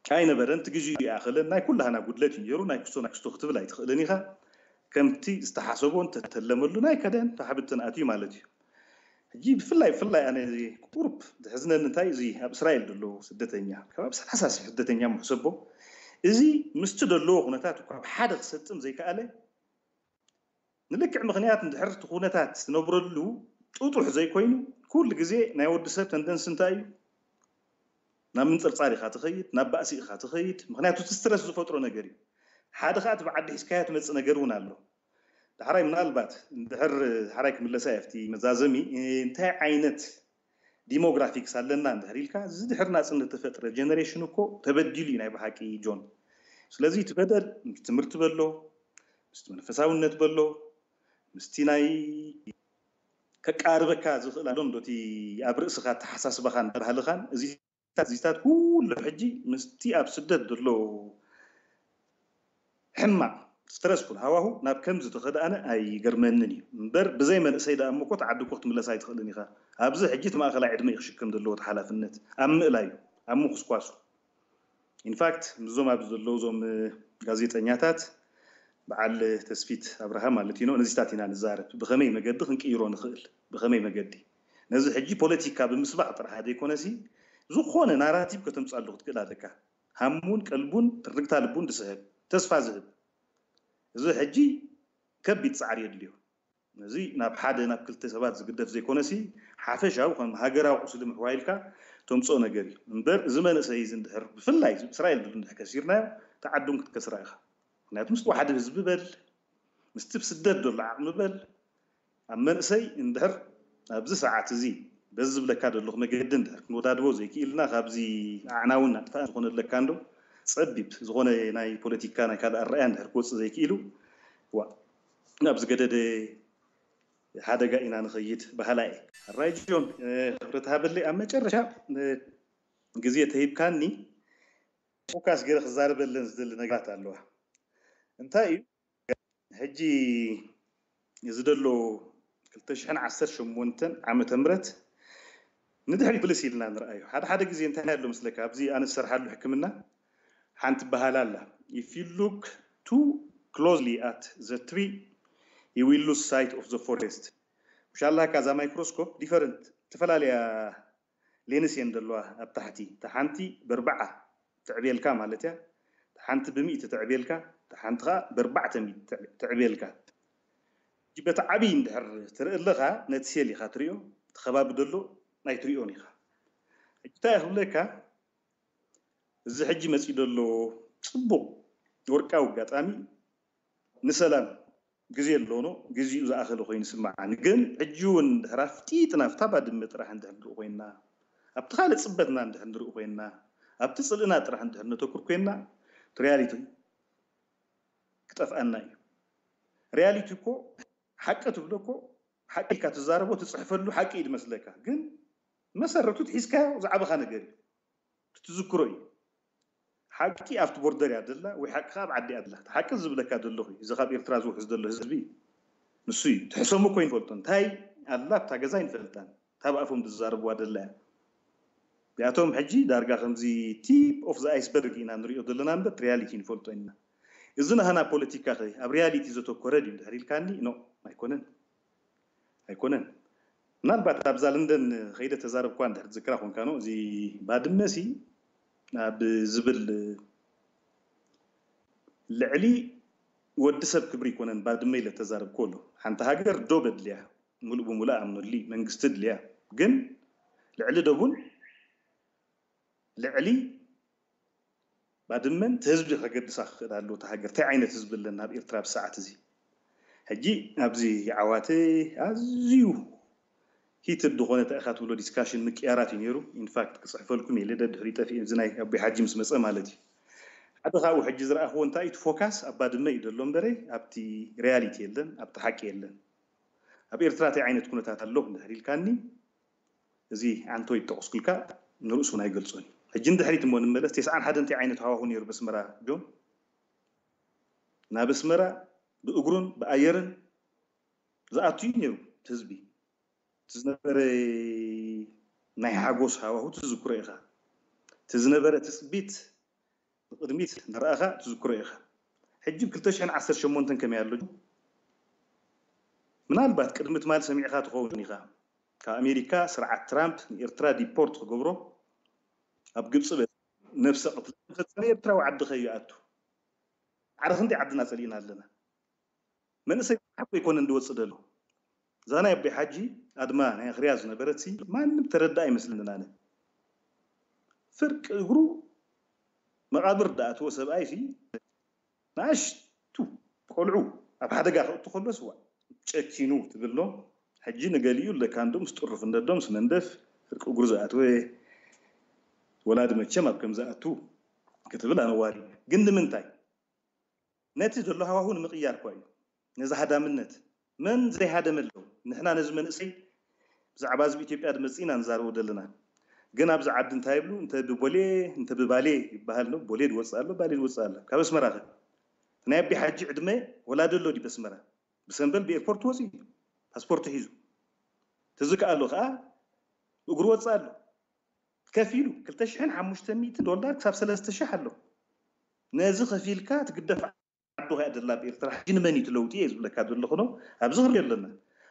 ኣይነበረን፣ እቲ ግዜኡ ይኣኸለን፣ ናይ ኩላህና ጉድለት እዩ ነይሩ፣ ናይ ክስቶ ናይ ክስቶ ክትብል ኣይትኽእልን ኢኻ። ከምቲ ዝተሓሰቦ እንተተለመሉ ናይ ከደን ተሓብትን ኣትዩ ማለት እዩ። ሕጂ ብፍላይ ብፍላይ ኣነ እዚ ቁሩብ ዘሕዝነኒ እንታይ እዚ ኣብ እስራኤል ዘሎ ስደተኛ፣ ከባቢ ሰላሳ ሺሕ ስደተኛ ምሕሰቦ፣ እዚ ምስቲ ዘለዎ ኩነታት እኳ ኣብ ሓደ ክሰጥም ዘይከኣለ፣ ንልክዕ ምኽንያት እንድሕር እቲ ኩነታት ትነብረሉ ጥጡሕ ዘይኮይኑ፣ ኩሉ ግዜ ናይ ወዲ ሰብ ተንደንሲ እንታይ እዩ? ናብ ምንጽርጻር ኢኻ ትኸይድ፣ ናብ ባእሲ ኢኻ ትኸይድ። ምኽንያቱ እቲ ስትረስ ዝፈጥሮ ነገር እዩ። ሓደ ኸኣ እቲ ብዓዲ ሒዝካዮ ትመጽእ ነገር እውን ኣሎ። ዳሕራይ ምናልባት እንድሕር ዳሕራይ ክምለሳ እየ ኣብቲ መዛዘሚ፣ እንታይ ዓይነት ዲሞግራፊክስ ኣለና እንድሕር ኢልካ፣ እዚ ድሕሪ ናጽነት ተፈጥረ ጀነሬሽን እኮ ተበዲሉ እዩ ናይ ብሓቂ ጆን። ስለዚ እቲ በደል ምስቲ ትምህርቲ በሎ፣ ምስቲ መንፈሳውነት በሎ፣ ምስቲ ናይ ከቃርበካ ዝኽእል ኣሎ እንዶ እቲ ኣብ ርእስኻ ኣተሓሳስባኻን ባህልኻን፣ እዚታት እዚታት ኩሉ ሕጂ ምስቲ ኣብ ስደት ዘሎ ሕማቕ ስትረስፉል ሃዋሁ ናብ ከምዚ ተኸድኣነ ኣይገርመንን እዩ። እምበር ብዘይ መንእሰይ ደኣ እሞ እኮ እቲ ዓዲ እኮ ክትምለስ ኣይትኽእልን ኢኻ። ኣብዚ ሕጂ እቲ ማእኸላይ ዕድመ እዩ ክሽከም ዘለዎ እቲ ሓላፍነት። ኣብ ምእላዩ፣ ኣብ ምኹስኳሱ። ኢንፋክት ምስዞም ኣብዚ ዘለዉ እዞም፣ እ፣ ጋዜጠኛታት በዓል ተስፊት ኣብርሃ ማለት እዩ፣ ነዚታት ኢና ንዛረብ። ብኸመይ መገዲ ክንቅይሮ ንኽእል? ብኸመይ መገዲ? ነዚ ሕጂ ፖለቲካ ብምስባቕ ጥራሕ ዘይኮነሲ፣ ዝኾነ ናራቲቭ ከተምፅኣሉ ክትክእል ኣለካ። ሃሙን ቀልቡን ትርግታ ልቡን ዝስሕብ፣ ተስፋ ዝህብ። እዚ ሕጂ ከቢድ ጻዕሪ የድልዮ። ነዚ ናብ ሓደ ናብ ክልተ ሰባት ዝግደፍ ዘይኮነሲ፣ ሓፈሻዊ ከም ሃገራዊ ቁስሊ ምሕዋይ ኢልካ ተምጽኦ ነገር እዩ። እምበር እዚ መንእሰይ እዚ እንድሕር ብፍላይ እዚ እስራኤል ድሉ እንድሕር ከሲርናዮ፣ ተዓዱን ክትከስራ ኢኻ። ምክንያቱ ምስቲ ዋሕዲ ህዝቢ በል፣ ምስቲ ብስደት ዘሎ ዓቕሚ በል፣ ኣብ መንእሰይ እንድሕር ኣብዚ ሰዓት እዚ በዚ ዝብለካ ዘለኹ መገዲ እንድሕር ክንወዳድቦ ዘይክኢልና፣ ካብዚ ኣዕናውን ኣጥፋእን ዝኾነ ኣለካ እንዶ ጸቢብ ዝኾነ ናይ ፖለቲካ ናይ ካልእ ኣረኣያ እንድሕር ክወጽእ ዘይክኢሉ፣ ዋ፣ ናብ ዝገደደ ሓደጋ ኢና ንኸይድ በሃላይ እየ። ሕራይ ጆን፣ እ፣ ክብረት ሃበለይ። ኣብ መጨረሻ፣ እ፣ ግዜ ተሂብካኒ፣ ፎካስ ገይረ ክዛረበለን ዝደሊ ነገራት ኣለዋ። እንታይ እዩ? ሕጂ እዚ ዘሎ ክልተ ሽሕን ዓሰርተ ሸሞንተን ዓመተ ምህረት ንድሕሪት ምልስ ኢልና ንርኣዮ። ሓደ ሓደ ግዜ እንታይ ኣሎ ምስለካ፣ ኣብዚ ኣነ ዝሰርሓሉ ሕክምና ሓንቲ በሃል ኣላ፣ if you look too closely at the tree, you will lose sight of the forest። ምሻላካ እዛ ማይክሮስኮፕ ዲፈረንት ዝተፈላለያ ሌንስ እየን ዘለዋ ኣብ ታሕቲ። እታ ሓንቲ በርባዓ ትዕብየልካ ማለት እያ፣ እታ ሓንቲ ብሚእቲ ትዕብየልካ፣ እታ ሓንቲ ከዓ በርባዕተ ሚእቲ ትዕብየልካ። ሕጂ በቲ ዓብዪ እንድሕር ትርኢ ኣለኻ፣ ነቲ ሴል ኢኻ ትሪኦ፣ እቲ ከባቢ ዘሎ ኣይትሪኦን ኢኻ። ሕጂ እንታይ ክብለካ፣ እዚ ሕጂ መፂኡ ዘሎ ፅቡቕ ወርቃዊ ኣጋጣሚ ንሰላም ግዜ ኣለዎ፣ ግዜኡ ዝኣኸለ ኮይኑ ይስምዓኒ። ግን ሕጂ እውን ድሕር ኣፍጢጥና ኣብታ ባድመ ጥራሕ እንድሕር ንርኢ ኮይንና፣ ኣብቲ ካልእ ፅበትና እንድሕር ንርኢ ኮይንና፣ ኣብቲ ፅልእና ጥራሕ እንድሕር ነተኩር ኮይንና፣ እቲ ሪያሊቲ ክጠፍኣና እዩ። ሪያሊቲ እኮ ሓቂ ትብሎ እኮ ሓቂ ኢልካ ትዛረቦ ትፅሕፈሉ ሓቂ እዩ ዝመስለካ፣ ግን መሰረቱ ትሒዝካዮ ዝዓበኻ ነገር እዩ። ትዝክሮ እዩ። ሓቂ ኣብቲ ቦርደር እያ ደላ ወይ ሓቂ ኣብ ዓዲ እያ ደላ። እቲ ሓቂ ዝብለካ ዘለኹ እዩ። እዚ ካብ ኤርትራ ዝውሕዝ ዘሎ ህዝቢ ንሱ እዩ። ትሕሰሙ እኮ ይንፈልጦ። እንታይ ኣላ ኣብታ ገዛ ይንፈልጣን። ካብ ኣፎም ዝዛረብዋ ደላ እያ። እዚኣቶም ሕጂ ዳርጋ ከምዚ ቲፕ ኦፍ ዘ ኣይስበርግ ኢና ንሪኦ ዘለና እምበር ሪያሊቲ ንፈልጦ ኢና። እዚ ናህና ፖለቲካ ኸ ኣብ ሪያሊቲ ዘተኮረ ድዩ እንድሕር ኢልካኒ፣ ኖ ኣይኮነን። ኣይኮነን። ምናልባት ኣብዛ ለንደን ከይደ ተዛረብኳ እንድሕር ትዝክራ ኮንካ፣ ኖ፣ እዚ ባድመ ሲ ኣብ ዝብል ልዕሊ ወዲ ሰብ ክብሪ ኣይኮነን ባድመ ኢለ ተዛረብኩ ኣሎ። ሓንቲ ሃገር ዶ በድልያ፣ ሙሉእ ብሙሉእ ኣምኑሊ መንግስቲ ድልያ፣ ግን ልዕሊ ደቡን ልዕሊ ባድመን እቲ ህዝቢ ከገድሳ ክኽእል ኣለዎ። እታ ሃገር እንታይ ዓይነት ህዝቢ ኣለና ኣብ ኤርትራ ኣብዚ ሰዓት እዚ? ሕጂ ኣብዚ ዓዋተ ኣዝዩ ሂትድ ዝኾነ እንታይ ኢኻ ትብሎ ዲስካሽን ምቅያራት እዩ ነይሩ። ኢንፋክት ክፅሕፈልኩም የለ ደድሕሪ ጠፊእ እዚ ናይ ኣቦይ ሓጂ ምስ መፀ ማለት እዩ። ሓደ ካብኡ ሕጂ ዝረኣኽዎ እንታይ እዩ፣ እቲ ፎካስ ኣብ ባድመ እዩ ዘሎ እምበረ ኣብቲ ሪያሊቲ የለን፣ ኣብቲ ሓቂ የለን። ኣብ ኤርትራ እንታይ ዓይነት ኩነታት ኣሎ እንድሕር ኢልካኒ፣ እዚ ኣንቶይ ዝጠቕስኩልካ ንርእሱ እውን ኣይገልጾን እዩ። ሕጂ ንድሕሪት እሞ ንመለስ፣ ተስዓን ሓደን እንታይ ዓይነት ሃዋሁ ነይሩ በስመራ ጆን? ናብ ኣስመራ ብእግሩን ብኣየርን ዝኣቱ እዩ ነይሩ እቲ ህዝቢ። እቲ ዝነበረ ናይ ሓጎስ ሃዋሁ ትዝክሮ ኢኻ። እቲ ዝነበረ ትጽቢት ንቕድሚት ንረኣኻ ትዝክሮ ኢኻ። ሕጂ ብ ክልተ ሽሕን ዓሰርተ ሸሞንተን ከመይ ኣሎ? ምናልባት ቅድሚ ትማል ሰሚዕኻ ትኸውን ኢኻ። ካብ ኣሜሪካ ስርዓት ትራምፕ ንኤርትራ ዲፖርት ክገብሮ ኣብ ግብፂ በ-፣ ነብሰ ቅትለት ፈጸመ። ኤርትራዊ ዓዲ ከይኣቱ። ዓረ ክንደይ ዓድና ጸሊእና ኣለና። መንእሰይ ሓቂ ኣይኮነን ዝወፅእ ዘሎ። እዛ ናይ ኣቦይ ሓጂ ኣድማ ናይ ኣኽርያ ዝነበረት ሲ ማንም ተረዳ ኣይመስልን ኣነ። ፍርቂ እግሩ መቓብር ዝኣተወ ሰብኣይ ሲ ንኣሽቱ ቆልዑ ኣብ ሓደጋ ከእቱ ከሎ ስዋ ጨኪኑ ትብሎ። ሕጂ ንገሊኡ ለካ እንዶ ምስ ጥሩፍ እንደዶ ምስ መንደፍ ፍርቂ እግሩ ዝኣተወ ወላዲ መቸም ኣብ ከም ዝኣቱ ክትብል ኣነዋሪ። ግን ንምንታይ? ነቲ ዘሎ ሃዋሁ ንምቕያር እኳ እዩ። ነዚ ሃዳምነት መን ዘይሃደመ ኣሎ? ንሕና ነዚ መንእሰይ ብዛዕባ ህዝቢ ኢትዮጵያ ዝመጽእ ኢና ንዛረቦ ዘለና። ግን ኣብዚ ዓዲ እንታይ ይብሉ? እንተ ብቦሌ እንተ ብባሌ ይበሃል ነው። ቦሌ ዝወፅእ ኣሎ፣ ባሌ ዝወፅእ ኣሎ። ካብ ኣስመራ ኸ? ናይ ኣቢ ሓጂ ዕድመ ወላዲ ኣሎ ድዩ በስመራ? ብሰንበል ብኤርፖርት ወፂኡ እዩ። ፓስፖርቱ ሒዙ። ትዝከኣሉ ኸዓ እግሩ ወፅእ ኣሎ። ከፊሉ ክልተ ሽሕን ሓሙሽተ ሚእቲ ዶላር ክሳብ ሰለስተ ሽሕ ኣሎ። ነዚ ከፊልካ ትግደፍ ዓዱ ከያ ደላ ኣብ ኤርትራ። ሕጂ ንመን እዩ እቲ ለውጢ እየ ዝብለካ ዘለኹ ነው። ኣብዚ ክሪኦ ኣለና።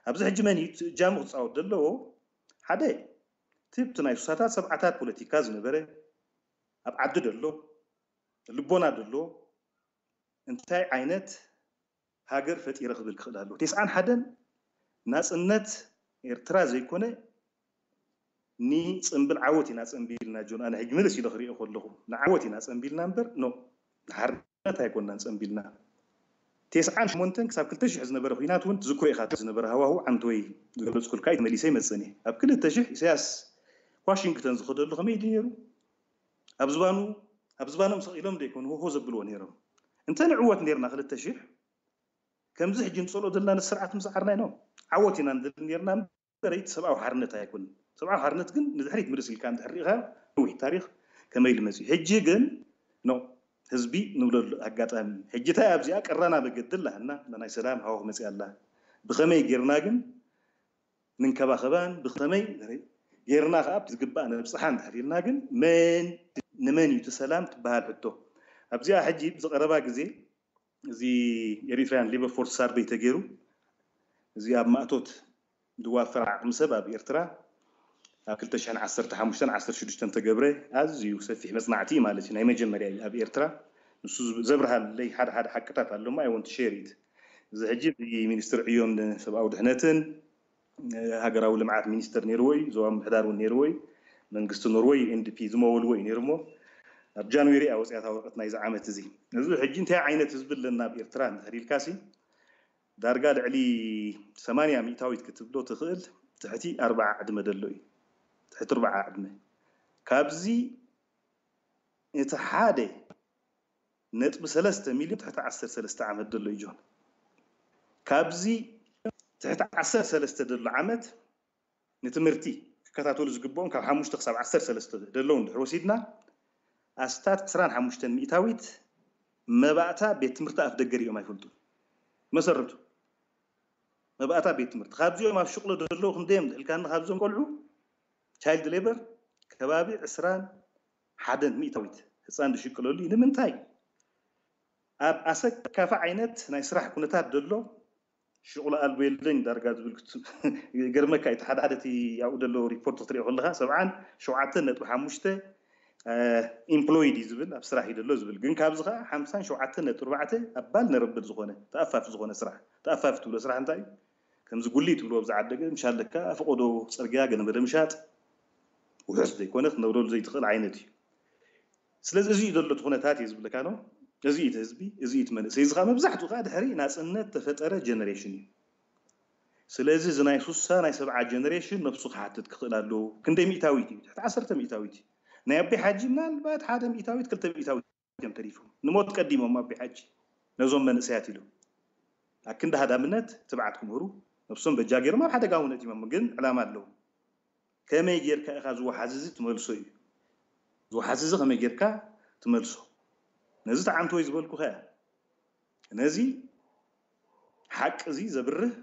ኣብዚ ሕጂ መን እዩ እቲ እጃሙ ክፃወት ዘለዎ? ሓደ፣ እቲ ብቲ ናይ ሱሳታት ሰብዓታት ፖለቲካ ዝነበረ ኣብ ዓዲ ደሎ፣ ልቦና ደሎ፣ እንታይ ዓይነት ሃገር ፈጢረ ክብል ክኽእል ኣለዎ? ተስዓን ሓደን ናጽነት ኤርትራ ዘይኮነ ንጽምብል ዓወት ኢና ጸምቢልና። ጆን፣ ኣነ ሕጂ ምልስ ኢለ ክሪኦ ከለኹ ንዓወት ኢና ጸምቢልና እምበር፣ ኖ፣ ንሓርነት ኣይኮንናን ጸምቢልና። ተስዓን ሸሞንተን ክሳብ ክልተ ሽሕ ዝነበረ ኲናት እውን ትዝክሮ ኢኻ። ዝነበረ ሃዋሁ ዓንተወይ ዝገለጽኩልካ እዩ፣ ተመሊሰ ይመጽእን እየ። ኣብ ክልተ ሽሕ ኢሳያስ ዋሽንግተን ዝኸደሉ ከመይ ድዩ ነይሩ? ኣብ ዝባኑ፣ ኣብ ዝባኖም ሰቒሎም ዘይኮኑ ሆሆ ዘብልዎ ነይሮም። እንተ ንዕወት ነይርና ክልተ ሽሕ፣ ከምዚ ሕጂ ንጸልኦ ዘለና ስርዓት ምስዓርና ኢና። ዓወት ኢና ንደሊ ነይርና እምበር እቲ ሰብኣዊ ሓርነት ኣይኮነን። ሰብኣዊ ሓርነት ግን ንድሕሪት ምልስ ኢልካ እንድሕር ርኢኻ ነዊሕ ታሪኽ ከመይ ኢሉ መጺኡ። ሕጂ ግን ኖ፣ ህዝቢ ንብለሉ ኣጋጣሚ። ሕጂ እንታይ ኣብዚኣ ቀራና መገዲ ኣላና፣ ናይ ሰላም ሃወ መፅያ ኣላ። ብኸመይ ጌርና ግን ንንከባኸባን ብኸመይ ጌርና ከዓ ዝግባእ ነብፅሓ እንድሕር ኢልና ግን መን ንመን እዩ እቲ ሰላም ትበሃል ሕቶ። ኣብዚኣ ሕጂ ብዝቐረባ ግዜ እዚ ኤሪትራያን ሌበር ፎርስ ሳርቬይ ተገይሩ እዚ ኣብ ማእቶት ዝዋፈር ዓቕሚ ሰብ ኣብ ኤርትራ ኣብ ክልተ ሽሕን ዓሰርተ ሓሙሽተን ዓሰርተ ሽዱሽተን ተገብረ ኣዝዩ ሰፊሕ መፅናዕቲ እዩ ማለት እዩ። ናይ መጀመርያ እዩ ኣብ ኤርትራ። ንሱ ዘብርሃለይ ሓደ ሓደ ሓቅታት ኣሎ እሞ I want to share it። እዚ ሕጂ እዚ ሚኒስትር ዕዮን ሰብኣዊ ድሕነትን ሃገራዊ ልምዓት ሚኒስተር ነይርዎ እዩ፣ ዞባ ምምሕዳር እውን ነይርዎ እዩ። መንግስቲ ኖርወይ ዩ ኤንዲፒ ዝመወልዎ እዩ ነይሩ እሞ ኣብ ጃንዌሪ እያ ወፂኣታ ወረቀት ናይዚ ዓመት እዚ። እዚ ሕጂ እንታይ ዓይነት ህዝቢ ኣለና ኣብ ኤርትራ እንድሕር ኢልካሲ ዳርጋ ልዕሊ ሰማንያ ሚእታዊት ክትብሎ ትኽእል ትሕቲ ኣርባዓ ዕድመ ዘሎ እዩ። ትሕቲ ኣርባዓ ዕድመ። ካብዚ እቲ ሓደ ነጥቢ ሰለስተ ሚልዮን ትሕቲ ዓሰርተ ሰለስተ ዓመት ዘሎ እዩ ጆን። ካብዚ ትሕቲ ዓሰርተ ሰለስተ ዘሎ ዓመት ንትምህርቲ ክከታተሉ ዝግብኦም ካብ ሓሙሽተ ክሳብ ዓሰርተ ሰለስተ ዘለዉ እንድሕር ወሲድና ኣስታት ዕስራን ሓሙሽተን ሚእታዊት መባእታ ቤት ትምህርቲ ኣፍ ደገ ሪኦም ኣይፈልጡ። መሰረቱ መባእታ ቤት ትምህርቲ ካብዚኦም ኣብ ሽቕሎ ዘለዉ ክንደዮም ዝሕልካኒ ካብዞም ቆልዑ ቻይልድ ሌበር ከባቢ ዕስራን ሓደን ሚእታዊት ህፃን ዝሽቅለሉ እዩ። ንምንታይ ኣብ ኣሰካፊ ዓይነት ናይ ስራሕ ኩነታት ዘሎ ሽቕሎ ኣልቦ የለኝ ዳርጋ ዝብል ክቱ- ገርመካ እዩ። ሓደ ሓደ እቲ ኣብኡ ዘሎ ሪፖርት ክትሪኦ ከለካ ሰብዓን ሸውዓተን ነጥቢ ሓሙሽተ ኢምፕሎይድ እዩ ዝብል ኣብ ስራሕ እዩ ዘሎ ዝብል ግን ካብዚ ከዓ ሓምሳን ሸውዓተን ነጥቢ ኣርባዕተ ኣብ ባል ነረብል ዝኾነ ተኣፋፊ ዝኾነ ስራሕ ተኣፋፊ ትብሎ ስራሕ እንታይ እዩ? ከምዚ ጉሊ ትብልዎ ብዝዓደገ ምሻለካ ፈቆዶ ፅርግያ ገንበደ ምሻጥ ውሑስ ዘይኮነ ክትነብረሉ ዘይትኽእል ዓይነት እዩ። ስለዚ እዚ እዩ ዘሎ እቲ ኩነታት እዩ ዝብለካ ነው። እዚ እዩ እቲ ህዝቢ፣ እዚ እዩ እቲ መንእሰይ። እዚ ከዓ መብዛሕትኡ ከዓ ድሕሪ ናፅነት ተፈጠረ ጀነሬሽን እዩ። ስለዚ እዚ ናይ ሱሳ ናይ ሰብዓ ጀነሬሽን ነብሱ ክሓትት ክኽእል ኣለዎ። ክንደይ ሚእታዊት እዩ? ትሕቲ ዓሰርተ ሚእታዊት እዩ። ናይ ኣቢ ሓጂ ምናልባት ሓደ ሚእታዊት ክልተ ሚእታዊት እዮም ተሪፎም። ንሞት ቀዲሞም ኣቢ ሓጂ ነዞም መንእሰያት ኢሉ ኣክንዲ ሃዳምነት ትብዓት ክምህሩ ነብሶም በጃ ገይሮም ኣብ ሓደጋ እውን ኣእቲሞም ግን ዕላማ ኣለዎም። ከመይ ጌርካ ኢኻ እዚ ወሓዚ እዚ ትመልሶ እዩ። እዚ ወሓዚ እዚ ከመይ ጌርካ ትመልሶ? ነዚ ተዓንቶ እዩ ዝበልኩኻ እያ። ነዚ ሓቂ እዚ ዘብርህ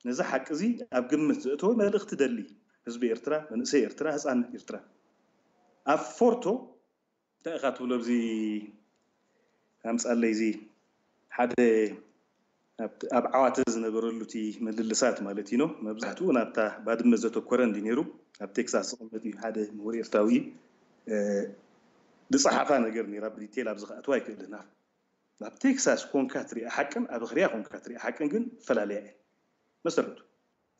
ነዚ ሓቂ እዚ ኣብ ግምት ዘእተወ መልእኽቲ ደሊ ህዝቢ ኤርትራ፣ መንእሰይ ኤርትራ፣ ህፃን ኤርትራ ኣብ ፎርቶ እንታይ ኢኻ ትብሎ ኣብዚ ኣምፃለይ እዚ ሓደ ኣብ ዓዋተ ዝነበረሉ እቲ ምልልሳት ማለት እዩ መብዛሕትኡ ናብታ ባድመ ዘተኮረ እንዲ ነይሩ ኣብ ቴክሳስ ዝቕመጥ እዩ ሓደ ምሁር ኤርትራዊ ዝፀሓፋ ነገር ነራ ብዲቴል ኣብዚ ክኣትዋ ኣይክእልን ናብ ቴክሳስ ኮንካ ትሪኣ ሓቅን ኣብ ኣኽርያ ኮንካ ትሪኣ ሓቅን ግን ፈላለያ እየን መሰረቱ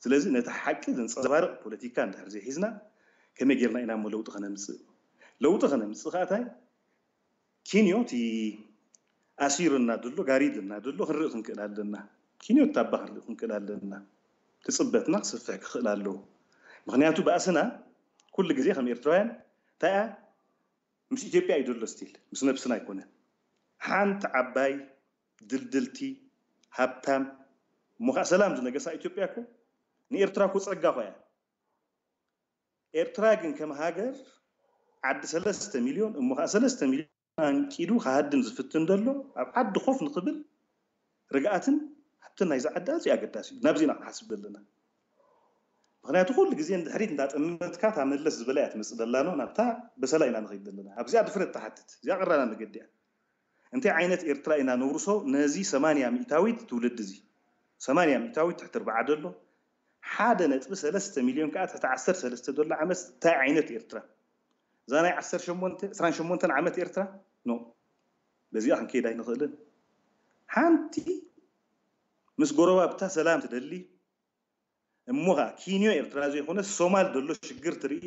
ስለዚ ነቲ ሓቂ ዘንፀባርቕ ፖለቲካ እንድሕር ዘይሒዝና ከመይ ጌርና ኢና እሞ ለውጢ ከነምፅእ ለውጢ ከነምፅእ ከኣታይ ኪንዮ እቲ ኣሲሩና ዘሎ ጋሪድና ዘሎ ክንርኢ ክንክእል ኣለና ኪንዮ ታባ ክንርኢ ክንክእል ኣለና ትፅበትና ክስፍሕ ክኽእል ኣለዎ ምክንያቱ ባእስና ኩሉ ግዜ ከም ኤርትራውያን እንታይ ምስ ኢትዮጵያ እዩ ዘሎ ስቲል ምስ ነብስና ኣይኮነን ሓንቲ ዓባይ ድልድልቲ ሃብታም እሞ ከዓ ሰላም ዝነገሳ ኢትዮጵያ እኮ ንኤርትራ እኮ ፀጋ እኮ እያ ኤርትራ ግን ከም ሃገር ዓዲ ሰለስተ ሚልዮን እሞ ከዓ ሰለስተ ሚልዮን ኣንቂዱ ክሃድም ዝፍትን ዘሎ ኣብ ዓዲ ኮፍ ንክብል ርግኣትን ሃብትን ናይዚ ዓዲ ኣዝዩ ኣገዳሲ እዩ ናብዚ ኢና ክንሓስብ ዘለና ምክንያቱ ኩሉ ግዜ ንድሕሪት እንዳጠመትካ እታ መለስ ዝበላ እያ ትመፅእ ዘላ ኖ ናብታ በሰላ ኢና ንኸይድ ዘለና ኣብዚኣ ድፍረት ትሓትት እዚኣ ቀራና መገዲ እያ እንታይ ዓይነት ኤርትራ ኢና ነውርሶ ነዚ ሰማንያ ሚእታዊት ትውልዲ እዚ ሰማንያ ሚእታዊት ትሕቲ ርብዓ ደሎ ሓደ ነጥቢ ሰለስተ ሚልዮን ከዓ ትሕቲ ዓሰርተ ሰለስተ ደሎ ዓመት እንታይ ዓይነት ኤርትራ እዛ ናይ ዓሰርተ ሸሞንተ ዕስራን ሸሞንተን ዓመት ኤርትራ ኖ በዚኣ ክንከይድ ኣይንኽእልን ሓንቲ ምስ ጎረባብታ ሰላም ትደሊ እሞ ከዓ ኪንዮ ኤርትራ ዘይኮነ ሶማል ዘሎ ሽግር ትርኢ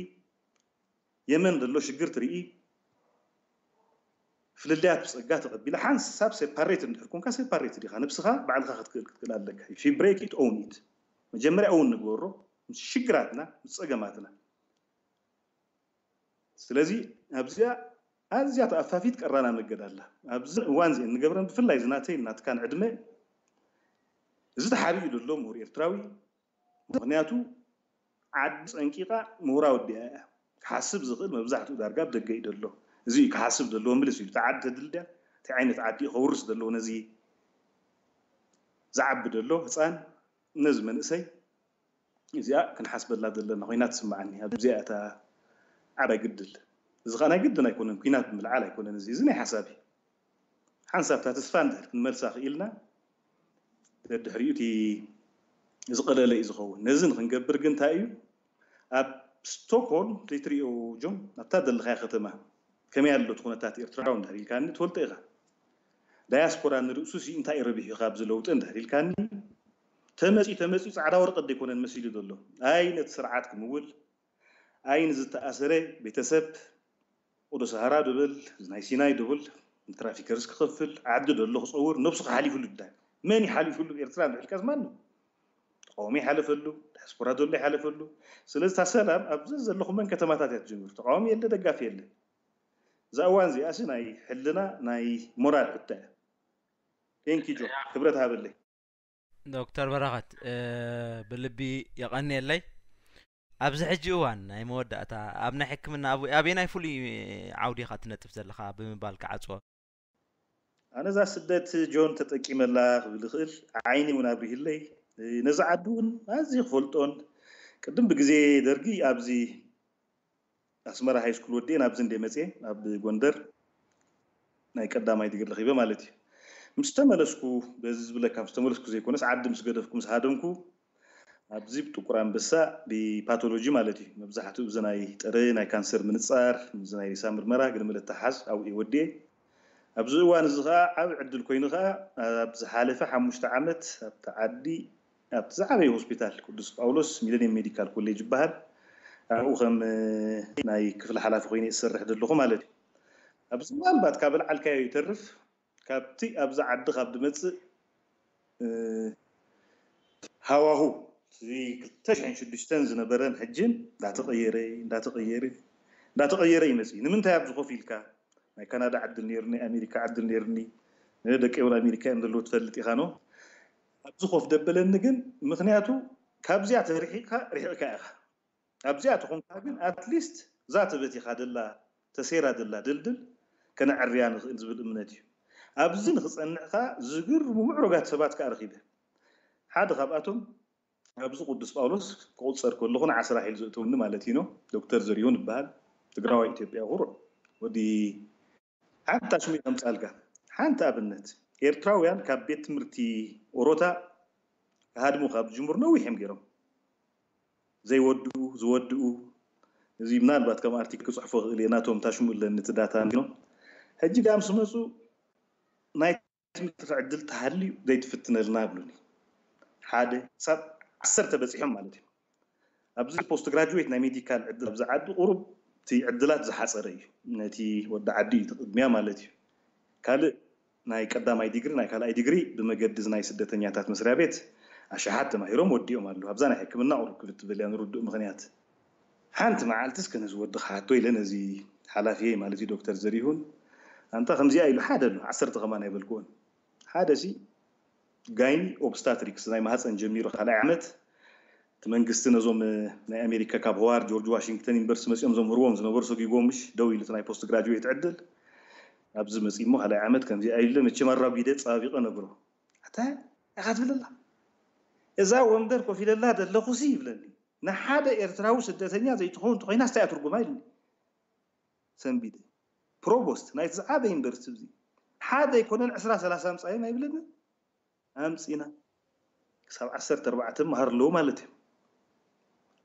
የመን ዘሎ ሽግር ትርኢ ፍልልያት ብፀጋ ተቐቢላ ሓንሳብ ሴፓሬት እንድሕር ኮንካ ሴፓሬት ዲኻ ንብስኻ ባዕልኻ ክትክእል ክትክእል ኣለካ if you break it own it መጀመርያ እውን ንግበሮ ምስ ሽግራትና ምስ ፀገማትና ስለዚ ኣብዚኣ ኣዝያ ተኣፋፊት ቀራና መገድ ኣላ ኣብዚ እዋን ዚአን ንገብረን ብፍላይ ዝናተይ ናትካን ዕድመ እዚ ተሓቢኡ ዘሎ ምሁር ኤርትራዊ ምክንያቱ ዓዲ ፀንቂቃ ምሁራ ወዲኣ እያ ክሓስብ ዝኽእል መብዛሕትኡ ዳርጋ ኣብ ደገ እዩ ዘሎ እዚ እዩ ክሓስብ ዘለዎ ምልስ እዩ። እቲ ዓዲ ተድልድያ እንታይ ዓይነት ዓዲ እዩ ከውርስ ዘለዎ ነዚ ዝዓቢ ዘሎ ህፃን ነዚ መንእሰይ እዚኣ ክንሓስበላ ዘለና ኮይና ትስምዓኒ። ኣብዚኣ እታ ዓባይ ግድል እዚ ኸዓ ናይ ግድን ኣይኮነን፣ ኩናት ብምልዓል ኣይኮነን። እዚ እዚ ናይ ሓሳብ እዩ። ሓንሳብ እታ ተስፋ እንድሕር ክንመልሳ ክኢልና ደድሕሪኡ እቲ ዝቐለለ እዩ ዝኸውን። ነዚ ንክንገብር ግን እንታይ እዩ ኣብ ስቶክሆልም ዘይትሪኦ ጆን ኣብታ ዘለኻያ ከተማ ከመይ ኣሎ እቲ ኩነታት ኤርትራዊ እንድሕር ኢልካኒ ትፈልጦ ኢኻ። ዳያስፖራ ንርእሱ ሲ እንታይ ረቢሑ ካብ ዝለውጠ እንድሕር ኢልካኒ ተመፂኡ ተመፂኡ ፃዕዳ ወረቀት ዘይኮነን መሲሉ ዘሎ ኣይ ነቲ ስርዓት ክምውል ኣይ ንዝተኣሰረ ቤተሰብ ቁዱስ ሃራ ድብል ናይ ሲናይ ድብል ንትራፊከርስ ክኸፍል ዓዲ ደሎ ክፀውር ነብሱ ክሓሊፉሉ ድላይ መን ይሓሊፉሉ ኤርትራ ንሕልቀስ ማን ተቃውሞ ይሓለፈሉ ዳያስፖራ ዘሎ ይሓለፈሉ ስለዚ እታ ሰላም ኣብዚ ዘለኹመን ከተማታት እያ ትጀምር ተቃውሞ የለ ደጋፊ የለ እዛ እዋን እዚኣሲ ናይ ሕልና ናይ ሞራል ሕቶ እያ ቴንኪ ጆ ክብረት ሃበለይ ዶክተር በረኸት ብልቢ የቐንየለይ። ኣብዚ ሕጂ እዋን ናይ መወዳእታ ኣብ ናይ ሕክምና ኣበየናይ ፍሉይ ዓውዲ ኢኻ ትነጥፍ ዘለኻ ብምባል ክዓጽዎ። ኣነ እዛ ስደት ጆን ተጠቂመላ ክብል ይኽእል ዓይኒ እውን ኣብሪህለይ ነዚ ዓዲ እውን ኣዝዩ ክፈልጦን ቅድም ብግዜ ደርጊ ኣብዚ ኣስመራ ሃይስኩል ወዲኤ ናብዚ እንደ መፅየ ኣብ ጎንደር ናይ ቀዳማይ ዲግሪ ረኺበ ማለት እዩ ምስ ተመለስኩ በዚ ዝብለካ ምስ ተመለስኩ ዘይኮነስ ዓዲ ምስ ገደፍኩ ምስ ሃደምኩ ኣብዚ ብጥቁር ኣንበሳ ብፓቶሎጂ ማለት እዩ መብዛሕትኡ እዚ ናይ ጥረ ናይ ካንሰር ምንፃር እዚ ናይ ሬሳ ምርመራ ግድሚ ለተሓዝ ኣብኡ ወዲኤ ኣብዚ እዋን እዚ ከዓ ዓብ ዕድል ኮይኑ ከዓ ኣብ ዝሓለፈ ሓሙሽተ ዓመት ኣብቲ ዓዲ ኣብቲ ዝዓበየ ሆስፒታል ቅዱስ ጳውሎስ ሚለኒየም ሜዲካል ኮሌጅ ይበሃል ኣብኡ ከም ናይ ክፍሊ ሓላፊ ኮይነ ዝሰርሕ ዘለኹ ማለት እዩ ኣብዚ ምናልባት ካብ ልዓልካዮ ይተርፍ ካብቲ ኣብዚ ዓዲ ካብ ዝመፅእ ሃዋሁ እዚ ክልተ ሽሕን ሽዱሽተን ዝነበረን ሕጅን እንዳተቀየረ እንዳተቀየረ እንዳተቀየረ ይመፅእ እዩ ንምንታይ ኣብዚ ኮፍ ኢልካ ናይ ካናዳ ዕድል ነይርኒ ኣሜሪካ ዕድል ነይርኒ ደቂ እውን ኣሜሪካ እዮም ዘለዉ ትፈልጥ ኢኻ ኖ ኣብዚ ኮፍ ደበለኒ ግን ምክንያቱ ካብዚኣ ተርሒቅካ ርሒቅካ ኢኻ ኣብዚኣ ተኾንካ ግን ኣትሊስት እዛ ተበቲኻ ደላ ተሰይራ ደላ ድልድል ከነዕርያ ንኽእል ዝብል እምነት እዩ ኣብዚ ንክፀንዕካ ዝግርሙ ምዕሩጋት ሰባት ከዓ ረኺበ ሓደ ካብኣቶም ኣብዚ ቅዱስ ጳውሎስ ክቁፀር ከለኹ ንዓስራ ሒል ዘእተውኒ ማለት እዩ ዶክተር ዘሪሁን ይበሃል ትግራዋይ ኢትዮጵያ ቁሩዕ ወዲ ሓንቲ ሽሙ ከምፃልካ ሓንቲ ኣብነት ኤርትራውያን ካብ ቤት ትምህርቲ ኦሮታ ክሃድሙ ካብ ዝጅምሩ ነዊሕ እዮም ገይሮም ዘይወድኡ ዝወድኡ እዚ ምናልባት ከም ኣርቲክል ክፅሕፎ ክእል እየ ናቶም ታሽሙ ኣለኒ እቲ ዳታ ሕጂ ዳም ስመፁ ናይ ትምህርቲ ዕድል ተሃልዩ ዘይትፍትነልና ይብሉኒ ሓደ ክሳብ ዓሰርተ በፂሖም ማለት እዩ ኣብዚ ፖስት ግራጁዌት ናይ ሜዲካል ዕድል ኣብዚ ዓዲ ቁሩብ እቲ ዕድላት ዝሓፀረ እዩ ነቲ ወዲ ዓዲ እዩ ቅድሚያ ማለት እዩ ካልእ ናይ ቀዳማይ ዲግሪ ናይ ካልኣይ ዲግሪ ብመገዲ ናይ ስደተኛታት መስሪያ ቤት ኣሽሓት ተማሂሮም ወዲኦም ኣለዉ ኣብዛ ናይ ሕክምና ቁሩብ ክብል ትብል እያ ንርዱእ ምክንያት ሓንቲ መዓልትስ ከነዚ ወዲ ክሓቶ ኢለ ነዚ ሓላፊየ ማለት እዩ ዶክተር ዘሪሁን ኣንታ ከምዚኣ ኢሉ ሓደ ኣሎ ዓሰርተ ከማን ኣይበልክዎን ሓደ ሲ ጋይኒ ኦብስታትሪክስ ናይ ማህፀን ጀሚሩ ካልኣይ ዓመት እቲ መንግስቲ ነዞም ናይ ኣሜሪካ ካብ ሆዋርድ ጆርጅ ዋሽንግተን ዩኒቨርሲቲ መፂኦም ዘምህርዎም ዝነበሩ ሰጊጎም ምሽ ደው ኢሉ ናይ ፖስት ግራጁዌት ዕድል ኣብዚ መፂ እሞ ካልኣይ ዓመት ከምዚ ኣይለ መቸም ኣራጒደ ፀባቢቐ ነግሮ ኣታ ኢኻ ትብለላ እዛ ወንበር ኮፍ ኢለላ ዘለኹሲ ይብለኒ ንሓደ ኤርትራዊ ስደተኛ ዘይትኸውን እንተኮይና ስታይ ትርጉማ ኢልኒ ሰንቢደ ፕሮቦስት ናይቲ ዝዓበ ዩኒቨርሲቲ እዚ ሓደ ኣይኮነን ዕስራ ሰላሳ ምፃዮም ኣይብለኒ ኣምፂና ክሳብ ዓሰርተ ኣርባዕተ መሃር ኣለዉ ማለት እዩ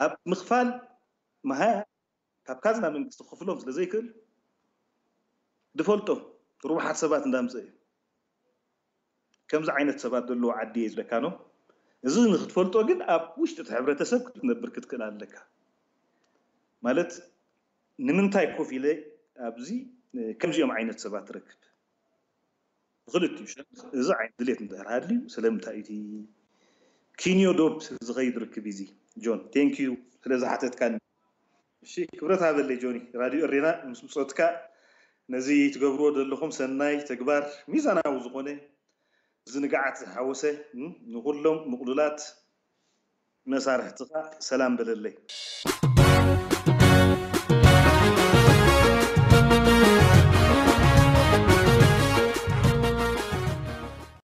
ኣብ ምኽፋል መሃያ ካብ ካዝና መንግስቲ ክኽፍሎም ስለ ዘይክእል ዝፈልጦም ርቡሓት ሰባት እንዳምፀ እዩ ከምዚ ዓይነት ሰባት ዘለዎ ዓዲ እየ ዝለካ ነው እዚ ንክትፈልጦ ግን ኣብ ውሽጢ እቲ ሕብረተሰብ ክትነብር ክትክእል ኣለካ ማለት ንምንታይ ኮፍ ኢለ ኣብዚ ከምዚኦም ዓይነት ሰባት ትረክብ ብክልቲኡ ሸነኽ እዚ ዓይነት ድሌት እንድሕር ሃልዩ ስለምንታይ እቲ ኪንዮ ዶብ ዝኸይድ ርክብ እዚ ጆን ቴንኪዩ ስለ ዝሓተትካኒ እሺ ክብረት ሃበለይ ጆኒ ራድዮ እሬና ምስ ብፆትካ ነዚ ትገብርዎ ዘለኹም ሰናይ ተግባር ሚዛናዊ ዝኾነ ዝንግዓት ዝሓወሰ ንኩሎም ምቕሉላት መሳርሕትኻ ሰላም በለለይ